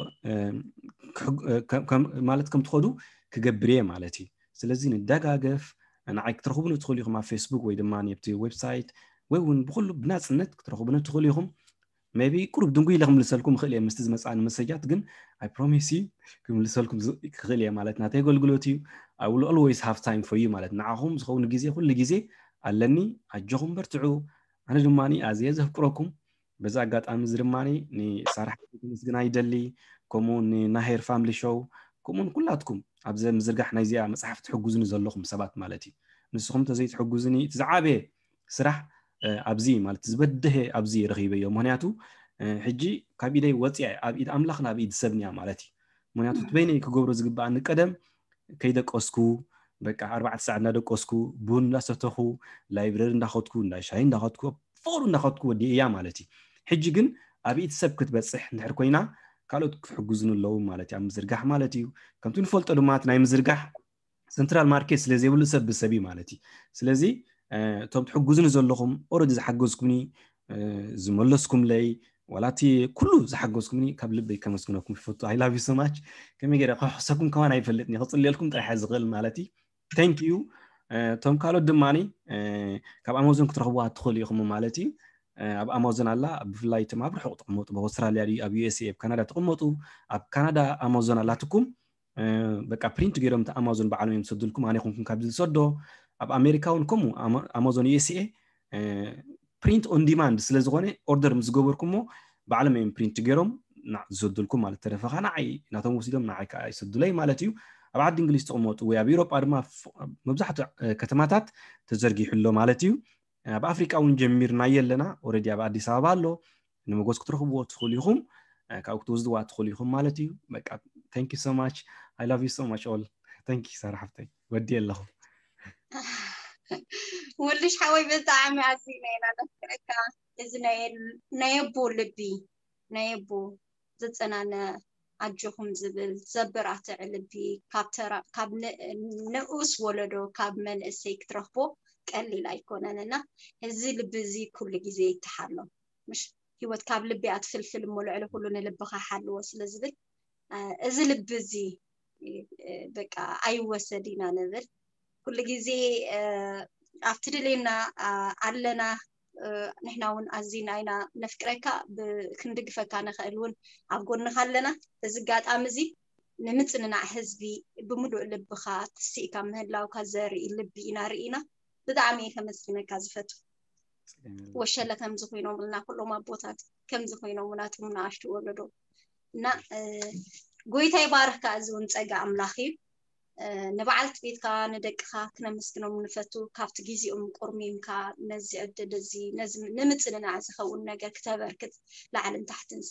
ማለት ከም ትኸዱ ክገብር እየ ማለት እዩ። ስለዚ ንደጋገፍ። ንዓይ ክትረኽቡኒ ትኽእሉ ኢኹም ኣብ ፌስቡክ ወይ ድማ ኣብቲ ዌብሳይት ወይ እውን ብኩሉ ብናፅነት ክትረኽቡኒ ትኽእሉ ኢኹም። maybe ቁሩብ ድንጉይ ኢለ ክምልሰልኩም ይኽእል እየ ምስቲ ዝመፅኣኒ መሰጃት ግን I promise you ክምልሰልኩም ክኽእል እየ ማለት ናተይ ኣገልግሎት እዩ። I will always have time for you ማለት ንዓኹም ዝኸውን ግዜ ኩሉ ግዜ ኣለኒ። ኣጆኹም በርትዑ። ኣነ ድማ ኣዝየ ዘፍቅረኩም በዚ ኣጋጣሚ እዚ ድማ ንሳራ ሓፍተይ ክምስግና ይደሊ፣ ከምኡ ንናሄር ፋምሊ ሾው ከምኡ ንኩላትኩም ኣብዚ ምዝርጋሕ ናይዚኣ መፅሓፍ ትሕግዙኒ ዘለኹም ሰባት ማለት እዩ። ንስኹም ተዘይትሕግዙኒ እቲ ዝዓበየ ስራሕ ኣብዚ ማለት ዝበደሀ ኣብዚ ረኺበዮ። ምክንያቱ ሕጂ ካብ ኢደይ ወፂኣ ኣብ ኢድ ኣምላኽን ኣብ ኢድ ሰብን እያ ማለት እዩ። ምክንያቱ እቲ በይነይ ክገብሮ ዝግበኣኒ ቀደም ከይደቀስኩ በቃ ኣርባዕተ ሰዓት እናደቀስኩ ቡን እናሰተኹ ላይብረሪ እንዳኸድኩ እንዳ ሻሂ እንዳኸድኩ ፍቕሩ እንዳኸድኩ ወዲእ እያ ማለት እዩ። ሕጂ ግን ኣብ ኢድ ሰብ ክትበፅሕ እንድሕር ኮይና ካልኦት ክትሕግዙን ኣለዉ ማለት እዩ ኣብ ምዝርጋሕ ማለት እዩ። ከምቲ ንፈልጦ ድማ እቲ ናይ ምዝርጋሕ ሰንትራል ማርኬት ስለ ዘይብሉ ሰብ ብሰብ እዩ ማለት እዩ። ስለዚ እቶም ትሕግዙኒ ዘለኹም ኦረዲ ዝሓገዝኩምኒ ዝመለስኩምለይ ዋላቲ ኩሉ ዝሓገዝኩምኒ ካብ ልበይ ከመስግነኩም ይፈቱ። I love you so much። ከመይ ገይረ ከሕሰኩም ከማን ኣይፈልጥን ክፅልየልኩም ጥራሕ ዝኽእል ማለት እዩ። Thank you። እቶም ካልኦት ድማ ካብ ኣማዞን ክትረኽብዋ ትኽእሉ ኢኹም ማለት እዩ። ኣብ ኣማዞን ኣላ ብፍላይ እቶም ኣብ ርሑቕ ትቕመጡ ኣብ ኣውስትራልያ ድዩ ኣብ USA ኣብ ካናዳ ትቕመጡ ኣብ ካናዳ ኣማዞን ኣላትኩም። በቃ ፕሪንት ገይሮም እቲ ኣማዞን ባዕሎም እዮም ዝሰዱልኩም። ኣነ ይኹንኩም ካብ ዝሰዶ ኣብ ኣሜሪካ እውን ከምኡ ኣማዞን USA ፕሪንት ኦን ዲማንድ ስለ ዝኾነ ኦርደር ምስ ዝገበርኩሞ ባዕሎም እዮም ፕሪንት ገይሮም ዝሰዱልኩም ማለት ተረፈኻ ንዓይ ናቶም ወሲዶም ንዓይ ከዓ ይሰዱለይ ማለት እዩ። ኣብ ዓዲ እንግሊዝ ትቕመጡ ወይ ኣብ ኤውሮጳ ድማ መብዛሕትኡ ከተማታት ተዘርጊሑ ኣሎ ማለት እዩ። ኣብ ኣፍሪቃ እውን ጀሚርናዮ ኣለና። ኦረዲ ኣብ ኣዲስ ኣበባ ኣሎ። ንመጎስ ክትረኽብዎ ትኽእሉ ኢኹም። ካብኡ ክትወስድዋ ትኽእሉ ኢኹም ማለት እዩ። በቃ thank you so much. I love you so much all. Thank you ሳራ ሓፍተይ ወዲ ኣለኹ። ወልሽ ሓወይ ብጣዕሚ ኣዝና ኢና ነፍቅረካ። እዚ ናይ ኣቦ ልቢ ናይ ኣቦ ዘጸናነ ኣጆኹም ዝብል ዘበራትዕ ልቢ ካብ ንኡስ ወለዶ ካብ መንእሰይ ክትረኽቦ ቀሊል ኣይኮነን እና እዚ ልቢ እዚ ኩሉ ግዜ ይተሓሎ። ምሽ ህይወት ካብ ልቢ ኣትፍልፍል እሞ ልዕሊ ኩሉ ንልብኻ ሓልዎ ስለ ዝብል እዚ ልቢ እዚ በቃ ኣይወሰድ ኢና ንብል። ኩሉ ግዜ ኣብቲ ድሌና ኣለና። ንሕና እውን ኣዚና ኢና ነፍቅረካ፣ ክንድግፈካ ንኽእል እውን ኣብ ጎንኻ ኣለና። እዚ ኣጋጣሚ እዚ ንምጽንናዕ ህዝቢ ብምሉእ ልብኻ ትስኢካ ምህላውካ ዘርኢ ልቢ ኢና ርኢና። ብጣዕሚ እየ ከመስግነካ ዝፈቱ። ወሸለ ከምዚ ኮይኖምልና ኩሎም ኣቦታት ከምዚ ኮይኖምና እቶም ንኣሽቱ ወለዶ እና ጎይታ ይባርኽካ። እዚ እውን ጸጋ ኣምላኽ እዩ። ንበዓልቲ ቤትካ ንደቅኻ ክነመስግኖም ንፈቱ። ካብቲ ግዜኦም ቆርሚምካ ነዚ ዕድል እዚ ንምጽንናዕ ዝኸውን ነገር ክተበርክት ላዕልን ታሕትን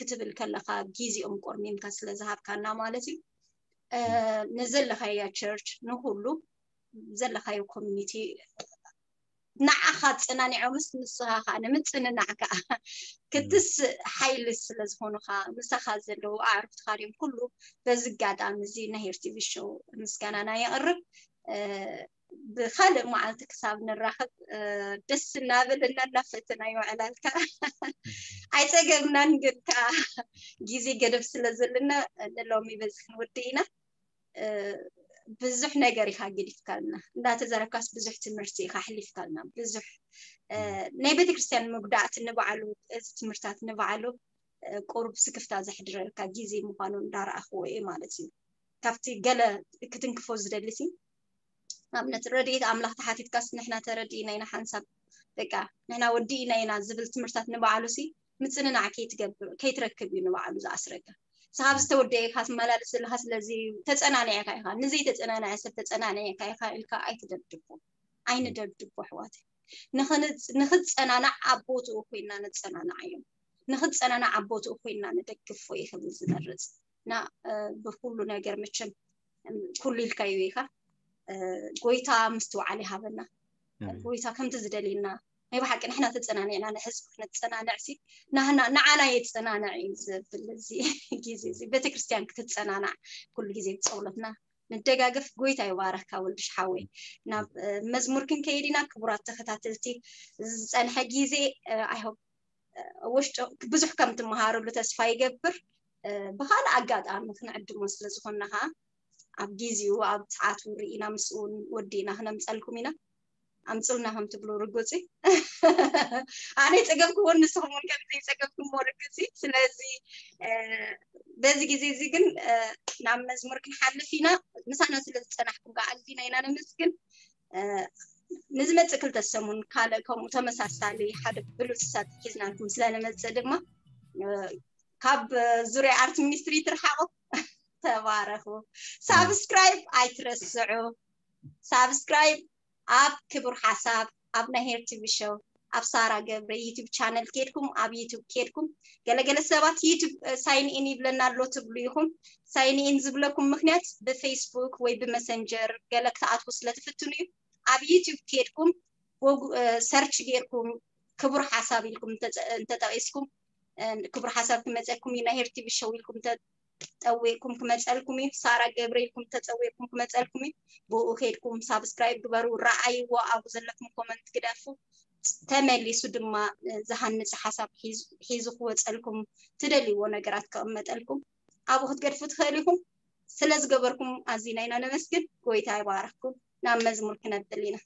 ክትብል ከለኻ ግዜኦም ቆርሚምካ ስለ ዝሃብካና ማለት እዩ። ንዘለኻያ ቸርች ንኩሉ ዘለኻዮ ኮሚኒቲ ንዓኻ ኣጸናኒዖምስ ንስኻ ከዓ ንምጽንናዕ ከዓ ክትስእ ሓይሊ ስለ ዝኾኑኻ ምሳኻ ዘለዉ ኣዕሩኽትኻ ድዮም ኩሉ። በዚ ኣጋጣሚ እዚ ናይ ሄር ቲቪ ሾው ምስጋናና የቕርብ። ብኻልእ መዓልቲ ክሳብ ንራኸብ ደስ እናበለና እናፈተናዮ ዕላልካ ኣይጸገብናን፣ ግን ከዓ ግዜ ገደብ ስለ ዘለና ንሎሚ በዚ ክንወዲ ኢና። ብዙሕ ነገር ኢኻ ገዲፍካልና፣ እንዳተዘረብካስ ብዙሕ ትምህርቲ ኢኻ ኣሕሊፍካልና። ብዙሕ ናይ ቤተክርስትያን መጉዳእቲ ንባዕሉ፣ እዚ ትምህርታት ንባዕሉ ቁሩብ ስክፍታ ዘሕድረልካ ግዜ ምዃኑ እንዳረኣኽዎ እየ ማለት እዩ። ካብቲ ገለ ክትንክፎ ዝደሊ ሲ ኣብነት ረድኤት ኣምላኽ ተሓቲትካስ ንሕና ተረዲእና ኢና ሓንሳብ በቃ ንሕና ወዲእና ኢና ዝብል ትምህርታት ንባዕሉ ሲ ምጽንናዕ ከይትገብር ከይትረክብ እዩ ንባዕሉ ዝኣስረካ። ንስኻ ዝተወደኤካ ትመላለስ ዘለኻ ስለዚ ተጸናኒዕካ ኢኻ። ንዘይተጸናንዐ ሰብ ተጸናኒዕካ ኢኻ ኢልካ ኣይትደብድቦ፣ ኣይንደብድቦ ኣሕዋተይ። ንኽጸናናዕ ኣብ ቦትኡ ኮይና ነጸናንዓዮም። ንኽጸናናዕ ኣብ ቦትኡ ኮይና ንደግፎ እየ ክብል ዝመርጽ። እና ብኩሉ ነገር መቸም ኩሉ ኢልካዮ ኢኻ። ጎይታ ምስትውዓል ይሃበና። ጎይታ ከምቲ ዝደልየና ናይ ብሓቂ ንሕና ተጸናኒዕና ንህዝቢ ክነጸናንዕ ሲ ንዓና የጸናንዕ እዩ ዝብል እዚ ግዜ እዚ ቤተክርስትያን ክትጸናናዕ ኩሉ ግዜ ብጸውለትና ንደጋገፍ። ጎይታ ይባረካ ወልድሽ ሓወይ። ናብ መዝሙር ክንከይድ ኢና ክቡራት ተኸታተልቲ። ዝጸንሐ ግዜ ኣይሆፕ ውሽጡ ብዙሕ ከም ትመሃረሉ ተስፋ ይገብር። ብኻልእ ኣጋጣሚ ክንዕድሞ ስለ ዝኾንና ከዓ ኣብ ግዜኡ ኣብ ሰዓቱ ርኢና ምስኡ እውን ወዲእና ክነምፀልኩም ኢና። ኣምፅልና ከም ትብሉ ርጉፅ እዩ። ኣነ ይፀገብክዎ ንስኹም እውን ከም ዘይፀገብክሞ ርግፅ እዩ። ስለዚ በዚ ግዜ እዚ ግን ናብ መዝሙር ክንሓልፍ ኢና። ምሳና ስለ ዝፀናሕኩም ከዓ ኣዚና ኢና ነመስግን። ንዝመፅእ ክልተ ሰሙን ካልእ ከምኡ ተመሳሳሊ ሓደ ብሉፅ ሰብ ሒዝናልኩም ስለ ንመፅእ ድማ ካብ ዙርያ ኣርት ሚኒስትሪ ትርሓቑ። ተባረኹ። ሳብስክራይብ ኣይትረስዑ። ሳብስክራይብ ኣብ ክቡር ሓሳብ፣ ኣብ ናይ ሄር ቲቪ ሾው፣ ኣብ ሳራ ገብረ ዩቲዩብ ቻነል ኬድኩም፣ ኣብ ዩቲዩብ ኬድኩም፣ ገለገለ ሰባት ዩቲዩብ ሳይን ኢን ይብለና ኣሎ ትብሉ ኢኹም። ሳይን ኢን ዝብለኩም ምክንያት ብፌስቡክ ወይ ብመሰንጀር ገለ ክትኣትዉ ስለትፍትኑ እዩ። ኣብ ዩቲዩብ ኬድኩም ጎጉ- ሰርች ጌርኩም ክቡር ሓሳብ ኢልኩም እንተጠቂስኩም ክቡር ሓሳብ ክመፀኩም እዩ። ናይ ሄር ቲቪ ሾው ኢልኩም ተፀዊቅኩም ክመፀልኩም እዩ። ሳራ ገብረ ኢልኩም ተፀዊቅኩም ክመፀልኩም እዩ። ብኡ ከይድኩም ሳብስክራይብ ግበሩ፣ ረኣይዎ፣ ኣብኡ ዘለኩም ኮመንት ግደፉ። ተመሊሱ ድማ ዝሃንፅ ሓሳብ ሒዙ ክወፀልኩም፣ ትደልይዎ ነገራት ክቕመጠልኩም ኣብኡ ክትገድፉ ትኽእል ኢኹም። ስለ ዝገበርኩም ኣዚና ኢና ነመስግን። ጎይታ ይባረክኩም። ናብ መዝሙር ክነብል ኢና።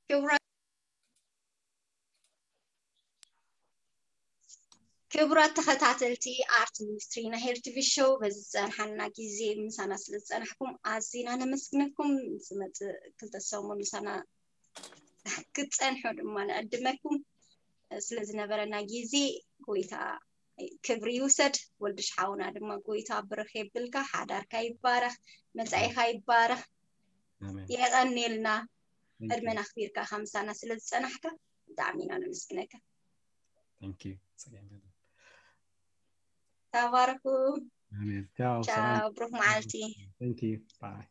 ክቡራት ክቡራት ተኸታተልቲ ኣርት ሚኒስትሪ ናይ ሄር ቲቪ ሾው፣ በዚ ዝፀንሓና ግዜ ምሳና ስለ ዝፀናሕኩም ኣዚና ነመስግነኩም። ዝመፅእ ክልተ ሰሙን ምሳና ክትፀንሑ ድማ ንዕድመኩም። ስለ ዝነበረና ግዜ ጎይታ ክብሪ ይውሰድ። ወልድሽ ሓውና ድማ ጎይታ ብርኽ የብልካ፣ ሓዳርካ ይባረኽ፣ መጻኢኻ ይባረኽ። ኣሜን። የቐኔልና Thank you. ዕድመና ኣኽቢርካ ካብ ምሳና ስለ ዝጸናሕካ ብጣዕሚ ኢና ነመስግነካ። Thank you። ጸገም የለን። ተባረኹ። ኣሜን። ቻው። ቻው፣ ሰላም። ብሩኽ መዓልቲ። Thank you። Bye።